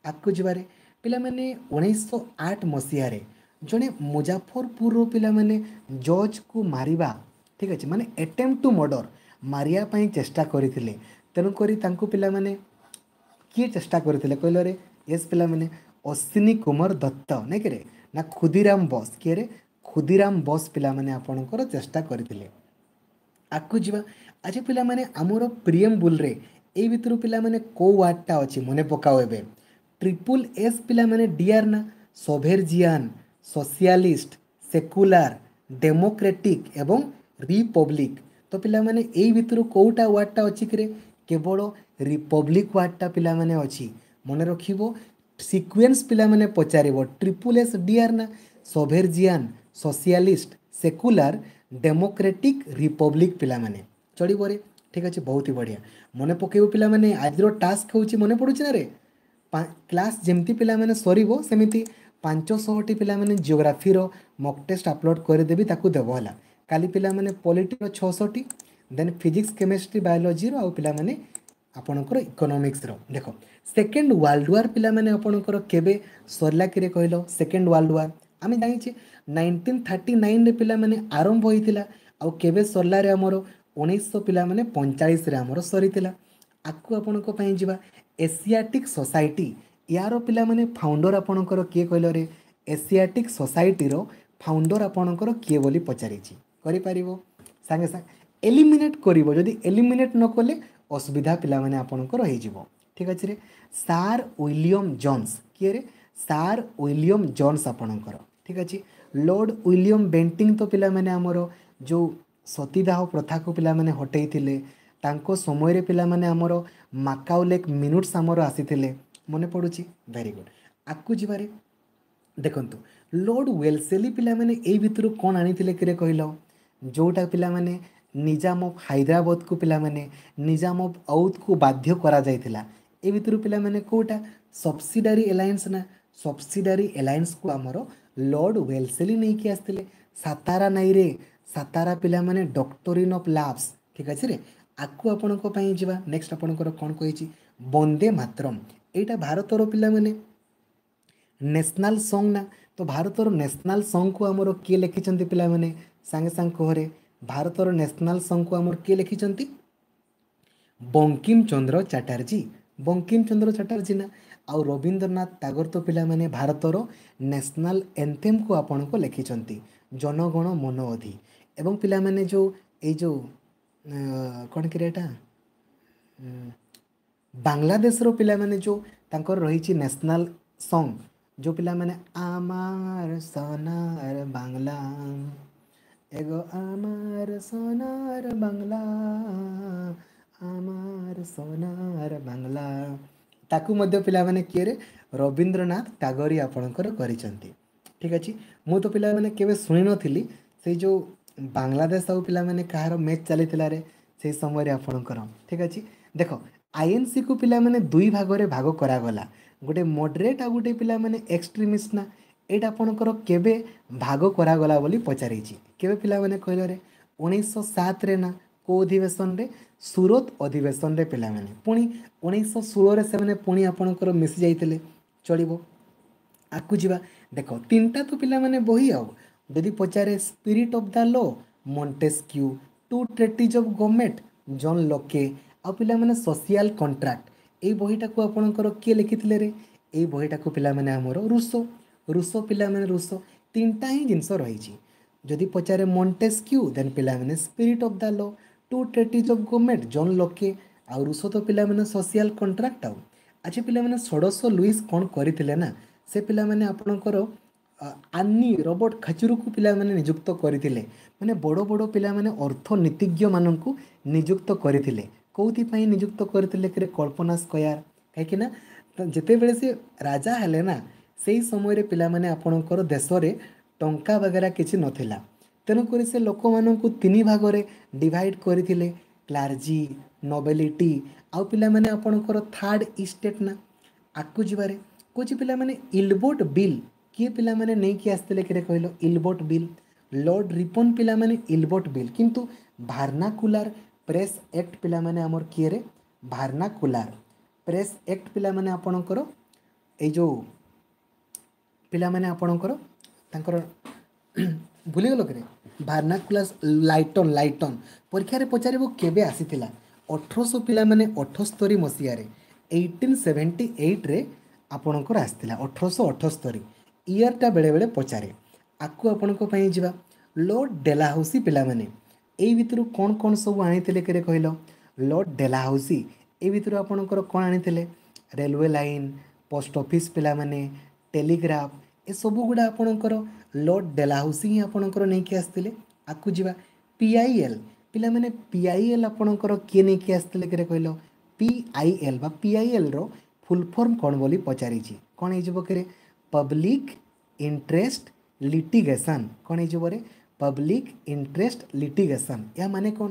Speaker 1: ଆଗକୁ ଯିବାରେ ପିଲାମାନେ, 1908 ମସିହାରେ ଜଣେ ମୁଜାଫରପୁରର ପିଲାମାନେ ଜଜ୍କୁ ମାରିବା, ଠିକ୍ ଅଛି, ମାନେ ଆଟେମ୍ପ୍ଟ ଟୁ ମର୍ଡ଼ର, ମାରିବା ପାଇଁ ଚେଷ୍ଟା କରିଥିଲେ। ତେଣୁକରି ତାଙ୍କୁ ପିଲାମାନେ କିଏ ଚେଷ୍ଟା କରିଥିଲେ କହିଲରେ? ୟେସ୍ ପିଲାମାନେ, ଅଶ୍ୱିନୀ କୁମାର ଦତ୍ତ ନାଇଁ କିରେ ନା ଖୁଦିରାମ ବୋଷ? କିଏରେ? ଖୁଦିରାମ ବୋଷ ପିଲାମାନେ ଆପଣଙ୍କର ଚେଷ୍ଟା କରିଥିଲେ। ଆଗକୁ ଯିବା। ଆଜି ପିଲାମାନେ ଆମର ପ୍ରିଏମ୍ବୁଲ୍ରେ ଏଇ ଭିତରୁ ପିଲାମାନେ କେଉଁ ୱାର୍ଡ଼ଟା ଅଛି ମନେ ପକାଅ ଏବେ। ଟ୍ରିପୁଲ୍ ଏସ୍ ପିଲାମାନେ ଡିଆର୍ ନା, ସଭେରଜିଆନ୍, ସୋସିଆଲିଷ୍ଟ, ସେକୁଲାର, ଡେମୋକ୍ରେଟିକ୍ ଏବଂ ରିପବ୍ଲିକ୍। ତ ପିଲାମାନେ ଏଇ ଭିତରୁ କେଉଁଟା ୱାର୍ଡ଼ଟା ଅଛି କିରେ? କେବଳ ରିପବ୍ଲିକ୍ ୱାର୍ଡ଼ଟା ପିଲାମାନେ ଅଛି। ମନେ ରଖିବ, ସିକ୍ୱେନ୍ସ ପିଲାମାନେ ପଚାରିବ। ଟ୍ରିପୁଲ୍ ଏସ୍ ଡିଆର୍ ନା, ସଭେରଜିଆନ୍, ସୋସିଆଲିଷ୍ଟ, ସେକୁଲାର, ଡେମୋକ୍ରେଟିକ୍, ରିପବ୍ଲିକ୍ ପିଲାମାନେ। ଚଳିବରେ? ଠିକ୍ ଅଛି, ବହୁତ ହି ବଢ଼ିଆ। ମନେ ପକାଇବ ପିଲାମାନେ, ଆଜିର ଟାସ୍କ ହେଉଛି, ମନେ ପଡ଼ୁଛି ନା ରେ? କ୍ଲାସ୍ ଯେମିତି ପିଲାମାନେ ସରିବ ସେମିତି 500ଟି ପିଲାମାନେ ଜିଓଗ୍ରାଫିର ମକ୍ ଟେଷ୍ଟ ଅପଲୋଡ଼ କରିଦେବି, ତାକୁ ଦେବ ହେଲା। କାଲି ପିଲାମାନେ ପଲିଟିର 600ଟି, ଦେନ୍ ଫିଜିକ୍ସ, କେମିଷ୍ଟ୍ରି, ବାୟୋଲୋଜିର ଆଉ ପିଲାମାନେ ଆପଣଙ୍କର ଇକୋନୋମିକ୍ସର। ଦେଖ, ସେକେଣ୍ଡ ୱାର୍ଲଡ ୱାର୍ ପିଲାମାନେ ଆପଣଙ୍କର କେବେ ସରିଲା କିରେ କହିଲ? ସେକେଣ୍ଡ ୱାର୍ଲଡ ୱାର୍ ଆମେ ଜାଣିଛେ 1939ରେ ପିଲାମାନେ ଆରମ୍ଭ ହୋଇଥିଲା, ଆଉ କେବେ ସରିଲାରେ? ଆମର 1900 ପିଲାମାନେ 45ରେ ଆମର ସରିଥିଲା। ଆଗକୁ ଆପଣଙ୍କ ପାଇଁ ଯିବା। ଏସିଆଟିକ୍ ସୋସାଇଟି ୟାର ପିଲାମାନେ ଫାଉଣ୍ଡର ଆପଣଙ୍କର କିଏ କହିଲରେ? ଏସିଆଟିକ୍ ସୋସାଇଟିର ଫାଉଣ୍ଡର ଆପଣଙ୍କର କିଏ ବୋଲି ପଚାରିଛି। କରିପାରିବ ସାଙ୍ଗେ ସାଙ୍ଗେ, ଏଲିମିନେଟ୍ କରିବ। ଯଦି ଏଲିମିନେଟ୍ ନ କଲେ ଅସୁବିଧା ପିଲାମାନେ ଆପଣଙ୍କର ହେଇଯିବ। ଠିକ୍ ଅଛି ରେ? Sir William John's. କିଏ ରେ? ସାର୍ ୱିଲିୟମ୍ ଜନ୍ସ ଆପଣଙ୍କର। ଠିକ୍ ଅଛି। ଲର୍ଡ଼ ୱିଲିୟମ୍ ବେଣ୍ଟିଂ ତ ପିଲାମାନେ ଆମର ଯେଉଁ ସତୀଦାହ ପ୍ରଥାକୁ ପିଲାମାନେ ହଟେଇଥିଲେ, ତାଙ୍କ ସମୟରେ ପିଲାମାନେ ଆମର ମାକାଉଲେକ୍ ମିନୁଟ୍ସ ଆମର ଆସିଥିଲେ, ମନେ ପଡ଼ୁଛି? Very good. ଆଗକୁ ଯିବାରେ। ଦେଖନ୍ତୁ, ଲର୍ଡ଼ ୱେଲସେଲି ପିଲାମାନେ ଏଇ ଭିତରୁ କ'ଣ ଆଣିଥିଲେ କିରେ କହିଲ? ଯେଉଁଟା ପିଲାମାନେ ନିଜାମ ଅଫ୍ ହାଇଦ୍ରାବାଦକୁ, ପିଲାମାନେ ନିଜାମ ଅଫ୍ ଔଦକୁ ବାଧ୍ୟ କରାଯାଇଥିଲା। ଏ ଭିତରୁ ପିଲାମାନେ କେଉଁଟା? ସବସିଡାରୀ ଆଲାଏନ୍ସ ନା? ସବସିଡାରୀ ଆଲାଏନ୍ସକୁ ଆମର ଲର୍ଡ଼ ୱେଲସେଲି ନେଇକି ଆସିଥିଲେ। ସାତାରା ନାଇରେ, ସାତାରା ପିଲାମାନେ ଡକ୍ଟରିନ୍ ଅଫ୍ ଲାଭ୍ସ। ଠିକ୍ ଅଛି ରେ? ଆଗକୁ ଆପଣଙ୍କ ପାଇଁ ଯିବା। ନେକ୍ସଟ ଆପଣଙ୍କର କ'ଣ କହିଛି? ବନ୍ଦେ ମାତରମ୍ ଏଇଟା ଭାରତର ପିଲାମାନେ ନ୍ୟାସନାଲ୍ ସଙ୍ଗ ନା? ତ ଭାରତର ନ୍ୟାସନାଲ୍ ସଙ୍ଗକୁ ଆମର କିଏ ଲେଖିଛନ୍ତି ପିଲାମାନେ? ସାଙ୍ଗେ ସାଙ୍ଗେ କହରେ, ଭାରତର ନ୍ୟାସନାଲ୍ ସଙ୍ଗକୁ ଆମର କିଏ ଲେଖିଛନ୍ତି? ବଙ୍କିମ ଚନ୍ଦ୍ର ଚାଟାର୍ଜୀ। ବଙ୍କିମ ଚନ୍ଦ୍ର ଚାଟାର୍ଜୀ ନା? ଆଉ ରବୀନ୍ଦ୍ରନାଥ ଟାଗୋର ତ ପିଲାମାନେ ଭାରତର ନ୍ୟାସନାଲ୍ ଏନ୍ଥେମ୍କୁ ଆପଣଙ୍କୁ ଲେଖିଛନ୍ତି, ଜନଗଣ ମନ ଅଧି। ଏବଂ ପିଲାମାନେ ଯେଉଁ ଏଇ ଯେଉଁ କ'ଣ କିରେ ଏଇଟା, ବାଂଲାଦେଶର ପିଲାମାନେ ଯେଉଁ ତାଙ୍କର ରହିଛି ନ୍ୟାସନାଲ୍ ସଙ୍ଗ, ଯେଉଁ ପିଲାମାନେ আমার সোনার বাংলা, এগো আমার সোনার ବାଂଲା, আমার সোনার ବାଂଲା, ତାକୁ ମଧ୍ୟ ପିଲାମାନେ କିଏରେ? ରବୀନ୍ଦ୍ରନାଥ ଟାଗୋର ଆପଣଙ୍କର କରିଛନ୍ତି। ଠିକ୍ ଅଛି। ମୁଁ ତ ପିଲାମାନେ କେବେ ଶୁଣିନଥିଲି। ସେଇ ଯେଉଁ ବାଂଲାଦେଶ ଆଉ ପିଲାମାନେ କାହାର ମ୍ୟାଚ୍ ଚାଲିଥିଲାରେ ସେଇ ସମୟରେ ଆପଣଙ୍କର। ଠିକ୍ ଅଛି। ଦେଖ, ଆଇଏନ୍ସିକୁ ପିଲାମାନେ ଦୁଇ ଭାଗରେ ଭାଗ କରାଗଲା, ଗୋଟେ ମଡରେଟ୍ ଆଉ ଗୋଟେ ପିଲାମାନେ ଏକ୍ସଟ୍ରିମିଷ୍ଟ ନା? ଏଇଟା ଆପଣଙ୍କର କେବେ ଭାଗ କରାଗଲା ବୋଲି ପଚାରିଛି। କେବେ ପିଲାମାନେ କହିଲରେ? 1907ରେ ନା? କେଉଁ ଅଧିବେଶନରେ? ସୁରତ ଅଧିବେଶନରେ ପିଲାମାନେ। ପୁଣି 1916ରେ ସେମାନେ ପୁଣି ଆପଣଙ୍କର ମିଶି ଯାଇଥିଲେ। ଚଳିବ, ଆଗକୁ ଯିବା। ଦେଖ, ତିନିଟା ତ ପିଲାମାନେ ବହି। ଆଉ ଯଦି ପଚାରେ spirit of the law, Montesquieu, two treatise of government, John Locke, ଆଉ ପିଲାମାନେ ସୋସିଆଲ କଣ୍ଟ୍ରାକ୍ଟ, ଏଇ ବହିଟାକୁ ଆପଣଙ୍କର କିଏ ଲେଖିଥିଲେ ରେ? ଏଇ ବହିଟାକୁ ପିଲାମାନେ ଆମର ରୁଷୋ। ରୁଷୋ ପିଲାମାନେ, ରୁଷୋ। ତିନିଟା ହିଁ ଜିନିଷ ରହିଛି। ଯଦି ପଚାରେ ମଣ୍ଟେସ୍କ୍ୟୁ, ଦେନ୍ ପିଲାମାନେ spirit of the law, two treatise of government John Locke, ଆଉ ରୁଷୋ ତ ପିଲାମାନେ ସୋସିଆଲ କଣ୍ଟ୍ରାକ୍ଟ। ଆଉ ଆଚ୍ଛା ପିଲାମାନେ, ଷୋଡ଼ଶ ଲୁଇସ୍ କ'ଣ କରିଥିଲେ ନା, ସେ ପିଲାମାନେ ଆପଣଙ୍କର ଆନି ରବର୍ଟ ଖଚୁରୁକୁ ପିଲାମାନେ ନିଯୁକ୍ତ କରିଥିଲେ। ମାନେ ବଡ଼ ବଡ଼ ପିଲାମାନେ ଅର୍ଥନୀତିଜ୍ଞମାନଙ୍କୁ ନିଯୁକ୍ତ କରିଥିଲେ। କେଉଁଥିପାଇଁ ନିଯୁକ୍ତ କରିଥିଲେ କିରେ? କଳ୍ପନା ସ୍କୟାର। କାହିଁକି ନା ଯେତେବେଳେ ସେ ରାଜା ହେଲେ ନା, ସେଇ ସମୟରେ ପିଲାମାନେ ଆପଣଙ୍କର ଦେଶରେ ଟଙ୍କା ବଗେରା କିଛି ନଥିଲା। ତେଣୁକରି ସେ ଲୋକମାନଙ୍କୁ ତିନି ଭାଗରେ ଡିଭାଇଡ଼ କରିଥିଲେ, କ୍ଲାର୍ଜି, ନୋବେଲିଟି ଆଉ ପିଲାମାନେ ଆପଣଙ୍କର ଥାର୍ଡ଼ ଇଷ୍ଟେଟ୍ ନା? ଆଗକୁ ଯିବାରେ। କହୁଛି ପିଲାମାନେ, ଇଲବୋଟ ବିଲ୍ କିଏ ପିଲାମାନେ ନେଇକି ଆସିଥିଲେ କିରେ କହିଲ? ଇଲବୋଟ ବିଲ୍ ଲର୍ଡ଼ ରିପନ୍ ପିଲାମାନେ, ଇଲବୋଟ ବିଲ୍। କିନ୍ତୁ ଭାର୍ନାକୁଲାର ପ୍ରେସ୍ ଆକ୍ଟ ପିଲାମାନେ ଆମର କିଏରେ? ଭାର୍ନାକୁଲାର ପ୍ରେସ୍ ଆକ୍ଟ ପିଲାମାନେ ଆପଣଙ୍କର ଏଇ ଯେଉଁ ପିଲାମାନେ ଆପଣଙ୍କର ତାଙ୍କର ଭୁଲିଗଲ କିରେ? ଭାର୍ନାକୁଲାର ଲାଇଟନ୍, ଲାଇଟନ୍। ପରୀକ୍ଷାରେ ପଚାରିବ କେବେ ଆସିଥିଲା? 1800 ପିଲାମାନେ 78 ମସିହାରେ, 1878ରେ ଆପଣଙ୍କର ଆସିଥିଲା। 1878 ଇୟର୍ଟା ବେଳେବେଳେ ପଚାରେ। ଆଗକୁ ଆପଣଙ୍କ ପାଇଁ ଯିବା। ଲର୍ଡ଼ ଡେଲାହାଉସି ପିଲାମାନେ ଏଇ ଭିତରୁ କ'ଣ କ'ଣ ସବୁ ଆଣିଥିଲେ କିରେ କହିଲ? ଲର୍ଡ଼ ଡେଲାହାଉସି ଏ ଭିତରୁ ଆପଣଙ୍କର କ'ଣ ଆଣିଥିଲେ? ରେଲୱେ ଲାଇନ୍, ପୋଷ୍ଟ ଅଫିସ୍ ପିଲାମାନେ, ଟେଲିଗ୍ରାଫ, ଏସବୁ ଗୁଡ଼ା ଆପଣଙ୍କର ଲର୍ଡ଼ ଡେଲାହାଉସି ହିଁ ଆପଣଙ୍କର ନେଇକି ଆସିଥିଲେ। ଆଗକୁ ଯିବା। PIL ପିଲାମାନେ, PIL ଆପଣଙ୍କର କିଏ ନେଇକି ଆସିଥିଲେ କିରେ କହିଲ? PIL ବା PILର ଫୁଲ୍ ଫର୍ମ କ'ଣ ବୋଲି ପଚାରିଛି। କ'ଣ ହେଇଯିବ କିରେ? Public interest litigation. କ'ଣ ହେଇଯିବ ରେ? Public interest litigation. ଏହା ମାନେ କ'ଣ?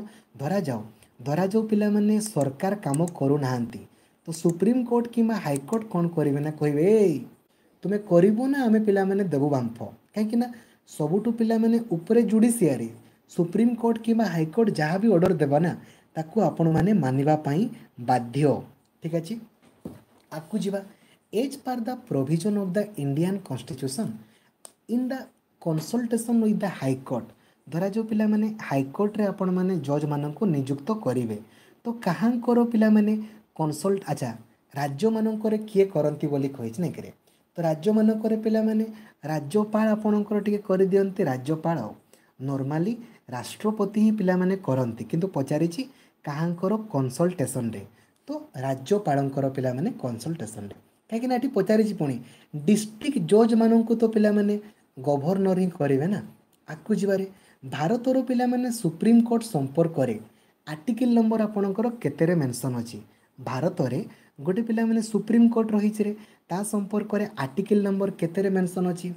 Speaker 1: ଧରାଯାଉ ପିଲାମାନେ ସରକାର କାମ କରୁନାହାନ୍ତି, ତ ସୁପ୍ରିମକୋର୍ଟ କିମ୍ବା ହାଇକୋର୍ଟ କ'ଣ କରିବେ ନା କହିବେ, ଏଇ ତୁମେ କରିବ ନା ଆମେ ପିଲାମାନେ ଦେବୁ ବାମ୍ଫ। କାହିଁକି ନା ସବୁଠୁ ପିଲାମାନେ ଉପରେ ଜୁଡ଼ିସିଆରୀ, ସୁପ୍ରିମକୋର୍ଟ କିମ୍ବା ହାଇକୋର୍ଟ ଯାହା ବି ଅର୍ଡ଼ର ଦେବ ନା ତାକୁ ଆପଣମାନେ ମାନିବା ପାଇଁ ବାଧ୍ୟ। ଠିକ୍ ଅଛି, ଆଗକୁ ଯିବା। As per the provision of the Indian constitution in the consultation with the high court, ଧରାଯାଉ ପିଲାମାନେ ହାଇକୋର୍ଟରେ ଆପଣମାନେ ଜଜ୍ମାନଙ୍କୁ ନିଯୁକ୍ତ କରିବେ, ତ କାହାଙ୍କର ପିଲାମାନେ କନସଲ୍ଟ, ଆଚ୍ଛା ରାଜ୍ୟମାନଙ୍କରେ କିଏ କରନ୍ତି ବୋଲି କହିଛି ନାଇଁ କିରେ? ତ ରାଜ୍ୟମାନଙ୍କରେ ପିଲାମାନେ ରାଜ୍ୟପାଳ ଆପଣଙ୍କର ଟିକେ କରିଦିଅନ୍ତି। ରାଜ୍ୟପାଳ ନର୍ମାଲି ରାଷ୍ଟ୍ରପତି ହିଁ ପିଲାମାନେ କରନ୍ତି, କିନ୍ତୁ ପଚାରିଛି କାହାଙ୍କର କନସଲ୍ଟେସନରେ, ତ ରାଜ୍ୟପାଳଙ୍କର ପିଲାମାନେ କନସଲ୍ଟେସନରେ। କାହିଁକିନା ଏଠି ପଚାରିଛି ପୁଣି ଡିଷ୍ଟ୍ରିକ୍ଟ ଜଜ୍ମାନଙ୍କୁ ତ ପିଲାମାନେ ଗଭର୍ଣ୍ଣର ହିଁ କରିବେ ନା। ଆଗକୁ ଯିବାରେ, ଭାରତର ପିଲାମାନେ ସୁପ୍ରିମକୋର୍ଟ ସମ୍ପର୍କରେ ଆର୍ଟିକିଲ୍ ନମ୍ବର ଆପଣଙ୍କର କେତେରେ ମେନସନ୍ ଅଛି? ଭାରତରେ ଗୋଟେ ପିଲାମାନେ ସୁପ୍ରିମକୋର୍ଟ ରହିଛି ରେ, ତା ସମ୍ପର୍କରେ ଆର୍ଟିକିଲ୍ ନମ୍ବର କେତେରେ ମେନସନ୍ ଅଛି?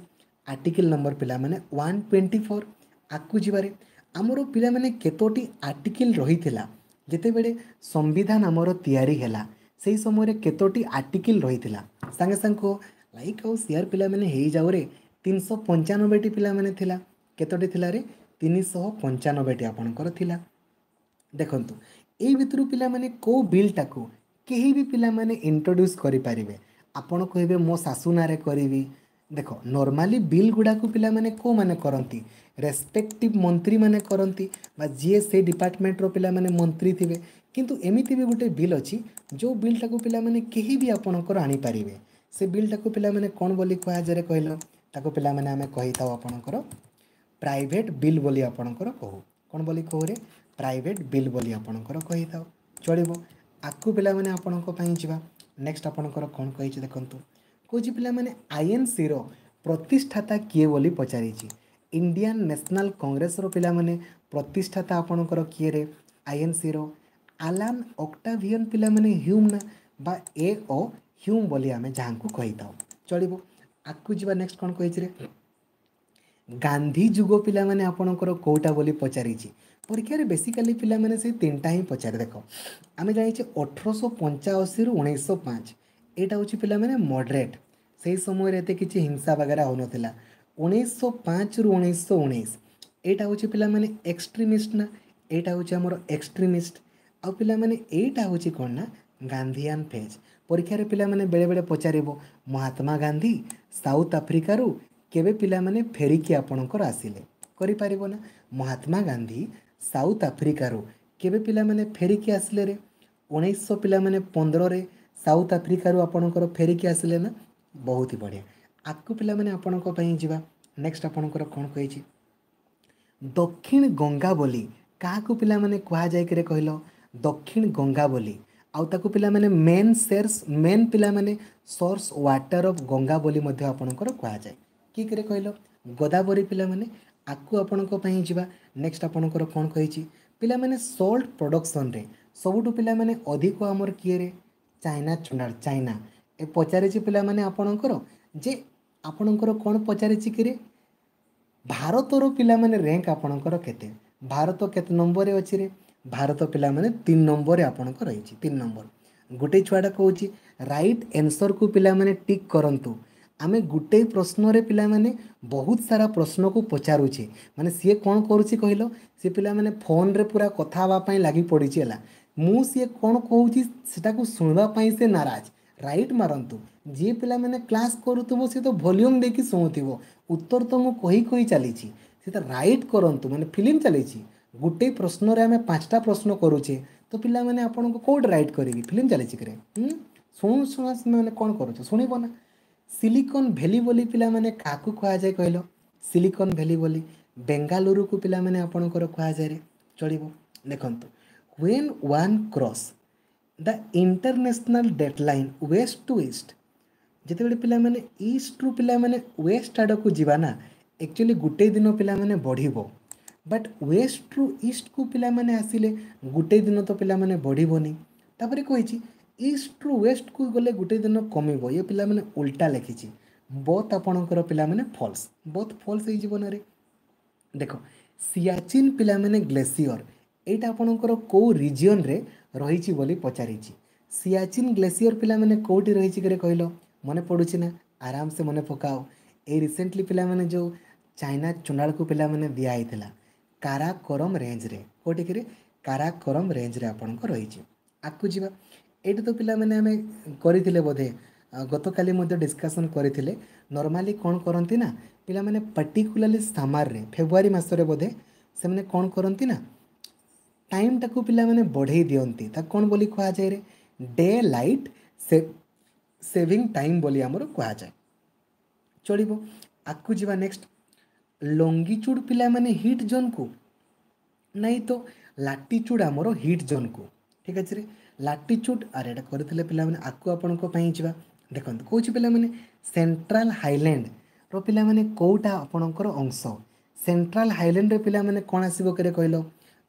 Speaker 1: ଆର୍ଟିକିଲ୍ ନମ୍ବର ପିଲାମାନେ 124। ଆଗକୁ ଯିବାରେ, ଆମର ପିଲାମାନେ କେତୋଟି ଆର୍ଟିକିଲ୍ ରହିଥିଲା ଯେତେବେଳେ ସମ୍ବିଧାନ ଆମର ତିଆରି ହେଲା? ସେଇ ସମୟରେ କେତୋଟି ଆର୍ଟିକିଲ୍ ରହିଥିଲା? ସାଙ୍ଗେ ସାଙ୍ଗେ କୁହ, ଲାଇକ୍ ଆଉ ସେୟାର ପିଲାମାନେ ହେଇଯାଉରେ। 395ଟି ପିଲାମାନେ ଥିଲା। କେତୋଟି ଥିଲା ରେ? 395ଟି ଆପଣଙ୍କର ଥିଲା। ଦେଖନ୍ତୁ, ଏଇ ଭିତରୁ ପିଲାମାନେ କେଉଁ ବିଲ୍ଟାକୁ କେହି ବି ପିଲାମାନେ ଇଣ୍ଟ୍ରୋଡ୍ୟୁସ୍ କରିପାରିବେ? ଆପଣ କହିବେ ମୋ ଶାଶୁ ନାଁରେ କରିବି। ଦେଖ, ନର୍ମାଲି ବିଲ୍ ଗୁଡ଼ାକୁ ପିଲାମାନେ କେଉଁମାନେ କରନ୍ତି? ରେସ୍ପେକ୍ଟିଭ୍ ମନ୍ତ୍ରୀମାନେ କରନ୍ତି ବା ଯିଏ ସେଇ ଡିପାର୍ଟମେଣ୍ଟର ପିଲାମାନେ ମନ୍ତ୍ରୀ ଥିବେ। କିନ୍ତୁ ଏମିତି ବି ଗୋଟେ ବିଲ୍ ଅଛି ଯେଉଁ ବିଲ୍ଟାକୁ ପିଲାମାନେ କେହି ବି ଆପଣଙ୍କର ଆଣିପାରିବେ। ସେ ବିଲ୍ଟାକୁ ପିଲାମାନେ କ'ଣ ବୋଲି କୁହାଯାଏ କହିଲ? ତାକୁ ପିଲାମାନେ ଆମେ କହିଥାଉ ଆପଣଙ୍କର ପ୍ରାଇଭେଟ୍ ବିଲ୍ ବୋଲି ଆପଣଙ୍କର କହୁ। କ'ଣ ବୋଲି କହୁରେ? ପ୍ରାଇଭେଟ୍ ବିଲ୍ ବୋଲି ଆପଣଙ୍କର କହିଥାଉ। ଚଳିବ, ଆଗକୁ ପିଲାମାନେ ଆପଣଙ୍କ ପାଇଁ ଯିବା। ନେକ୍ସଟ ଆପଣଙ୍କର କ'ଣ କହିଛି ଦେଖନ୍ତୁ। କହୁଛି ପିଲାମାନେ ଆଇଏନ୍ସିର ପ୍ରତିଷ୍ଠାତା କିଏ ବୋଲି ପଚାରିଛି। ଇଣ୍ଡିଆନ୍ ନ୍ୟାସନାଲ୍ କଂଗ୍ରେସର ପିଲାମାନେ ପ୍ରତିଷ୍ଠାତା ଆପଣଙ୍କର କିଏରେ? ଆଇଏନ୍ସିର ଆଲାନ୍ ଅକ୍ଟାଭିୟନ୍ ପିଲାମାନେ ହ୍ୟୁମ୍ ନା ବା ଏ ଓ ହ୍ୟୁମ୍ ବୋଲି ଆମେ ଯାହାଙ୍କୁ କହିଥାଉ। ଚଳିବ, ଆଗକୁ ଯିବା। ନେକ୍ସଟ କ'ଣ କହିଛି ରେ? ଗାନ୍ଧୀ ଯୁଗ ପିଲାମାନେ ଆପଣଙ୍କର କେଉଁଟା ବୋଲି ପଚାରିଛି। ପରୀକ୍ଷାରେ ବେସିକାଲି ପିଲାମାନେ ସେଇ ତିନିଟା ହିଁ ପଚାରେ। ଦେଖ, ଆମେ ଜାଣିଛେ 1885ରୁ 1905, ଏଇଟା ହେଉଛି ପିଲାମାନେ ମଡରେଟ୍, ସେଇ ସମୟରେ ଏତେ କିଛି ହିଂସା ବଗେରା ହେଉନଥିଲା। 1905ରୁ 1919, ଏଇଟା ହେଉଛି ପିଲାମାନେ ଏକ୍ସଟ୍ରିମିଷ୍ଟ ନା, ଏଇଟା ହେଉଛି ଆମର ଏକ୍ସଟ୍ରିମିଷ୍ଟ। ଆଉ ପିଲାମାନେ ଏଇଟା ହେଉଛି କ'ଣ ନା ଗାନ୍ଧିଆନ୍ ଫେଜ୍। ପରୀକ୍ଷାରେ ପିଲାମାନେ ବେଳେବେଳେ ପଚାରିବ ମହାତ୍ମା ଗାନ୍ଧୀ ସାଉଥ ଆଫ୍ରିକାରୁ କେବେ ପିଲାମାନେ ଫେରିକି ଆପଣଙ୍କର ଆସିଲେ? କରିପାରିବ ନା? ମହାତ୍ମା ଗାନ୍ଧୀ ସାଉଥ ଆଫ୍ରିକାରୁ କେବେ ପିଲାମାନେ ଫେରିକି ଆସିଲେ ରେ? 1900 ପିଲାମାନେ 15ରେ ସାଉଥ ଆଫ୍ରିକାରୁ ଆପଣଙ୍କର ଫେରିକି ଆସିଲେ ନା। ବହୁତ ହି ବଢ଼ିଆ। ଆଗକୁ ପିଲାମାନେ ଆପଣଙ୍କ ପାଇଁ ଯିବା। ନେକ୍ସଟ ଆପଣଙ୍କର କ'ଣ କହିଛି? ଦକ୍ଷିଣ ଗଙ୍ଗା ବୋଲି କାହାକୁ ପିଲାମାନେ କୁହାଯାଏ କିରେ କହିଲ? ଦକ୍ଷିଣ ଗଙ୍ଗା ବୋଲି, ଆଉ ତାକୁ ପିଲାମାନେ ମେନ୍ ସେର୍ସ ମେନ୍ ପିଲାମାନେ ସୋର୍ସ ୱାଟର ଅଫ୍ ଗଙ୍ଗା ବୋଲି ମଧ୍ୟ ଆପଣଙ୍କର କୁହାଯାଏ। କିଏ କିରେ କହିଲ? ଗୋଦାବରୀ ପିଲାମାନେ। ଆଗକୁ ଆପଣଙ୍କ ପାଇଁ ଯିବା। ନେକ୍ସଟ ଆପଣଙ୍କର କ'ଣ କହିଛି ପିଲାମାନେ? ସଲ୍ଟ ପ୍ରଡକ୍ସନରେ ସବୁଠୁ ପିଲାମାନେ ଅଧିକ ଆମର କିଏରେ? China ଚୁଣ୍ଡାଳ, China. ଏ ପଚାରିଛି ପିଲାମାନେ ଆପଣଙ୍କର ଯେ ଆପଣଙ୍କର କ'ଣ ପଚାରିଛି କିରେ? ଭାରତର ପିଲାମାନେ ର୍ୟାଙ୍କ ଆପଣଙ୍କର କେତେ? ଭାରତ କେତେ ନମ୍ବରରେ ଅଛି ରେ? ଭାରତ ପିଲାମାନେ 3 ନମ୍ବରରେ ଆପଣଙ୍କର ରହିଛି, 3 ନମ୍ବର। ଗୋଟେ ଛୁଆଟା କହୁଛି ରାଇଟ୍ ଆନ୍ସର୍କୁ ପିଲାମାନେ ଟିକ୍ କରନ୍ତୁ। ଆମେ ଗୋଟେ ପ୍ରଶ୍ନରେ ପିଲାମାନେ ବହୁତ ସାରା ପ୍ରଶ୍ନକୁ ପଚାରୁଛେ। ମାନେ ସିଏ କ'ଣ କରୁଛି କହିଲ? ସେ ପିଲାମାନେ ଫୋନ୍ରେ ପୁରା କଥା ହେବା ପାଇଁ ଲାଗି ପଡ଼ିଛି। ହେଲା, ମୁଁ ସିଏ କ'ଣ କହୁଛି ସେଟାକୁ ଶୁଣିବା ପାଇଁ ସେ ନାରାଜ। ରାଇଟ୍ ମାରନ୍ତୁ। ଯିଏ ପିଲାମାନେ କ୍ଲାସ୍ କରୁଥିବ ସେ ତ ଭଲ୍ୟୁମ୍ ଦେଇକି ଶୁଣୁଥିବ, ଉତ୍ତର ତ ମୁଁ କହି କହି ଚାଲିଛି, ସେ ତ ରାଇଟ୍ କରନ୍ତୁ। ମାନେ ଫିଲ୍ମ ଚାଲିଛି, ଗୋଟେ ପ୍ରଶ୍ନରେ ଆମେ 5ଟା ପ୍ରଶ୍ନ କରୁଛେ, ତ ପିଲାମାନେ ଆପଣଙ୍କୁ କେଉଁଠି ରାଇଟ୍ କରିବି? ଫିଲ୍ମ ଚାଲିଛି କିରେ? ଶୁଣୁ ଶୁଣା ମାନେ କ'ଣ କରୁଛ, ଶୁଣିବ ନା? ସିଲିକନ୍ ଭ୍ୟାଲି ବୋଲି ପିଲାମାନେ କାହାକୁ କୁହାଯାଏ କହିଲ? ସିଲିକନ୍ ଭ୍ୟାଲି ବୋଲି ବେଙ୍ଗାଲୁରୁକୁ ପିଲାମାନେ ଆପଣଙ୍କର କୁହାଯାଏ। ଚଳିବ। ଦେଖନ୍ତୁ, when one cross the international date line west to east, ଯେତେବେଳେ ପିଲାମାନେ ଇଷ୍ଟରୁ ପିଲାମାନେ ୱେଷ୍ଟ ଆଡ଼କୁ ଯିବା ନା, ଆକ୍ଚୁଆଲି ଗୋଟେ ଦିନ ପିଲାମାନେ ବଢ଼ିବ, ବଟ୍ ୱେଷ୍ଟରୁ ଇଷ୍ଟକୁ ପିଲାମାନେ ଆସିଲେ ଗୋଟେ ଦିନ ତ ପିଲାମାନେ ବଢ଼ିବନି। ତାପରେ କହିଛି ଇଷ୍ଟରୁ ୱେଷ୍ଟକୁ ଗଲେ ଗୋଟେ ଦିନ କମିବ। ଇଏ ପିଲାମାନେ ଉଲ୍ଟା ଲେଖିଛି। ବୋଥ୍ ଆପଣଙ୍କର ପିଲାମାନେ ଫଲ୍ସ, ବୋଥ୍ ଫଲ୍ସ ହେଇଯିବ ନାରେ। ଦେଖ, ସିଆଚିନ୍ ପିଲାମାନେ ଗ୍ଲେସିୟର ଏଇଟା ଆପଣଙ୍କର କେଉଁ ରିଜିଅନ୍ରେ ରହିଛି ବୋଲି ପଚାରିଛି। ସିଆଚିନ୍ ଗ୍ଲେସିୟର ପିଲାମାନେ କେଉଁଠି ରହିଛି କିରେ କହିଲ? ମନେ ପଡ଼ୁଛି ନା? ଆରାମସେ ମନେ ପକାଅ। ଏଇ ରିସେଣ୍ଟଲି ପିଲାମାନେ ଯେଉଁ ଚାଇନା ଚୁଣ୍ଡାଳକୁ ପିଲାମାନେ ଦିଆହେଇଥିଲା, କାରାକୋରମ୍ ରେଞ୍ଜରେ। କେଉଁଠି କିରେ? କାରାକୋରମ୍ ରେଞ୍ଜରେ ଆପଣଙ୍କ ରହିଛି। ଆଗକୁ ଯିବା। ଏଇଟା ତ ପିଲାମାନେ ଆମେ କରିଥିଲେ ବୋଧେ, ଗତକାଲି ମଧ୍ୟ ଡିସ୍କସନ୍ କରିଥିଲେ। ନର୍ମାଲି କ'ଣ କରନ୍ତି ନା ପିଲାମାନେ, ପର୍ଟିକୁଲାରଲି ସାମାରରେ ଫେବୃଆରୀ ମାସରେ ବୋଧେ ସେମାନେ କ'ଣ କରନ୍ତି ନା ଟାଇମ୍ଟାକୁ ପିଲାମାନେ ବଢ଼େଇ ଦିଅନ୍ତି। ତାକୁ କ'ଣ ବୋଲି କୁହାଯାଏ ରେ? ଡେ ଲାଇଟ୍ ସେଭିଂ ଟାଇମ୍ ବୋଲି ଆମର କୁହାଯାଏ। ଚଳିବ, ଆଗକୁ ଯିବା। ନେକ୍ସଟ, ଲଙ୍ଗିଚୁଡ଼ ପିଲାମାନେ ହିଟ୍ ଜୋନ୍କୁ ନାଇଁ ତ, ଲାଟିଚୁଡ଼ ଆମର ହିଟ୍ ଜୋନ୍କୁ। ଠିକ୍ ଅଛି ରେ, ଲାଟିଚୁଡ଼। ଆରେ ଏଇଟା କରିଥିଲେ ପିଲାମାନେ। ଆଗକୁ ଆପଣଙ୍କ ପାଇଁ ଯିବା। ଦେଖନ୍ତୁ, କହୁଛି ପିଲାମାନେ ସେଣ୍ଟ୍ରାଲ ହାଇଲ୍ୟାଣ୍ଡର ପିଲାମାନେ କେଉଁଟା ଆପଣଙ୍କର ଅଂଶ? ସେଣ୍ଟ୍ରାଲ ହାଇଲ୍ୟାଣ୍ଡରେ ପିଲାମାନେ କ'ଣ ଆସିବ କିରେ କହିଲ?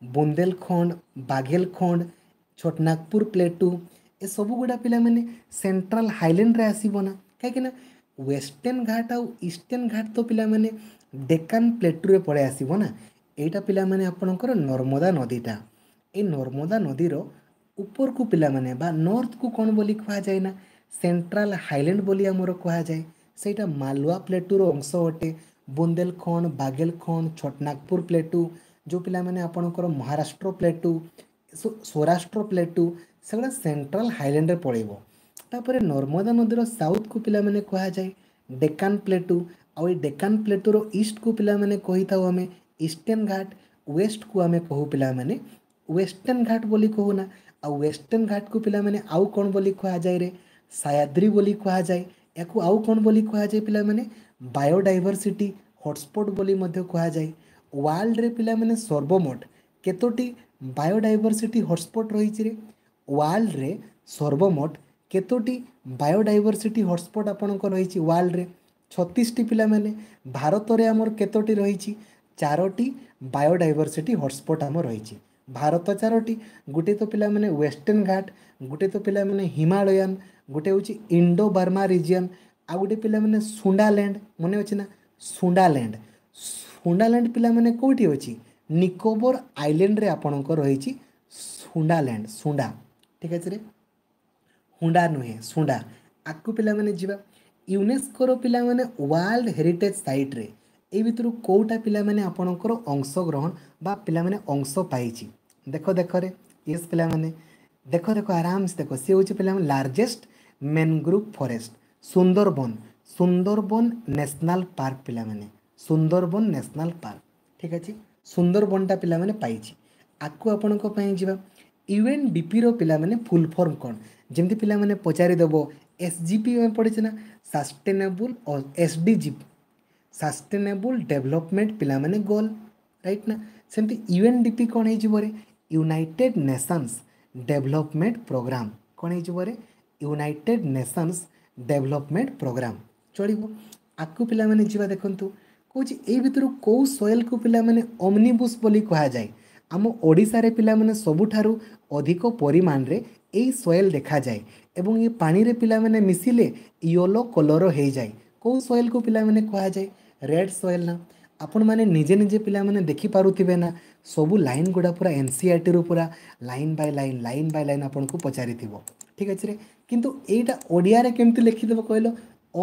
Speaker 1: ବୁନ୍ଦେଲଖଣ୍ଡ, ବାଘେଲଖଣ୍ଡ, ଛୋଟନାଗପୁର ପ୍ଲେଟୁ, ଏସବୁ ଗୁଡ଼ା ପିଲାମାନେ ସେଣ୍ଟ୍ରାଲ ହାଇଲ୍ୟାଣ୍ଡରେ ଆସିବ ନା? କାହିଁକିନା ୱେଷ୍ଟର୍ଣ୍ଣ ଘାଟ ଆଉ ଇଷ୍ଟର୍ଣ୍ଣ ଘାଟ ତ ପିଲାମାନେ ଡେକାନ ପ୍ଲେଟୁରେ ପଳେଇ ଆସିବ ନା। ଏଇଟା ପିଲାମାନେ ଆପଣଙ୍କର ନର୍ମଦା ନଦୀଟା, ଏଇ ନର୍ମଦା ନଦୀର ଉପରକୁ ପିଲାମାନେ ବା ନର୍ଥକୁ କ'ଣ ବୋଲି କୁହାଯାଏ ନା ସେଣ୍ଟ୍ରାଲ ହାଇଲ୍ୟାଣ୍ଡ ବୋଲି ଆମର କୁହାଯାଏ। ସେଇଟା ମାଲୱା ପ୍ଲେଟୁର ଅଂଶ ଅଟେ। ବୁନ୍ଦେଲଖଣ୍ଡ, ବାଘେଲଖଣ୍ଡ, ଛୋଟନାଗପୁର ପ୍ଲେଟୁ, ଯେଉଁ ପିଲାମାନେ ଆପଣଙ୍କର ମହାରାଷ୍ଟ୍ର ପ୍ଲେଟୁ, ସୌରାଷ୍ଟ୍ର ପ୍ଲେଟୁ, ସେଗୁଡ଼ା ସେଣ୍ଟ୍ରାଲ ହାଇଲ୍ୟାଣ୍ଡରେ ପଳେଇବ। ତାପରେ ନର୍ମଦା ନଦୀର ସାଉଥକୁ ପିଲାମାନେ କୁହାଯାଏ ଡେକାନ ପ୍ଲେଟୁ, ଆଉ ଏଇ ଡେକାନ ପ୍ଲେଟୁର ଇଷ୍ଟକୁ ପିଲାମାନେ କହିଥାଉ ଆମେ ଇଷ୍ଟର୍ଣ୍ଣ ଘାଟ, ୱେଷ୍ଟକୁ ଆମେ କହୁ ପିଲାମାନେ ୱେଷ୍ଟର୍ଣ୍ଣ ଘାଟ ବୋଲି କହୁନା। ଆଉ ୱେଷ୍ଟର୍ଣ୍ଣ ଘାଟକୁ ପିଲାମାନେ ଆଉ କ'ଣ ବୋଲି କୁହାଯାଏ ରେ? ସାୟାଦ୍ରି ବୋଲି କୁହାଯାଏ। ୟାକୁ ଆଉ କ'ଣ ବୋଲି କୁହାଯାଏ ପିଲାମାନେ? ବାୟୋଡାଇଭରସିଟି ହଟସ୍ପଟ୍ ବୋଲି ମଧ୍ୟ କୁହାଯାଏ। ୱାର୍ଲଡରେ ପିଲାମାନେ ସର୍ବମୋଟ କେତୋଟି ବାୟୋଡାଇଭରସିଟି ହଟସ୍ପଟ୍ ରହିଛି ରେ? ୱାର୍ଲଡରେ ସର୍ବମୋଟ କେତୋଟି ବାୟୋଡାଇଭରସିଟି ହଟସ୍ପଟ୍ ଆପଣଙ୍କ ରହିଛି? ୱାର୍ଲଡରେ 36ଟି ପିଲାମାନେ। ଭାରତରେ ଆମର କେତୋଟି ରହିଛି? 4ଟି ବାୟୋଡାଇଭରସିଟି ହଟସ୍ପଟ୍ ଆମର ରହିଛି। ଭାରତ 4ଟି, ଗୋଟେ ତ ପିଲାମାନେ ୱେଷ୍ଟର୍ଣ୍ଣ ଘାଟ, ଗୋଟେ ତ ପିଲାମାନେ ହିମାଳୟାନ, ଗୋଟେ ହେଉଛି ଇଣ୍ଡୋ ବର୍ମା ରିଜିଅନ୍, ଆଉ ଗୋଟେ ପିଲାମାନେ ସୁଣ୍ଡାଲ୍ୟାଣ୍ଡ। ମନେ ଅଛି ନା ସୁଣ୍ଡାଲ୍ୟାଣ୍ଡ? ସୁଣ୍ଡାଲ୍ୟାଣ୍ଡ ପିଲାମାନେ କେଉଁଠି ଅଛି? ନିକୋବର ଆଇଲ୍ୟାଣ୍ଡରେ ଆପଣଙ୍କର ରହିଛି ସୁଣ୍ଡାଲ୍ୟାଣ୍ଡ, ସୁଣ୍ଡା। ଠିକ୍ ଅଛି ରେ, ହୁଣ୍ଡା ନୁହେଁ, ସୁଣ୍ଡା। ଆଗକୁ ପିଲାମାନେ ଯିବା। ୟୁନେସ୍କୋର ପିଲାମାନେ ୱାର୍ଲଡ ହେରିଟେଜ୍ ସାଇଟ୍ରେ ଏଇ ଭିତରୁ କେଉଁଟା ପିଲାମାନେ ଆପଣଙ୍କର ଅଂଶଗ୍ରହଣ ବା ପିଲାମାନେ ଅଂଶ ପାଇଛି? ଦେଖ ଦେଖରେ, ୟେସ୍ ପିଲାମାନେ, ଦେଖ ଦେଖ ଆରାମସେ ଦେଖ। ସିଏ ହେଉଛି ପିଲାମାନେ largest mangrove forest, Sundarban, Sundarban national park ପିଲାମାନେ, ସୁନ୍ଦରବନ ନ୍ୟାସନାଲ୍ ପାର୍କ। ଠିକ୍ ଅଛି, ସୁନ୍ଦରବନଟା ପିଲାମାନେ ପାଇଛି। ଆଗକୁ ଆପଣଙ୍କ ପାଇଁ ଯିବା। ୟୁଏନ୍ଡିପିର ପିଲାମାନେ ଫୁଲ୍ ଫର୍ମ କ'ଣ? ଯେମିତି ପିଲାମାନେ ପଚାରିଦେବ ଏସ୍ ଜି ପି ଆମେ ପଢ଼ିଛେ ନା, sustainable S D G, sustainable development ପିଲାମାନେ ଗୋଲ୍, ରାଇଟ୍ ନା? ସେମିତି ୟୁଏନ୍ଡିପି କ'ଣ ହେଇଯିବ ରେ? United Nations Development Programme. କ'ଣ ହେଇଯିବ ରେ? United Nations Development Programme. ଚଳିବ, ଆଗକୁ ପିଲାମାନେ ଯିବା। ଦେଖନ୍ତୁ, କହୁଛି ଏଇ ଭିତରୁ କେଉଁ ସଏଲ୍କୁ ପିଲାମାନେ ଅମ୍ନିବୁସ୍ ବୋଲି କୁହାଯାଏ? ଆମ ଓଡ଼ିଶାରେ ପିଲାମାନେ ସବୁଠାରୁ ଅଧିକ ପରିମାଣରେ ଏଇ ସଏଲ୍ ଦେଖାଯାଏ ଏବଂ ଏ ପାଣିରେ ପିଲାମାନେ ମିଶିଲେ ୟେଲୋ କଲର୍ ହେଇଯାଏ। କେଉଁ ସଏଲ୍କୁ ପିଲାମାନେ କୁହାଯାଏ? ରେଡ୍ ସଏଲ୍ ନା? ଆପଣମାନେ ନିଜେ ନିଜେ ପିଲାମାନେ ଦେଖିପାରୁଥିବେ ନା, ସବୁ ଲାଇନ୍ ଗୁଡ଼ା ପୁରା ଏନ୍ ସି ଆର୍ ଟିରୁ ପୁରା line by line, line by line ଆପଣଙ୍କୁ ପଚାରିଥିବ। ଠିକ୍ ଅଛି ରେ, କିନ୍ତୁ ଏଇଟା ଓଡ଼ିଆରେ କେମିତି ଲେଖିଦେବ କହିଲ?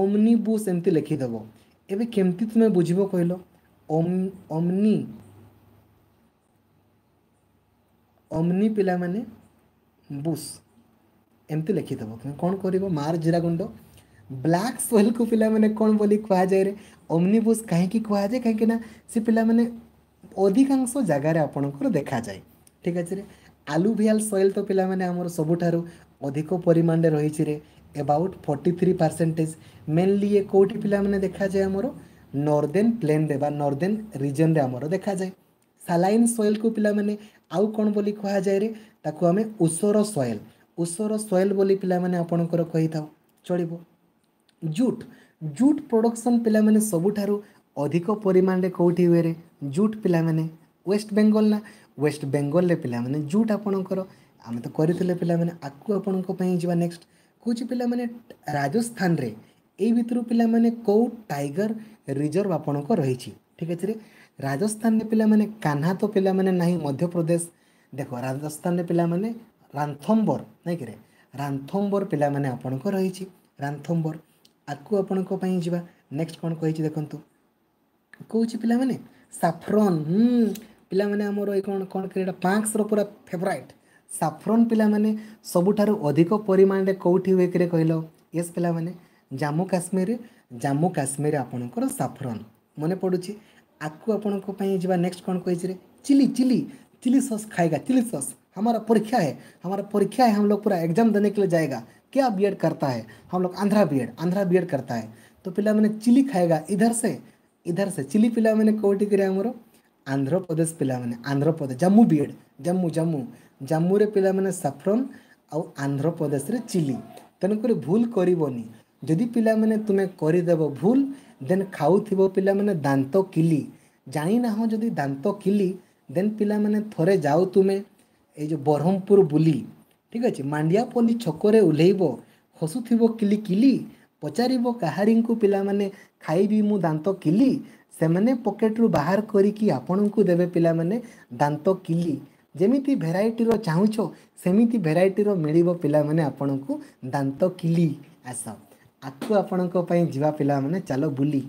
Speaker 1: ଅମ୍ନିବୁସ୍ ଏମିତି ଲେଖିଦେବ। ଏବେ କେମିତି ତୁମେ ବୁଝିବ କହିଲ? ଅମ୍ନି, ଅମ୍ନି ପିଲାମାନେ ବୁସ୍ ଏମିତି ଲେଖିଦେବ, ତୁମେ କ'ଣ କରିବ? ମାର ଜିରା ଗୁଣ୍ଡ। ବ୍ଲାକ୍ ସଏଲ୍କୁ ପିଲାମାନେ କ'ଣ ବୋଲି କୁହାଯାଏ ରେ? ଅମ୍ନିବୁସ୍ କାହିଁକି କୁହାଯାଏ? କାହିଁକି ନା ସେ ପିଲାମାନେ ଅଧିକାଂଶ ଜାଗାରେ ଆପଣଙ୍କର ଦେଖାଯାଏ। ଠିକ୍ ଅଛି ରେ, ଆଲୁଭିଆଲ୍ ସଏଲ୍ ତ ପିଲାମାନେ ଆମର ସବୁଠାରୁ ଅଧିକ ପରିମାଣରେ ରହିଛି ରେ, ଏବାଉଟ୍ 43%। ମେନଲି ଇଏ କେଉଁଠି ପିଲାମାନେ ଦେଖାଯାଏ? ଆମର ନର୍ଦେନ୍ ପ୍ଲେନ୍ରେ ବା ନର୍ଦେନ୍ ରିଜନ୍ରେ ଆମର ଦେଖାଯାଏ। ସାଲାଇନ୍ ସଏଲ୍କୁ ପିଲାମାନେ ଆଉ କ'ଣ ବୋଲି କୁହାଯାଏ ରେ? ତାକୁ ଆମେ ଉଷର ସଏଲ୍, ଉଷର ସଏଲ୍ ବୋଲି ପିଲାମାନେ ଆପଣଙ୍କର କହିଥାଉ। ଚଳିବ। ଜୁଟ୍, ଜୁଟ୍ ପ୍ରଡକ୍ସନ୍ ପିଲାମାନେ ସବୁଠାରୁ ଅଧିକ ପରିମାଣରେ କେଉଁଠି ହୁଏ ରେ? ଜୁଟ୍ ପିଲାମାନେ ୱେଷ୍ଟ ବେଙ୍ଗଲ ନା? ୱେଷ୍ଟ ବେଙ୍ଗଲରେ ପିଲାମାନେ ଜୁଟ୍ ଆପଣଙ୍କର ଆମେ ତ କରିଥିଲେ ପିଲାମାନେ। ଆକୁ ଆପଣଙ୍କ ପାଇଁ ଯିବା। ନେକ୍ସଟ କହୁଛି ପିଲାମାନେ, ରାଜସ୍ଥାନରେ ଏଇ ଭିତରୁ ପିଲାମାନେ କେଉଁ ଟାଇଗର ରିଜର୍ଭ ଆପଣଙ୍କ ରହିଛି? ଠିକ୍ ଅଛି ରେ। ରାଜସ୍ଥାନରେ ପିଲାମାନେ କାହ୍ନା ତ ପିଲାମାନେ ନାହିଁ, ମଧ୍ୟପ୍ରଦେଶ। ଦେଖ, ରାଜସ୍ଥାନରେ ପିଲାମାନେ ରାନ୍ଥମ୍ବର ନାଇଁ କିରେ? ରାନ୍ଥମ୍ବର ପିଲାମାନେ ଆପଣଙ୍କ ରହିଛି, ରାନ୍ଥମ୍ବର। ଆକୁ ଆପଣଙ୍କ ପାଇଁ ଯିବା। ନେକ୍ସଟ କ'ଣ କହିଛି ଦେଖନ୍ତୁ। କହୁଛି ପିଲାମାନେ ସାଫ୍ରନ୍। ପିଲାମାନେ ଆମର ଏଇ କ'ଣ କ'ଣ ଏଇଟା ପାକ୍ସର ପୁରା ଫେଭରାଇଟ୍ ସାଫ୍ରନ୍ ପିଲାମାନେ ସବୁଠାରୁ ଅଧିକ ପରିମାଣରେ କେଉଁଠି ହୁଏ କିରେ କହିଲ? ୟେସ୍ ପିଲାମାନେ, ଜାମ୍ମୁ କାଶ୍ମୀର। ଜାମ୍ମୁ କାଶ୍ମୀର ଆପଣଙ୍କର ସାଫ୍ରନ୍ ମନେ ପଡ଼ୁଛି। ଆକୁ ଆପଣଙ୍କ ପାଇଁ ଯିବା। ନେକ୍ସଟ କ'ଣ କହିଛି ରେ? ଚିଲି, ଚିଲି, चिली सॉस खाएगा, चिली सॉस। हमारा परीक्षा है, हमारा परीक्षा है, हम लोग पूरा एग्जाम देने के लिए जाएगा। क्या बीएड करता है हम लोग? आंध्रा बीएड, आंध्रा बीएड करता है। तो ପିଲାମାନେ ଚିଲି खाएगा इधर से, इधर से। ଚିଲି ପିଲାମାନେ କେଉଁଠି କରି? ଆମର ଆନ୍ଧ୍ରପ୍ରଦେଶ ପିଲାମାନେ, ଆନ୍ଧ୍ରପ୍ରଦେଶ ଜାମ୍ମୁ ବିଏଡ଼, ଜାମ୍ମୁ, ଜାମ୍ମୁ, ଜାମ୍ମୁରେ ପିଲାମାନେ ସାଫ୍ରନ୍ ଆଉ ଆନ୍ଧ୍ରପ୍ରଦେଶରେ ଚିଲି। ତେଣୁକରି ଭୁଲ କରିବନି। ଯଦି ପିଲାମାନେ ତୁମେ କରିଦେବ ଭୁଲ, ଦେନ୍ ଖାଉଥିବ ପିଲାମାନେ ଦାନ୍ତ କିଲି, ଜାଣିନାହଁ ଯଦି ଦାନ୍ତ କିଲି, ଦେନ୍ ପିଲାମାନେ ଥରେ ଯାଅ ତୁମେ ଏଇ ଯେଉଁ ବ୍ରହ୍ମପୁର ବୁଲି, ଠିକ୍ ଅଛି, ମାଣ୍ଡିଆପଲ୍ଲୀ ଛକରେ ଓହ୍ଲେଇବ, ହସୁଥିବ କିଲି କିଲି, ପଚାରିବ କାହାରିଙ୍କୁ ପିଲାମାନେ ଖାଇବି ମୁଁ ଦାନ୍ତ କିଲି, ସେମାନେ ପକେଟରୁ ବାହାର କରିକି ଆପଣଙ୍କୁ ଦେବେ ପିଲାମାନେ ଦାନ୍ତ କିଲି। ଯେମିତି ଭେରାଇଟିର ଚାହୁଁଛ ସେମିତି ଭେରାଇଟିର ମିଳିବ ପିଲାମାନେ ଆପଣଙ୍କୁ ଦାନ୍ତ କିଲି। ଆସ, ଆକୁ ଆପଣଙ୍କ ପାଇଁ ଯିବା ପିଲାମାନେ, ଚାଲ ବୁଲି।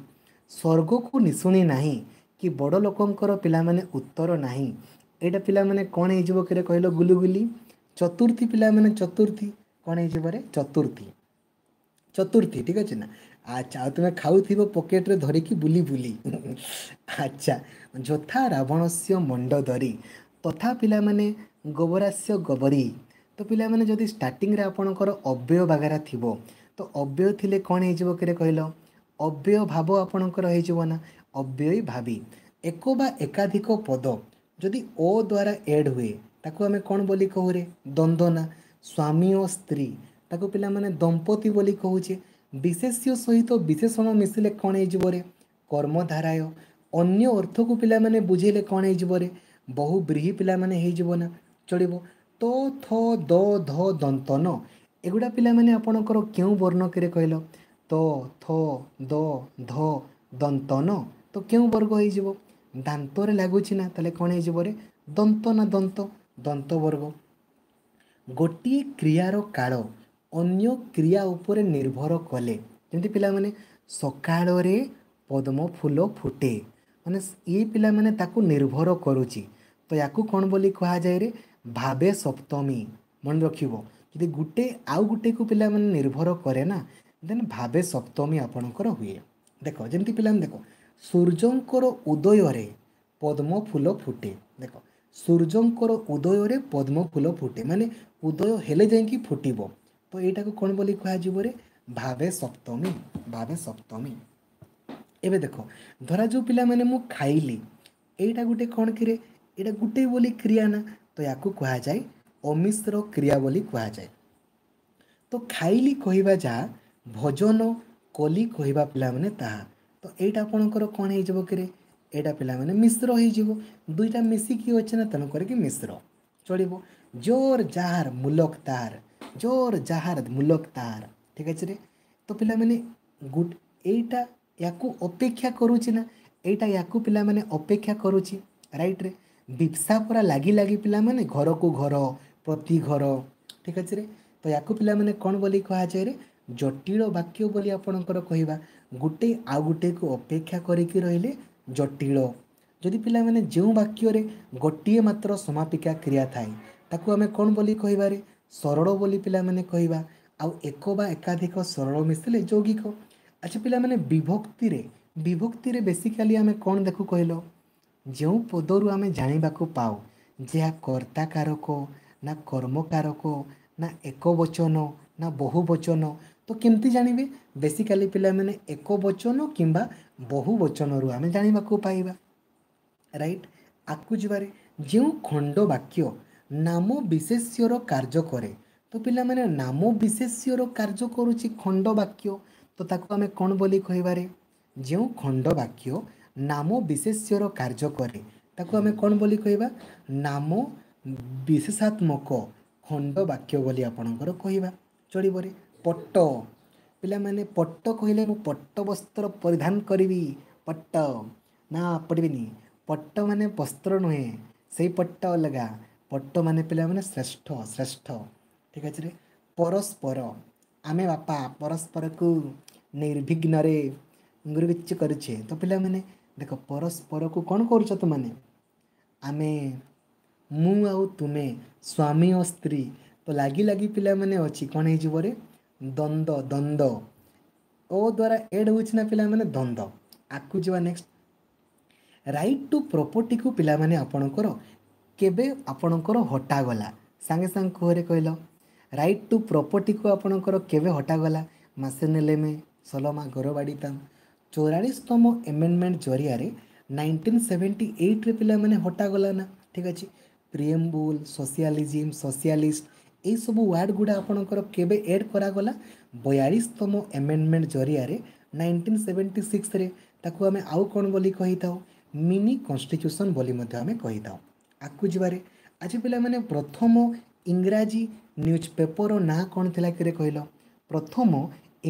Speaker 1: ସ୍ୱର୍ଗକୁ ନିଶୁଣି ନାହିଁ କି ବଡ଼ ଲୋକଙ୍କର ପିଲାମାନେ ଉତ୍ତର ନାହିଁ। ଏଇଟା ପିଲାମାନେ କ'ଣ ହେଇଯିବ କିରେ କହିଲ? ଗୁଲୁଗୁଲି। ଚତୁର୍ଥୀ ପିଲାମାନେ, ଚତୁର୍ଥୀ କ'ଣ ହେଇଯିବ ରେ? ଚତୁର୍ଥୀ, ଚତୁର୍ଥୀ, ଠିକ୍ ଅଛି ନା? ଆଚ୍ଛା, ଆଉ ତୁମେ ଖାଉଥିବ ପକେଟରେ ଧରିକି ବୁଲି ବୁଲି। ଆଚ୍ଛା, ଯଥା ରାବଣସ୍ୟ ମଣ୍ଡଦରୀ ତଥା ପିଲାମାନେ ଗୋବରାସ୍ୟ ଗୋବରୀ। ତ ପିଲାମାନେ ଯଦି ଷ୍ଟାର୍ଟିଂରେ ଆପଣଙ୍କର ଅବ୍ୟୟ ବାଗେରା ଥିବ, ତ ଅବ୍ୟୟ ଥିଲେ କ'ଣ ହେଇଯିବ କିରେ କହିଲ? ଅବ୍ୟୟ ଭାବ ଆପଣଙ୍କର ହେଇଯିବ ନା? ଅବ୍ୟୟୀ ଭାବି। ଏକ ବା ଏକାଧିକ ପଦ ଯଦି ଓ ଦ୍ୱାରା ଏଡ଼୍ ହୁଏ ତାକୁ ଆମେ କ'ଣ ବୋଲି କହୁରେ? ଦ୍ୱନ୍ଦ୍ୱ ନା? ସ୍ୱାମୀ ଓ ସ୍ତ୍ରୀ, ତାକୁ ପିଲାମାନେ ଦମ୍ପତି ବୋଲି କହୁଛେ। ବିଶେଷ୍ୟ ସହିତ ବିଶେଷଣ ମିଶିଲେ କ'ଣ ହେଇଯିବ ରେ? କର୍ମଧାରାୟ। ଅନ୍ୟ ଅର୍ଥକୁ ପିଲାମାନେ ବୁଝେଇଲେ କ'ଣ ହେଇଯିବ ରେ? ବହୁ ବ୍ରୀହି ପିଲାମାନେ ହେଇଯିବ ନା? ଚଳିବ। ତ ଥ ଦ ଧ ଦନ୍ତନ ଏଗୁଡ଼ା ପିଲାମାନେ ଆପଣଙ୍କର କେଉଁ ବର୍ଣ୍ଣ କିରେ କହିଲ? ତ ଥ ଦ ଧ ଦନ୍ତନ, ତ କେଉଁ ବର୍ଗ ହେଇଯିବ? ଦାନ୍ତରେ ଲାଗୁଛି ନା, ତାହେଲେ କ'ଣ ହେଇଯିବ ରେ? ଦନ୍ତ ନା? ଦନ୍ତ, ଦନ୍ତ ବର୍ଗ। ଗୋଟିଏ କ୍ରିୟାର କାଳ ଅନ୍ୟ କ୍ରିୟା ଉପରେ ନିର୍ଭର କଲେ, ଯେମିତି ପିଲାମାନେ ସକାଳରେ ପଦ୍ମ ଫୁଲ ଫୁଟେ, ମାନେ ଇଏ ପିଲାମାନେ ତାକୁ ନିର୍ଭର କରୁଛି, ତ ୟାକୁ କ'ଣ ବୋଲି କୁହାଯାଏ ରେ? ଭାବେ ସପ୍ତମୀ। ମନେ ରଖିବ, ଯଦି ଗୋଟେ ଆଉ ଗୋଟେକୁ ପିଲାମାନେ ନିର୍ଭର କରେ ନା, ଦେନ୍ ଭାବେ ସପ୍ତମୀ ଆପଣଙ୍କର ହୁଏ। ଦେଖ ଯେମିତି ପିଲାମାନେ, ଦେଖ, ସୂର୍ଯ୍ୟଙ୍କର ଉଦୟରେ ପଦ୍ମ ଫୁଲ ଫୁଟେ। ଦେଖ, ସୂର୍ଯ୍ୟଙ୍କର ଉଦୟରେ ପଦ୍ମ ଫୁଲ ଫୁଟେ, ମାନେ ଉଦୟ ହେଲେ ଯାଇକି ଫୁଟିବ। ତ ଏଇଟାକୁ କ'ଣ ବୋଲି କୁହାଯିବ ରେ? ଭାବେ ସପ୍ତମୀ, ଭାବେ ସପ୍ତମୀ। ଏବେ ଦେଖ, ଧରାଯାଉ ପିଲାମାନେ ମୁଁ ଖାଇଲି, ଏଇଟା ଗୋଟେ କ'ଣ କିରେ? ଏଇଟା ଗୋଟେ ବୋଲି କ୍ରିୟା ନା, ତ ୟାକୁ କୁହାଯାଏ ଅମିଶ୍ର କ୍ରିୟା ବୋଲି କୁହାଯାଏ। ତ ଖାଇଲି କହିବା ଯାହା, ଭୋଜନ କଲି କହିବା ପିଲାମାନେ ତାହା। ତ ଏଇଟା ଆପଣଙ୍କର କ'ଣ ହେଇଯିବ କିରେ? ଏଇଟା ପିଲାମାନେ ମିଶ୍ର ହେଇଯିବ। ଦୁଇଟା ମିଶିକି ଅଛି ନା, ତେଣୁ କରିକି ମିଶ୍ର। ଚଳିବ। ଜୋର ଯାହାର ମୁଲକ ତାହାର, ଜୋର ଯାହାର ମୁଲକ ତାହାର, ଠିକ୍ ଅଛି ରେ। ତ ପିଲାମାନେ ଏଇଟା ୟାକୁ ଅପେକ୍ଷା କରୁଛି ନା, ଏଇଟା ୟାକୁ ପିଲାମାନେ ଅପେକ୍ଷା କରୁଛି, ରାଇଟ୍ରେ। ବିପ୍ସା ପୁରା ଲାଗି ଲାଗି ପିଲାମାନେ ଘରକୁ ଘର ପ୍ରତି ଘର, ଠିକ୍ ଅଛି ରେ। ତ ୟାକୁ ପିଲାମାନେ କ'ଣ ବୋଲି କୁହାଯାଏ ରେ? ଜଟିଳ ବାକ୍ୟ ବୋଲି ଆପଣଙ୍କର କହିବା। ଗୋଟେ ଆଉ ଗୋଟେକୁ ଅପେକ୍ଷା କରିକି ରହିଲେ ଜଟିଳ। ଯଦି ପିଲାମାନେ ଯେଉଁ ବାକ୍ୟରେ ଗୋଟିଏ ମାତ୍ର ସମାପିକା କ୍ରିୟା ଥାଏ ତାକୁ ଆମେ କ'ଣ ବୋଲି କହିବାରେ? ସରଳ ବୋଲି ପିଲାମାନେ କହିବା। ଆଉ ଏକ ବା ଏକାଧିକ ସରଳ ମିଶିଲେ ଯୌଗିକ। ଆଚ୍ଛା ପିଲାମାନେ, ବିଭକ୍ତିରେ, ବିଭକ୍ତିରେ ବେସିକାଲି ଆମେ କ'ଣ ଦେଖୁ କହିଲ? ଯେଉଁ ପଦରୁ ଆମେ ଜାଣିବାକୁ ପାଉ ଯେ ଏହା କର୍ତ୍ତାକାରକ ନା କର୍ମକାରକ ନା ଏକ ବଚନ ନା ବହୁ ବଚନ, ତ କେମିତି ଜାଣିବେ? ବେସିକାଲି ପିଲାମାନେ ଏକ ବଚନ କିମ୍ବା ବହୁ ବଚନରୁ ଆମେ ଜାଣିବାକୁ ପାଇବା, ରାଇଟ୍। ଆଗକୁ ଯିବାରେ, ଯେଉଁ ଖଣ୍ଡ ବାକ୍ୟ ନାମ ବିଶେଷ୍ୟର କାର୍ଯ୍ୟ କରେ। ତ ପିଲାମାନେ, ନାମ ବିଶେଷ୍ୟର କାର୍ଯ୍ୟ କରୁଛି ଖଣ୍ଡ ବାକ୍ୟ, ତ ତାକୁ ଆମେ କ'ଣ ବୋଲି କହିବାରେ? ଯେଉଁ ଖଣ୍ଡ ବାକ୍ୟ ନାମ ବିଶେଷ୍ୟର କାର୍ଯ୍ୟ କରେ ତାକୁ ଆମେ କ'ଣ ବୋଲି କହିବା? ନାମ ବିଶେଷାତ୍ମକ ଖଣ୍ଡ ବାକ୍ୟ ବୋଲି ଆପଣଙ୍କର କହିବା। ଚଳିବରେ? ପଟ୍ଟ ପିଲାମାନେ, ପଟ୍ଟ କହିଲେ ମୁଁ ପଟ୍ଟ ବସ୍ତ୍ର ପରିଧାନ କରିବି, ପଟ୍ଟ ନା ପଡ଼ିବିନି। ପଟ୍ଟ ମାନେ ବସ୍ତ୍ର ନୁହେଁ, ସେଇ ପଟ୍ଟ ଅଲଗା। ପଟ୍ଟ ମାନେ ପିଲାମାନେ ଶ୍ରେଷ୍ଠ, ଶ୍ରେଷ୍ଠ। ଠିକ୍ ଅଛି ରେ? ପରସ୍ପର, ଆମେ ବାପା ପରସ୍ପରକୁ ନିର୍ବିଘ୍ନରେ ଗୁରୁବିଚ୍ଚ କରୁଛେ। ତ ପିଲାମାନେ ଦେଖ, ପରସ୍ପରକୁ କ'ଣ କରୁଛ ତୁମାନେ? ଆମେ, ମୁଁ ଆଉ ତୁମେ, ସ୍ୱାମୀ ଓ ସ୍ତ୍ରୀ ତ ଲାଗି ଲାଗି ପିଲାମାନେ ଅଛି। କ'ଣ ହେଇଯିବ ରେ? ଦ୍ୱନ୍ଦ୍ୱ, ଦ୍ୱନ୍ଦ୍ୱ ଓ ଦ୍ୱାରା ଏଡ୍ ହେଉଛି ନା ପିଲାମାନେ, ଦ୍ୱନ୍ଦ୍ୱ। ଆଗକୁ ଯିବା ନେକ୍ସଟ। ରାଇଟ୍ ଟୁ ପ୍ରପର୍ଟିକୁ ପିଲାମାନେ ଆପଣଙ୍କର କେବେ ଆପଣଙ୍କର ହଟାଗଲା? ସାଙ୍ଗେ ସାଙ୍ଗେ କୁହରେ, କହିଲ, ରାଇଟ୍ ଟୁ ପ୍ରପର୍ଟିକୁ ଆପଣଙ୍କର କେବେ ହଟାଗଲା? ମାସେ ନେଲେ ମେ ସଲମା ଗରବାଡ଼ି ତାମ 44ତମ ଏମେଣ୍ଡମେଣ୍ଟ ଜରିଆରେ 1978ରେ ପିଲାମାନେ ହଟାଗଲା ନା। ଠିକ୍ ଅଛି। ପ୍ରିଏମ୍ବୁଲ୍, ସୋସିଆଲିଜିମ୍, ସୋସିଆଲିଷ୍ଟ, ଏଇସବୁ ୱାର୍ଡ଼ ଗୁଡ଼ା ଆପଣଙ୍କର କେବେ ଏଡ଼୍ କରାଗଲା? 42ତମ ଏମେଣ୍ଡମେଣ୍ଟ ଜରିଆରେ 1976ରେ। ତାକୁ ଆମେ ଆଉ କ'ଣ ବୋଲି କହିଥାଉ? ମିନି କନଷ୍ଟିଚ୍ୟୁସନ୍ ବୋଲି ମଧ୍ୟ ଆମେ କହିଥାଉ। ଆଗକୁ ଯିବାରେ। ଆଜି ପିଲାମାନେ, ପ୍ରଥମ ଇଂରାଜୀ ନ୍ୟୁଜ୍ ପେପରର ନାଁ କ'ଣ ଥିଲା କିରେ କହିଲ? ପ୍ରଥମ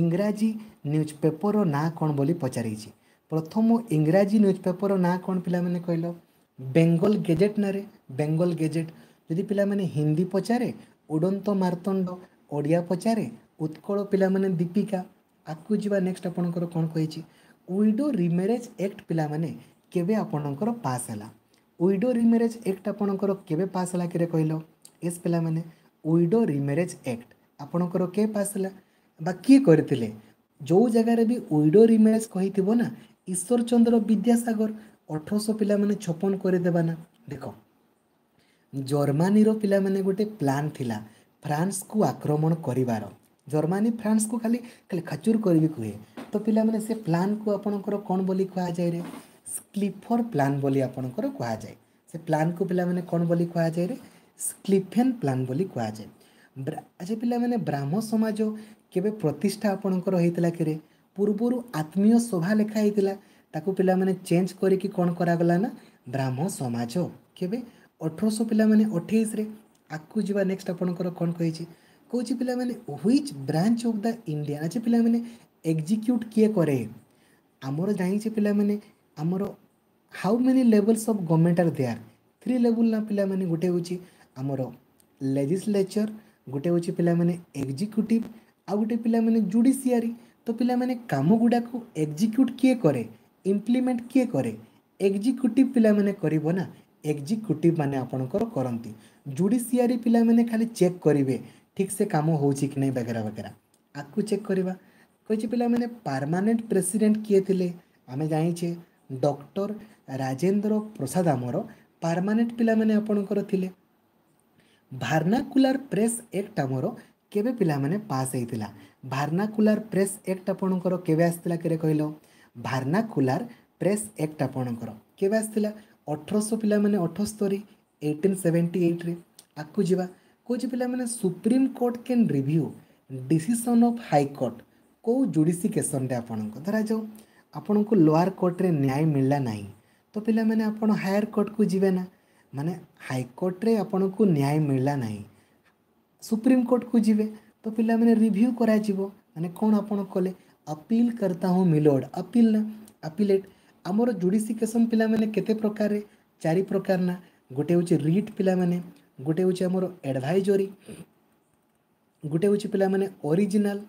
Speaker 1: ଇଂରାଜୀ ନ୍ୟୁଜ୍ ପେପରର ନାଁ କ'ଣ ବୋଲି ପଚାରିଛି। ପ୍ରଥମ ଇଂରାଜୀ ନ୍ୟୁଜ୍ ପେପରର ନାଁ କ'ଣ ପିଲାମାନେ କହିଲ? ବେଙ୍ଗଲ ଗେଜେଟ୍ ନାରେ, ବେଙ୍ଗଲ ଗେଜେଟ୍। ଯଦି ପିଲାମାନେ ହିନ୍ଦୀ ପଚାରେ ଉଡ଼ନ୍ତ ମାର୍ତ୍ତଣ୍ଡ, ଓଡ଼ିଆ ପଚାରେ ଉତ୍କଳ ପିଲାମାନେ ଦୀପିକା। ଆଗକୁ ଯିବା ନେକ୍ସଟ। ଆପଣଙ୍କର କ'ଣ କହିଛି? ୱିଡୋ ରିମ୍ୟାରେଜ୍ ଆକ୍ଟ ପିଲାମାନେ କେବେ ଆପଣଙ୍କର ପାସ୍ ହେଲା? ୱିଡୋ ରିମ୍ୟାରେଜ୍ ଆକ୍ଟ ଆପଣଙ୍କର କେବେ ପାସ୍ ହେଲା କିରେ କହିଲ? ଏସ୍ ପିଲାମାନେ, ୱିଡୋ ରିମ୍ୟାରେଜ୍ ଆକ୍ଟ ଆପଣଙ୍କର କେବେ ପାସ୍ ହେଲା ବା କିଏ କରିଥିଲେ? ଯେଉଁ ଜାଗାରେ ବି ୱିଡୋ ରିମ୍ୟାରେଜ୍ କହିଥିବ ନା, ଈଶ୍ୱରଚନ୍ଦ୍ର ବିଦ୍ୟାସାଗର, 1800 ପିଲାମାନେ 56 କରିଦେବା ନା। ଦେଖ, ଜର୍ମାନୀର ପିଲାମାନେ ଗୋଟେ ପ୍ଲାନ୍ ଥିଲା ଫ୍ରାନ୍ସକୁ ଆକ୍ରମଣ କରିବାର। ଜର୍ମାନୀ ଫ୍ରାନ୍ସକୁ ଖାଲି ଖାଲି ଖାଚୁର କରିବି କୁହେ। ତ ପିଲାମାନେ, ସେ ପ୍ଲାନ୍କୁ ଆପଣଙ୍କର କ'ଣ ବୋଲି କୁହାଯାଏ ରେ? ସ୍କ୍ଲିଫର ପ୍ଲାନ୍ ବୋଲି ଆପଣଙ୍କର କୁହାଯାଏ। ସେ ପ୍ଲାନ୍କୁ ପିଲାମାନେ କ'ଣ ବୋଲି କୁହାଯାଏ ରେ? ସ୍କ୍ଲିଫେନ୍ ପ୍ଲାନ୍ ବୋଲି କୁହାଯାଏ। ଆଚ୍ଛା ପିଲାମାନେ, ବ୍ରାହ୍ମ ସମାଜ କେବେ ପ୍ରତିଷ୍ଠା ଆପଣଙ୍କର ହେଇଥିଲା କିରେ? ପୂର୍ବରୁ ଆତ୍ମୀୟ ସଭା ଲେଖା ହେଇଥିଲା, ତାକୁ ପିଲାମାନେ ଚେଞ୍ଜ କରିକି କ'ଣ କରାଗଲା ନା ବ୍ରାହ୍ମ ସମାଜ। କେବେ? 1800 ପିଲାମାନେ 28ରେ। ଆଗକୁ ଯିବା ନେକ୍ସଟ। ଆପଣଙ୍କର କ'ଣ କହିଛି? କହୁଛି ପିଲାମାନେ, which branch of the Indian, ଆଚ୍ଛା ପିଲାମାନେ, ଏକ୍ଜିକ୍ୟୁଟ୍ କିଏ କରେ? ଆମର ଜାଣିଛେ ପିଲାମାନେ, ଆମର how many levels of government are there? Three level ନା ପିଲାମାନେ? ଗୋଟେ ହେଉଛି ଆମର ଲେଜିସ୍ଲେଚର୍, ଗୋଟେ ହେଉଛି ପିଲାମାନେ ଏକ୍ଜିକ୍ୟୁଟିଭ୍, ଆଉ ଗୋଟେ ପିଲାମାନେ ଜୁଡ଼ିସିଆରୀ। ତ ପିଲାମାନେ, କାମ ଗୁଡ଼ାକୁ ଏକ୍ଜିକ୍ୟୁଟ୍ କିଏ କରେ, ଇମ୍ପ୍ଲିମେଣ୍ଟ କିଏ କରେ? ଏକ୍ଜିକ୍ୟୁଟିଭ୍ ପିଲାମାନେ କରିବ ନା, ଏକ୍ଜିକ୍ୟୁଟିଭ୍ ମାନେ ଆପଣଙ୍କର କରନ୍ତି। ଜୁଡ଼ିସିଆରୀ ପିଲାମାନେ ଖାଲି ଚେକ୍ କରିବେ ଠିକ୍ ସେ କାମ ହେଉଛି କି ନାହିଁ ବଗେରା ବଗେରା। ଆଗକୁ ଚେକ୍ କରିବା। କହିଛି ପିଲାମାନେ, ପାରମାନେଣ୍ଟ ପ୍ରେସିଡେଣ୍ଟ କିଏ ଥିଲେ? ଆମେ ଜାଣିଛେ ଡକ୍ଟର ରାଜେନ୍ଦ୍ର ପ୍ରସାଦ ଆମର ପାରମାନେଣ୍ଟ ପିଲାମାନେ ଆପଣଙ୍କର ଥିଲେ। ଭାର୍ନାକୁଲାର ପ୍ରେସ୍ ଆକ୍ଟ ଆମର କେବେ ପିଲାମାନେ ପାସ୍ ହେଇଥିଲା? ଭାର୍ନାକୁଲାର ପ୍ରେସ୍ ଆକ୍ଟ ଆପଣଙ୍କର କେବେ ଆସିଥିଲା କେରେ କହିଲ? ଭାର୍ନାକୁଲାର ପ୍ରେସ୍ ଆକ୍ଟ ଆପଣଙ୍କର କେବେ ଆସିଥିଲା? 1800 ପିଲାମାନେ 78, 1878ରେ। ଆଗକୁ ଯିବା। କହୁଛି ପିଲାମାନେ, Supreme Court can review decision of High Court କେଉଁ ଜୁଡ଼ିସିକେସନରେ? ଆପଣଙ୍କ ଧରାଯାଉ ଆପଣଙ୍କୁ ଲୋଆର କୋର୍ଟରେ ନ୍ୟାୟ ମିଳିଲା ନାହିଁ, ତ ପିଲାମାନେ ଆପଣ ହାୟର କୋର୍ଟକୁ ଯିବେ ନା? ମାନେ ହାଇକୋର୍ଟରେ ଆପଣଙ୍କୁ ନ୍ୟାୟ ମିଳିଲା ନାହିଁ, ସୁପ୍ରିମକୋର୍ଟକୁ ଯିବେ। ତ ପିଲାମାନେ ରିଭ୍ୟୁ କରାଯିବ ମାନେ କ'ଣ ଆପଣ କଲେ? ଅପିଲ କର୍ତ୍ତା ହୁଁ ମିଲୋଡ଼, ଅପିଲ ନା ଆପିଲେଟ୍। ଆମର ଜୁଡ଼ିସିକେସନ୍ ପିଲାମାନେ କେତେ ପ୍ରକାରରେ? ଚାରି ପ୍ରକାର ନା। ଗୋଟେ ହେଉଛି ରିଟ୍ ପିଲାମାନେ, ଗୋଟେ ହେଉଛି ଆମର ଆଡ଼ଭାଇଜରୀ, ଗୋଟେ ହେଉଛି ପିଲାମାନେ ଅରିଜିନାଲ୍,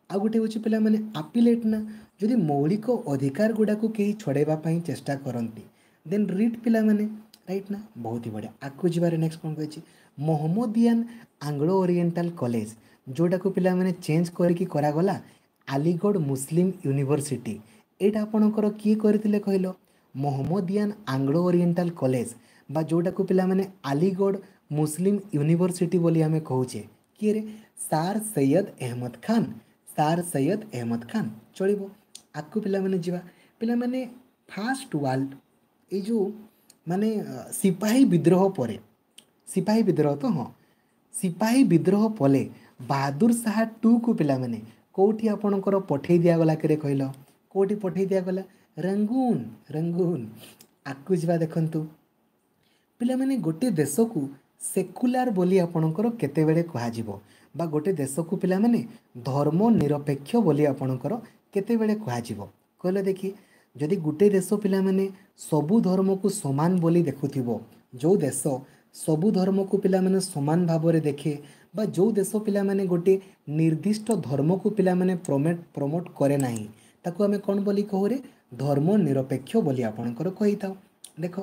Speaker 1: ଆଉ ଗୋଟେ ହେଉଛି ପିଲାମାନେ ଆପିଲେଟ୍ ନା। ଯଦି ମୌଳିକ ଅଧିକାର ଗୁଡ଼ାକୁ କେହି ଛଡ଼େଇବା ପାଇଁ ଚେଷ୍ଟା କରନ୍ତି, ଦେନ୍ ରିଟ୍ ପିଲାମାନେ, ରାଇଟ୍ ନା? ବହୁତ ହି ବଢ଼ିଆ। ଆଗକୁ ଯିବାରେ। ନେକ୍ସଟ କ'ଣ କହିଛି? ମହମ୍ମଦିଆନ ଆଙ୍ଗ୍ଲୋ ଓରିଏଣ୍ଟାଲ କଲେଜ, ଯେଉଁଟାକୁ ପିଲାମାନେ ଚେଞ୍ଜ କରିକି କରାଗଲା ଆଲିଗଡ଼ ମୁସଲିମ ୟୁନିଭର୍ସିଟି, ଏଇଟା ଆପଣଙ୍କର କିଏ କରିଥିଲେ କହିଲ? ମହମ୍ମଦିଆନ ଆଙ୍ଗ୍ଲୋ ଓରିଏଣ୍ଟାଲ କଲେଜ ବା ଯେଉଁଟାକୁ ପିଲାମାନେ ଆଲିଗଡ଼ ମୁସଲିମ ୟୁନିଭର୍ସିଟି ବୋଲି ଆମେ କହୁଛେ, କିଏରେ? Sir Syed Ahmed Khan, sir Syed Ahmed Khan. ଚଳିବ। ଆଗକୁ ପିଲାମାନେ ଯିବା। ପିଲାମାନେ, ଫାଷ୍ଟ ୱାର୍ଲଡ଼, ଏଇ ଯେଉଁ ମାନେ ସିପାହୀ ବିଦ୍ରୋହ ପରେ, ସିପାହୀ ବିଦ୍ରୋହ ତ ହଁ, ସିପାହୀ ବିଦ୍ରୋହ ପରେ ବାହାଦୁର ଶାହା 2କୁ ପିଲାମାନେ କେଉଁଠି ଆପଣଙ୍କର ପଠେଇ ଦିଆଗଲା କିରେ କହିଲ? କେଉଁଠି ପଠେଇ ଦିଆଗଲା? ରଙ୍ଗୁନ, ରଙ୍ଗୁନ। ଆଗକୁ ଯିବା। ଦେଖନ୍ତୁ ପିଲାମାନେ, ଗୋଟିଏ ଦେଶକୁ ସେକୁଲାର ବୋଲି ଆପଣଙ୍କର କେତେବେଳେ କୁହାଯିବ, ବା ଗୋଟେ ଦେଶକୁ ପିଲାମାନେ ଧର୍ମ ନିରପେକ୍ଷ ବୋଲି ଆପଣଙ୍କର କେତେବେଳେ କୁହାଯିବ କହିଲେ ଦେଖି? ଯଦି ଗୋଟେ ଦେଶ ପିଲାମାନେ ସବୁ ଧର୍ମକୁ ସମାନ ବୋଲି ଦେଖୁଥିବ, ଯେଉଁ ଦେଶ ସବୁ ଧର୍ମକୁ ପିଲାମାନେ ସମାନ ଭାବରେ ଦେଖେ, ବା ଯେଉଁ ଦେଶ ପିଲାମାନେ ଗୋଟିଏ ନିର୍ଦ୍ଦିଷ୍ଟ ଧର୍ମକୁ ପିଲାମାନେ ପ୍ରମୋଟ୍ କରେ ନାହିଁ, ତାକୁ ଆମେ କ'ଣ ବୋଲି କହୁରେ? ଧର୍ମ ନିରପେକ୍ଷ ବୋଲି ଆପଣଙ୍କର କହିଥାଉ। ଦେଖ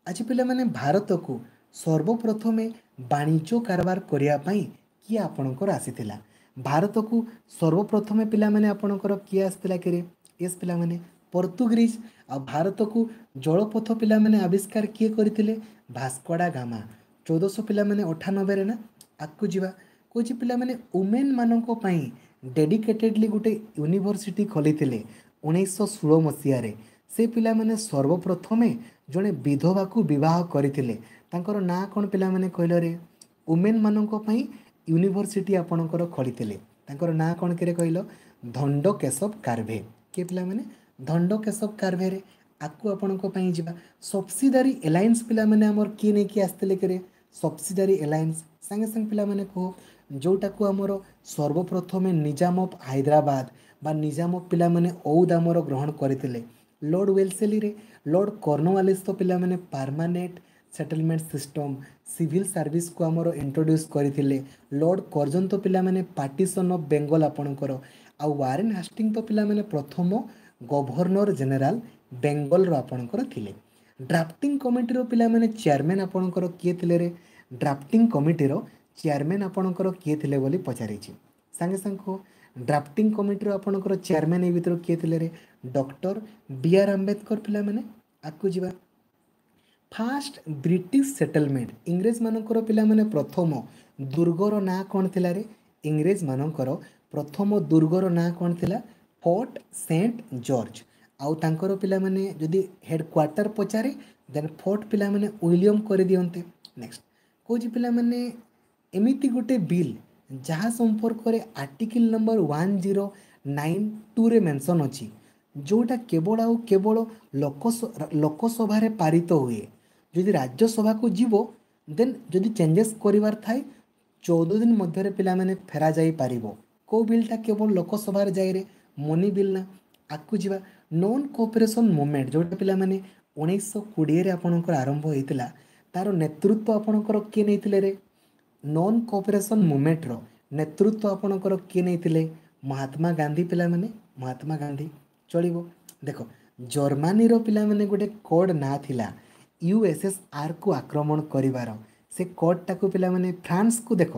Speaker 1: ଆଜି ପିଲାମାନେ, ଭାରତକୁ ସର୍ବପ୍ରଥମେ ବାଣିଜ୍ୟ କାରବାର କରିବା ପାଇଁ କିଏ ଆପଣଙ୍କର ଆସିଥିଲା? ଭାରତକୁ ସର୍ବପ୍ରଥମେ ପିଲାମାନେ ଆପଣଙ୍କର କିଏ ଆସିଥିଲା କିରେ? ୟେସ୍ ପିଲାମାନେ, ପର୍ତ୍ତୁଗିଜ। ଆଉ ଭାରତକୁ ଜଳପଥ ପିଲାମାନେ ଆବିଷ୍କାର କିଏ କରିଥିଲେ? ଭାସ୍କୋଡା ଗାମା, 1400 ପିଲାମାନେ 98ରେ ନା। ଆଗକୁ ଯିବା। କହୁଛି ପିଲାମାନେ, ଓମେନ୍ ମାନଙ୍କ ପାଇଁ ଡେଡିକେଟେଡ଼ଲି ଗୋଟେ ୟୁନିଭର୍ସିଟି ଖୋଲିଥିଲେ 1916 ମସିହାରେ। ସେ ପିଲାମାନେ ସର୍ବପ୍ରଥମେ ଜଣେ ବିଧବାକୁ ବିବାହ କରିଥିଲେ, ତାଙ୍କର ନାଁ କ'ଣ ପିଲାମାନେ କହିଲରେ? ଓମେନ୍ ମାନଙ୍କ ପାଇଁ ୟୁନିଭର୍ସିଟି ଆପଣଙ୍କର ଖୋଲିଥିଲେ, ତାଙ୍କର ନାଁ କ'ଣ କିରେ କହିଲ? ଧଣ୍ଡ କେଶବ କାର୍ଭେ। କିଏ ପିଲାମାନେ? ଧଣ୍ଡ କେଶବ କାର୍ଭେରେ। ଆଗକୁ ଆପଣଙ୍କ ପାଇଁ ଯିବା। ସବସିଡାରୀ ଆଲାଏନ୍ସ ପିଲାମାନେ ଆମର କିଏ ନେଇକି ଆସିଥିଲେ କିରେ? ସବସିଡାରୀ ଆଲାଏନ୍ସ ସାଙ୍ଗେ ସାଙ୍ଗେ ପିଲାମାନେ କୁହ, ଯେଉଁଟାକୁ ଆମର ସର୍ବପ୍ରଥମେ ନିଜାମ ଅଫ୍ ହାଇଦ୍ରାବାଦ ବା ନିଜାମ ଅଫ୍ ପିଲାମାନେ ଔଦ ଆମର ଗ୍ରହଣ କରିଥିଲେ, ଲର୍ଡ଼ ୱେଲସେଲିରେ। ଲର୍ଡ଼ କର୍ଣ୍ଣୱାଲିସ୍ ତ ପିଲାମାନେ ପାର୍ମାନେଣ୍ଟ ସେଟଲମେଣ୍ଟ ସିଷ୍ଟମ୍, ସିଭିଲ୍ ସର୍ଭିସକୁ ଆମର ଇଣ୍ଟ୍ରୋଡ୍ୟୁସ୍ କରିଥିଲେ। ଲର୍ଡ଼ କର୍ଜନ ତ ପିଲାମାନେ ପାର୍ଟିସନ୍ ଅଫ୍ ବେଙ୍ଗଲ ଆପଣଙ୍କର। ଆଉ ୱାରେନ୍ ହାଷ୍ଟିଂ ତ ପିଲାମାନେ ପ୍ରଥମ ଗଭର୍ଣ୍ଣର ଜେନେରାଲ ବେଙ୍ଗଲର ଆପଣଙ୍କର ଥିଲେ। ଡ୍ରାଫ୍ଟିଂ କମିଟିର ପିଲାମାନେ ଚେୟାରମ୍ୟାନ୍ ଆପଣଙ୍କର କିଏ ଥିଲେ ରେ? ଡ୍ରାଫ୍ଟିଂ କମିଟିର ଚେୟାରମ୍ୟାନ୍ ଆପଣଙ୍କର କିଏ ଥିଲେ ବୋଲି ପଚାରିଛି। ସାଙ୍ଗେ ସାଙ୍ଗେ କୁହ, ଡ୍ରାଫ୍ଟିଂ କମିଟିର ଆପଣଙ୍କର ଚେୟାରମ୍ୟାନ୍ ଏଇ ଭିତରୁ କିଏ ଥିଲେ ରେ? ଡକ୍ଟର ବି ଆର୍ ଆମ୍ବେଦକର ପିଲାମାନେ। ଆଗକୁ ଯିବା। ଫାଷ୍ଟ ବ୍ରିଟିଶ ସେଟଲମେଣ୍ଟ, ଇଂରେଜମାନଙ୍କର ପିଲାମାନେ ପ୍ରଥମ ଦୁର୍ଗର ନାଁ କ'ଣ ଥିଲା ରେ? ଇଂରେଜମାନଙ୍କର ପ୍ରଥମ ଦୁର୍ଗର ନାଁ କ'ଣ ଥିଲା? Fort Saint George. ଆଉ ତାଙ୍କର ପିଲାମାନେ ଯଦି ହେଡ଼କ୍ୱାର୍ଟର ପଚାରେ, ଦେନ୍ ଫୋର୍ଟ ପିଲାମାନେ ୱିଲିୟମ କରିଦିଅନ୍ତେ। ନେକ୍ସଟ କହୁଛି ପିଲାମାନେ, ଏମିତି ଗୋଟେ ବିଲ୍ ଯାହା ସମ୍ପର୍କରେ ଆର୍ଟିକିଲ୍ ନମ୍ବର 1092ରେ ମେନସନ୍ ଅଛି, ଯେଉଁଟା କେବଳ ଆଉ କେବଳ ଲୋକସଭାରେ ପାରିତ ହୁଏ, ଯଦି ରାଜ୍ୟସଭାକୁ ଯିବ ଦେନ୍ ଯଦି ଚେଞ୍ଜେସ୍ କରିବାର ଥାଏ 14 ଦିନ ମଧ୍ୟରେ ପିଲାମାନେ ଫେରା ଯାଇପାରିବ। କେଉଁ ବିଲ୍ଟା କେବଳ ଲୋକସଭାରେ ଯାଇରେ? ମନି ବିଲ୍ ନା। ଆଗକୁ ଯିବା। ନନ୍ କୋଅପରେସନ୍ ମୁଭମେଣ୍ଟ ଯେଉଁଟା ପିଲାମାନେ 1920ରେ ଆପଣଙ୍କର ଆରମ୍ଭ ହେଇଥିଲା, ତାର ନେତୃତ୍ୱ ଆପଣଙ୍କର କିଏ ନେଇଥିଲେ ରେ? ନନ୍ କୋଅପରେସନ୍ ମୁଭମେଣ୍ଟର ନେତୃତ୍ୱ ଆପଣଙ୍କର କିଏ ନେଇଥିଲେ? ମହାତ୍ମା ଗାନ୍ଧୀ ପିଲାମାନେ, ମହାତ୍ମା ଗାନ୍ଧୀ। ଚଳିବ। ଦେଖ, ଜର୍ମାନୀର ପିଲାମାନେ ଗୋଟେ କୋଡ୍ ନାଁ ଥିଲା ୟୁଏସ୍ଏସ୍ଆର୍କୁ ଆକ୍ରମଣ କରିବାର, ସେ କୋଡ୍ଟାକୁ ପିଲାମାନେ ଫ୍ରାନ୍ସକୁ, ଦେଖ,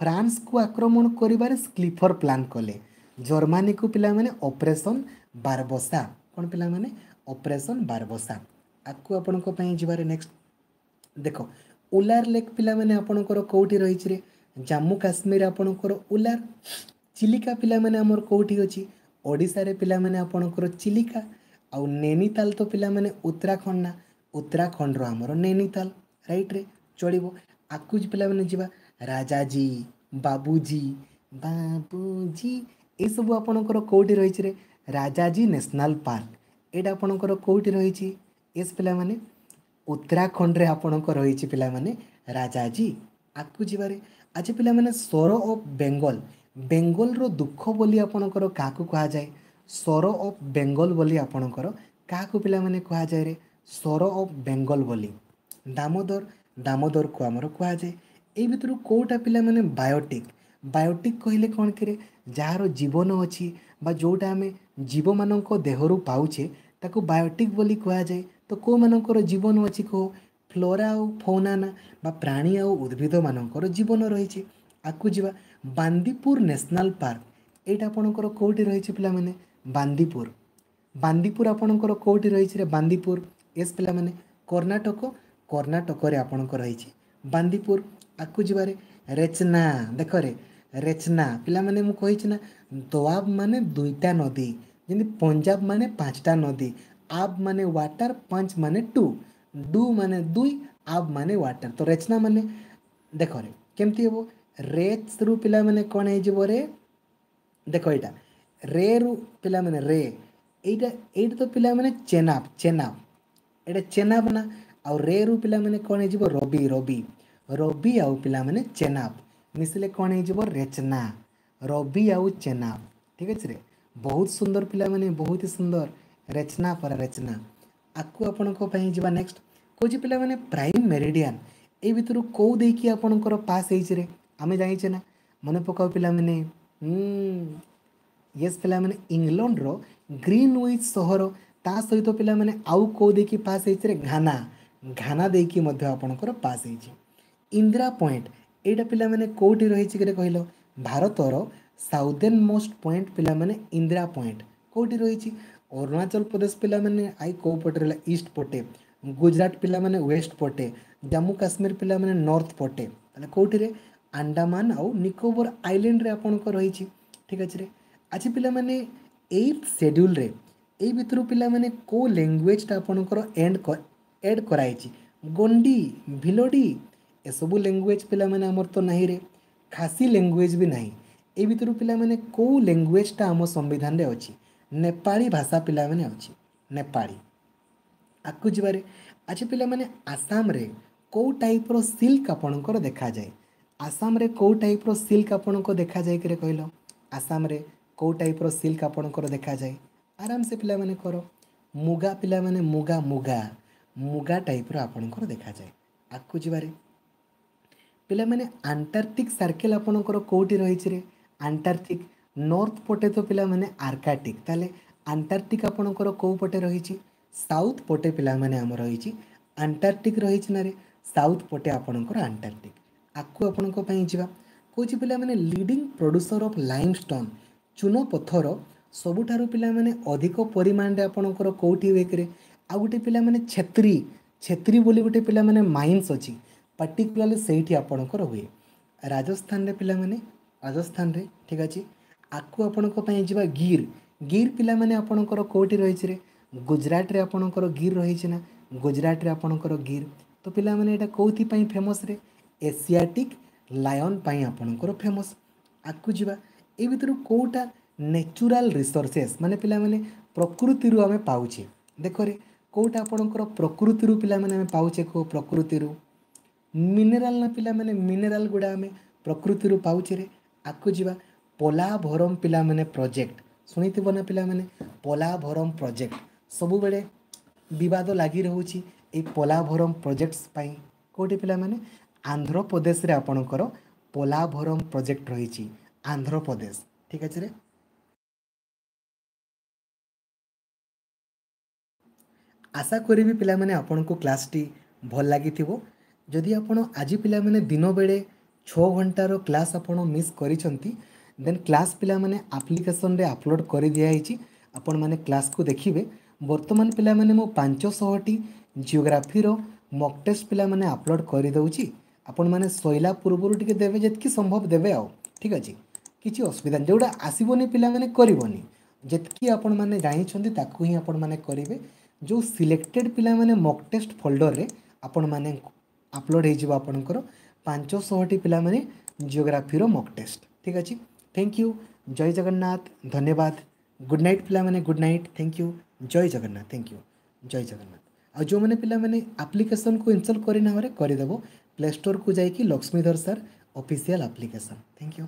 Speaker 1: ଫ୍ରାନ୍ସକୁ ଆକ୍ରମଣ କରିବାରେ ସ୍ଲିଫର ପ୍ଲାନ୍ କଲେ। ଜର୍ମାନୀକୁ ପିଲାମାନେ ଅପରେସନ୍ ବାରବସା। କ'ଣ ପିଲାମାନେ? ଅପରେସନ୍ ବାରବସା। ଆଗକୁ ଆପଣଙ୍କ ପାଇଁ ଯିବାରେ। ନେକ୍ସଟ ଦେଖ, ଉଲାର ଲେକ୍ ପିଲାମାନେ ଆପଣଙ୍କର କେଉଁଠି ରହିଛି ରେ? ଜାମ୍ମୁ କାଶ୍ମୀର ଆପଣଙ୍କର ଉଲାର। ଚିଲିକା ପିଲାମାନେ ଆମର କେଉଁଠି ଅଛି? ଓଡ଼ିଶାରେ ପିଲାମାନେ ଆପଣଙ୍କର ଚିଲିକା। ଆଉ ନୈନିତାଲ ତ ପିଲାମାନେ ଉତ୍ତରାଖଣ୍ଡ ନା, ଉତ୍ତରାଖଣ୍ଡର ଆମର ନୈନିତାଲ, ରାଇଟ୍ରେ। ଚଳିବ। ଆଗକୁ ପିଲାମାନେ ଯିବା। ରାଜାଜୀ, ବାବୁଜୀ, ବାବୁଜୀ ଏସବୁ ଆପଣଙ୍କର କେଉଁଠି ରହିଛି ରେ? ରାଜାଜୀ ନ୍ୟାସନାଲ୍ ପାର୍କ ଏଇଟା ଆପଣଙ୍କର କେଉଁଠି ରହିଛି? ଏସ୍ ପିଲାମାନେ, ଉତ୍ତରାଖଣ୍ଡରେ ଆପଣଙ୍କ ରହିଛି ପିଲାମାନେ ରାଜାଜୀ। ଆଗକୁ ଯିବାରେ। ଆଜି ପିଲାମାନେ, ସର ଅଫ୍ ବେଙ୍ଗଲ, ବେଙ୍ଗଲର ଦୁଃଖ ବୋଲି ଆପଣଙ୍କର କାହାକୁ କୁହାଯାଏ? ସର ଅଫ୍ ବେଙ୍ଗଲ ବୋଲି ଆପଣଙ୍କର କାହାକୁ ପିଲାମାନେ କୁହାଯାଏ ରେ? ସର ଅଫ୍ ବେଙ୍ଗଲ ବୋଲି ଦାମୋଦର, ଦାମୋଦରକୁ ଆମର କୁହାଯାଏ। ଏଇ ଭିତରୁ କେଉଁଟା ପିଲାମାନେ ବାୟୋଟିକ୍? ବାୟୋଟିକ୍ କହିଲେ କ'ଣ କିରେ? ଯାହାର ଜୀବନ ଅଛି ବା ଯେଉଁଟା ଆମେ ଜୀବମାନଙ୍କ ଦେହରୁ ପାଉଛେ, ତାକୁ ବାୟୋଟିକ୍ ବୋଲି କୁହାଯାଏ। ତ କେଉଁମାନଙ୍କର ଜୀବନ ଅଛି କୁହ? ଫ୍ଲୋରା ଆଉ ଫୌନା ନା, ବା ପ୍ରାଣୀ ଆଉ ଉଦ୍ଭିଦମାନଙ୍କର ଜୀବନ ରହିଛି। ଆଗକୁ ଯିବା। ବାନ୍ଦିପୁର ନ୍ୟାସନାଲ୍ ପାର୍କ ଏଇଟା ଆପଣଙ୍କର କେଉଁଠି ରହିଛି ପିଲାମାନେ? ବାନ୍ଦିପୁର, ବାନ୍ଦିପୁର ଆପଣଙ୍କର କେଉଁଠି ରହିଛି ରେ ବାନ୍ଦିପୁର? ଏସ୍ ପିଲାମାନେ, କର୍ଣ୍ଣାଟକ, କର୍ଣ୍ଣାଟକରେ ଆପଣଙ୍କର ରହିଛି ବାନ୍ଦିପୁର। ଆଗକୁ ଯିବାରେ। ରେଚନା, ଦେଖରେ, ରେଚନା ପିଲାମାନେ ମୁଁ କହିଛି ନା, ଦୋଆବ ମାନେ ଦୁଇଟା ନଦୀ, ଯେମିତି ପଞ୍ଜାବ ମାନେ 5ଟା ନଦୀ, ଆବ୍ ମାନେ ୱାଟର, ପଞ୍ଚ ମାନେ ଟୁ। Do ମାନେ ଦୁଇ, ଆବ୍ ମାନେ ୱାଟର। ତ ରେଚନା ମାନେ ଦେଖରେ କେମିତି ହେବ? ରେଚ୍ରୁ ପିଲାମାନେ କ'ଣ ହେଇଯିବ ରେ? ଦେଖ ଏଇଟା ରେରୁ ପିଲାମାନେ ରେ, ଏଇଟା ଏଇଟା ତ ପିଲାମାନେ ଚେନାବ, ଚେନାବ, ଏଇଟା ଚେନାବ ନା। ଆଉ ରେରୁ ପିଲାମାନେ କ'ଣ ହେଇଯିବ? ରବି, ରବି, ରବି ଆଉ ପିଲାମାନେ ଚେନାବ ମିଶିଲେ କ'ଣ ହେଇଯିବ? ରେଚନା। ରବି ଆଉ ଚେନାବ, ଠିକ୍ ଅଛି ରେ। ବହୁତ ସୁନ୍ଦର ପିଲାମାନେ, ବହୁତ ହି ସୁନ୍ଦର। ରେଚନା ପରା ରେଚନା। ଆକୁ ଆପଣଙ୍କ ପାଇଁ ଯିବା ନେକ୍ସଟ। କହୁଛି ପିଲାମାନେ ପ୍ରାଇମ୍ ମେରିଡ଼ିଆନ୍ ଏଇ ଭିତରୁ କେଉଁ ଦେଇକି ଆପଣଙ୍କର ପାସ୍ ହେଇଛି ରେ? ଆମେ ଜାଣିଛେ ନା, ମନେ ପକାଅ ପିଲାମାନେ। ୟେସ୍ ପିଲାମାନେ, ଇଂଲଣ୍ଡର ଗ୍ରୀନୱିଚ୍ ସହର, ତା ସହିତ ପିଲାମାନେ ଆଉ କେଉଁ ଦେଇକି ପାସ୍ ହେଇଛି ରେ? ଘାନା, ଘାନା ଦେଇକି ମଧ୍ୟ ଆପଣଙ୍କର ପାସ୍ ହେଇଛି। ଇନ୍ଦିରା ପଏଣ୍ଟ ଏଇଟା ପିଲାମାନେ କେଉଁଠି ରହିଛି କିରେ କହିଲ? ଭାରତର ସାଉଦେନ୍ ମୋଷ୍ଟ ପଏଣ୍ଟ ପିଲାମାନେ ଇନ୍ଦିରା ପଏଣ୍ଟ କେଉଁଠି ରହିଛି? ଅରୁଣାଚଳ ପ୍ରଦେଶ ପିଲାମାନେ I କେଉଁ ପଟେ ରହିଲା? ଇଷ୍ଟ ପଟେ। ଗୁଜରାଟ ପିଲାମାନେ ୱେଷ୍ଟ ପଟେ। ଜାମ୍ମୁ କାଶ୍ମୀର ପିଲାମାନେ ନର୍ଥ ପଟେ। ତାହେଲେ କେଉଁଠିରେ? ଆଣ୍ଡାମାନ ଆଉ ନିକୋବର ଆଇଲ୍ୟାଣ୍ଡରେ ଆପଣଙ୍କ ରହିଛି, ଠିକ୍ ଅଛି ରେ। ଆଚ୍ଛା ପିଲାମାନେ, ଏଇଥ୍ ସେଡ୍ୟୁଲ୍ରେ ଏଇ ଭିତରୁ ପିଲାମାନେ କେଉଁ ଲାଙ୍ଗୁଏଜଟା ଆପଣଙ୍କର ଏଡ଼୍ କରାହେଇଛି? ଗୋଣ୍ଡି, ଭିଲୋଡ଼ି ଏସବୁ ଲାଙ୍ଗୁଏଜ ପିଲାମାନେ ଆମର ତ ନାହିଁ ରେ। ଖାସି ଲାଙ୍ଗୁଏଜ ବି ନାହିଁ। ଏଇ ଭିତରୁ ପିଲାମାନେ କେଉଁ ଲାଙ୍ଗୁଏଜଟା ଆମ ସମ୍ବିଧାନରେ ଅଛି? ନେପାଳୀ ଭାଷା ପିଲାମାନେ ଅଛି, ନେପାଳୀ। ଆଗକୁ ଯିବାରେ। ଆଚ୍ଛା ପିଲାମାନେ, ଆସାମରେ କେଉଁ ଟାଇପ୍ର ସିଲ୍କ ଆପଣଙ୍କର ଦେଖାଯାଏ? ଆସାମରେ କେଉଁ ଟାଇପ୍ର ସିଲ୍କ ଆପଣଙ୍କ ଦେଖାଯାଏ କିରେ କହିଲ? ଆସାମରେ କେଉଁ ଟାଇପ୍ର ସିଲ୍କ ଆପଣଙ୍କର ଦେଖାଯାଏ? ଆରାମସେ ପିଲାମାନେ କର। ମୁଗା ପିଲାମାନେ, ମୁଗା, ମୁଗା, ମୁଗା ଟାଇପ୍ର ଆପଣଙ୍କର ଦେଖାଯାଏ। ଆଗକୁ ଯିବାରେ ପିଲାମାନେ, ଆଣ୍ଟାର୍କଟିକ୍ ସାର୍କେଲ୍ ଆପଣଙ୍କର କେଉଁଠି ରହିଛି ରେ? ଆଣ୍ଟାର୍କଟିକ୍ ନର୍ଥ ପଟେ ତ ପିଲାମାନେ ଆର୍କାଟିକ୍। ତାହେଲେ ଆଣ୍ଟାର୍କଟିକ୍ ଆପଣଙ୍କର କେଉଁ ପଟେ ରହିଛି? ସାଉଥ୍ ପଟେ ପିଲାମାନେ ଆମର ରହିଛି ଆଣ୍ଟାର୍କଟିକ୍ ରହିଛି ନା ରେ? ସାଉଥ୍ ପଟେ ଆପଣଙ୍କର ଆଣ୍ଟାର୍କଟିକ୍। ଆଗକୁ ଆପଣଙ୍କ ପାଇଁ ଯିବା। କହୁଛି ପିଲାମାନେ ଲିଡ଼ିଂ ପ୍ରଡ୍ୟୁସର ଅଫ୍ ଲାଇମଷ୍ଟୋନ୍, ଚୂନ ପଥର ସବୁଠାରୁ ପିଲାମାନେ ଅଧିକ ପରିମାଣରେ ଆପଣଙ୍କର କେଉଁଠି ହୁଏ କିରେ? ଆଉ ଗୋଟେ ପିଲାମାନେ ଛେତ୍ରୀ, ଛେତ୍ରୀ ବୋଲି ଗୋଟେ ପିଲାମାନେ ମାଇନ୍ସ ଅଛି, ପାର୍ଟିକୁଲାରଲି ସେଇଠି ଆପଣଙ୍କର ହୁଏ ରାଜସ୍ଥାନରେ ପିଲାମାନେ, ରାଜସ୍ଥାନରେ, ଠିକ୍ ଅଛି। ଆଗକୁ ଆପଣଙ୍କ ପାଇଁ ଯିବା। ଗିର୍, ଗିର୍ ପିଲାମାନେ ଆପଣଙ୍କର କେଉଁଠି ରହିଛି ରେ? ଗୁଜରାଟରେ ଆପଣଙ୍କର ଗିର୍ ରହିଛି ନା, ଗୁଜରାଟରେ ଆପଣଙ୍କର ଗିର୍। ତ ପିଲାମାନେ ଏଇଟା କେଉଁଥିପାଇଁ ଫେମସ୍ ରେ? ଏସିଆଟିକ୍ ଲାୟନ୍ ପାଇଁ ଆପଣଙ୍କର ଫେମସ୍। ଆଗକୁ ଯିବା। ଏଇ ଭିତରୁ କେଉଁଟା ନ୍ୟାଚୁରାଲ୍ ରିସୋର୍ସେସ୍ ମାନେ ପିଲାମାନେ ପ୍ରକୃତିରୁ ଆମେ ପାଉଛେ? ଦେଖରେ କେଉଁଟା ଆପଣଙ୍କର ପ୍ରକୃତିରୁ ପିଲାମାନେ ଆମେ ପାଉଛେ? କେଉଁ ପ୍ରକୃତିରୁ? ମିନେରାଲ୍ ନା ପିଲାମାନେ, ମିନେରାଲ୍ ଗୁଡ଼ା ଆମେ ପ୍ରକୃତିରୁ ପାଉଛେ ରେ। ଆଗକୁ ଯିବା। ପୋଲାଭରମ ପିଲାମାନେ ପ୍ରୋଜେକ୍ଟ ଶୁଣିଥିବ ନା ପିଲାମାନେ? ପୋଲାଭରମ ପ୍ରୋଜେକ୍ଟ ସବୁବେଳେ ବିବାଦ ଲାଗି ରହୁଛି ଏଇ ପୋଲାଭରମ ପ୍ରୋଜେକ୍ଟସ୍ ପାଇଁ। କେଉଁଠି ପିଲାମାନେ? ଆନ୍ଧ୍ରପ୍ରଦେଶରେ ଆପଣଙ୍କର ପୋଲାଭରମ ପ୍ରୋଜେକ୍ଟ ରହିଛି, ଆନ୍ଧ୍ରପ୍ରଦେଶ, ଠିକ୍ ଅଛି ରେ। ଆଶା କରିବି ପିଲାମାନେ ଆପଣଙ୍କୁ କ୍ଲାସ୍ଟି ଭଲ ଲାଗିଥିବ। ଯଦି ଆପଣ ଆଜି ପିଲାମାନେ ଦିନବେଳେ 6 ଘଣ୍ଟାର କ୍ଲାସ୍ ଆପଣ ମିସ୍ କରିଛନ୍ତି, ଦେନ୍ କ୍ଲାସ୍ ପିଲାମାନେ ଆପ୍ଲିକେସନ୍ରେ ଅପଲୋଡ଼ କରିଦିଆହେଇଛି, ଆପଣମାନେ କ୍ଲାସ୍କୁ ଦେଖିବେ। ବର୍ତ୍ତମାନ ପିଲାମାନେ ମୁଁ 500ଟି ଜିଓଗ୍ରାଫିର ମକ୍ ଟେଷ୍ଟ ପିଲାମାନେ ଅପଲୋଡ଼ କରିଦେଉଛି। ଆପଣମାନେ ଶୋଇଲା ପୂର୍ବରୁ ଟିକେ ଦେବେ, ଯେତିକି ସମ୍ଭବ ଦେବେ ଆଉ, ଠିକ୍ ଅଛି। କିଛି ଅସୁବିଧା ନାହିଁ। ଯେଉଁଟା ଆସିବନି ପିଲାମାନେ କରିବନି, ଯେତିକି ଆପଣମାନେ ଜାଣିଛନ୍ତି ତାକୁ ହିଁ ଆପଣମାନେ କରିବେ। ଯେଉଁ ସିଲେକ୍ଟେଡ଼ ପିଲାମାନେ ମକ୍ ଟେଷ୍ଟ ଫୋଲ୍ଡରରେ ଆପଣମାନେ ଅପଲୋଡ଼ ହେଇଯିବ ଆପଣଙ୍କର 500ଟି ପିଲାମାନେ ଜିଓଗ୍ରାଫିର ମକ୍ ଟେଷ୍ଟ, ଠିକ୍ ଅଛି। Thank you, ଜୟ ଜଗନ୍ନାଥ, ଧନ୍ୟବାଦ। ଗୁଡ଼୍ ନାଇଟ୍ ପିଲାମାନେ, good night, thank you, Jay Jagannath, thank you, Jay Jagannath. ଆଉ ଯେଉଁମାନେ ପିଲାମାନେ ଆପ୍ଲିକେସନ୍କୁ ଇନଷ୍ଟଲ୍ କରିନାହରେ କରିଦେବ, ପ୍ଲେ ଷ୍ଟୋରକୁ ଯାଇକି Laxmidhar sir official application. Thank you.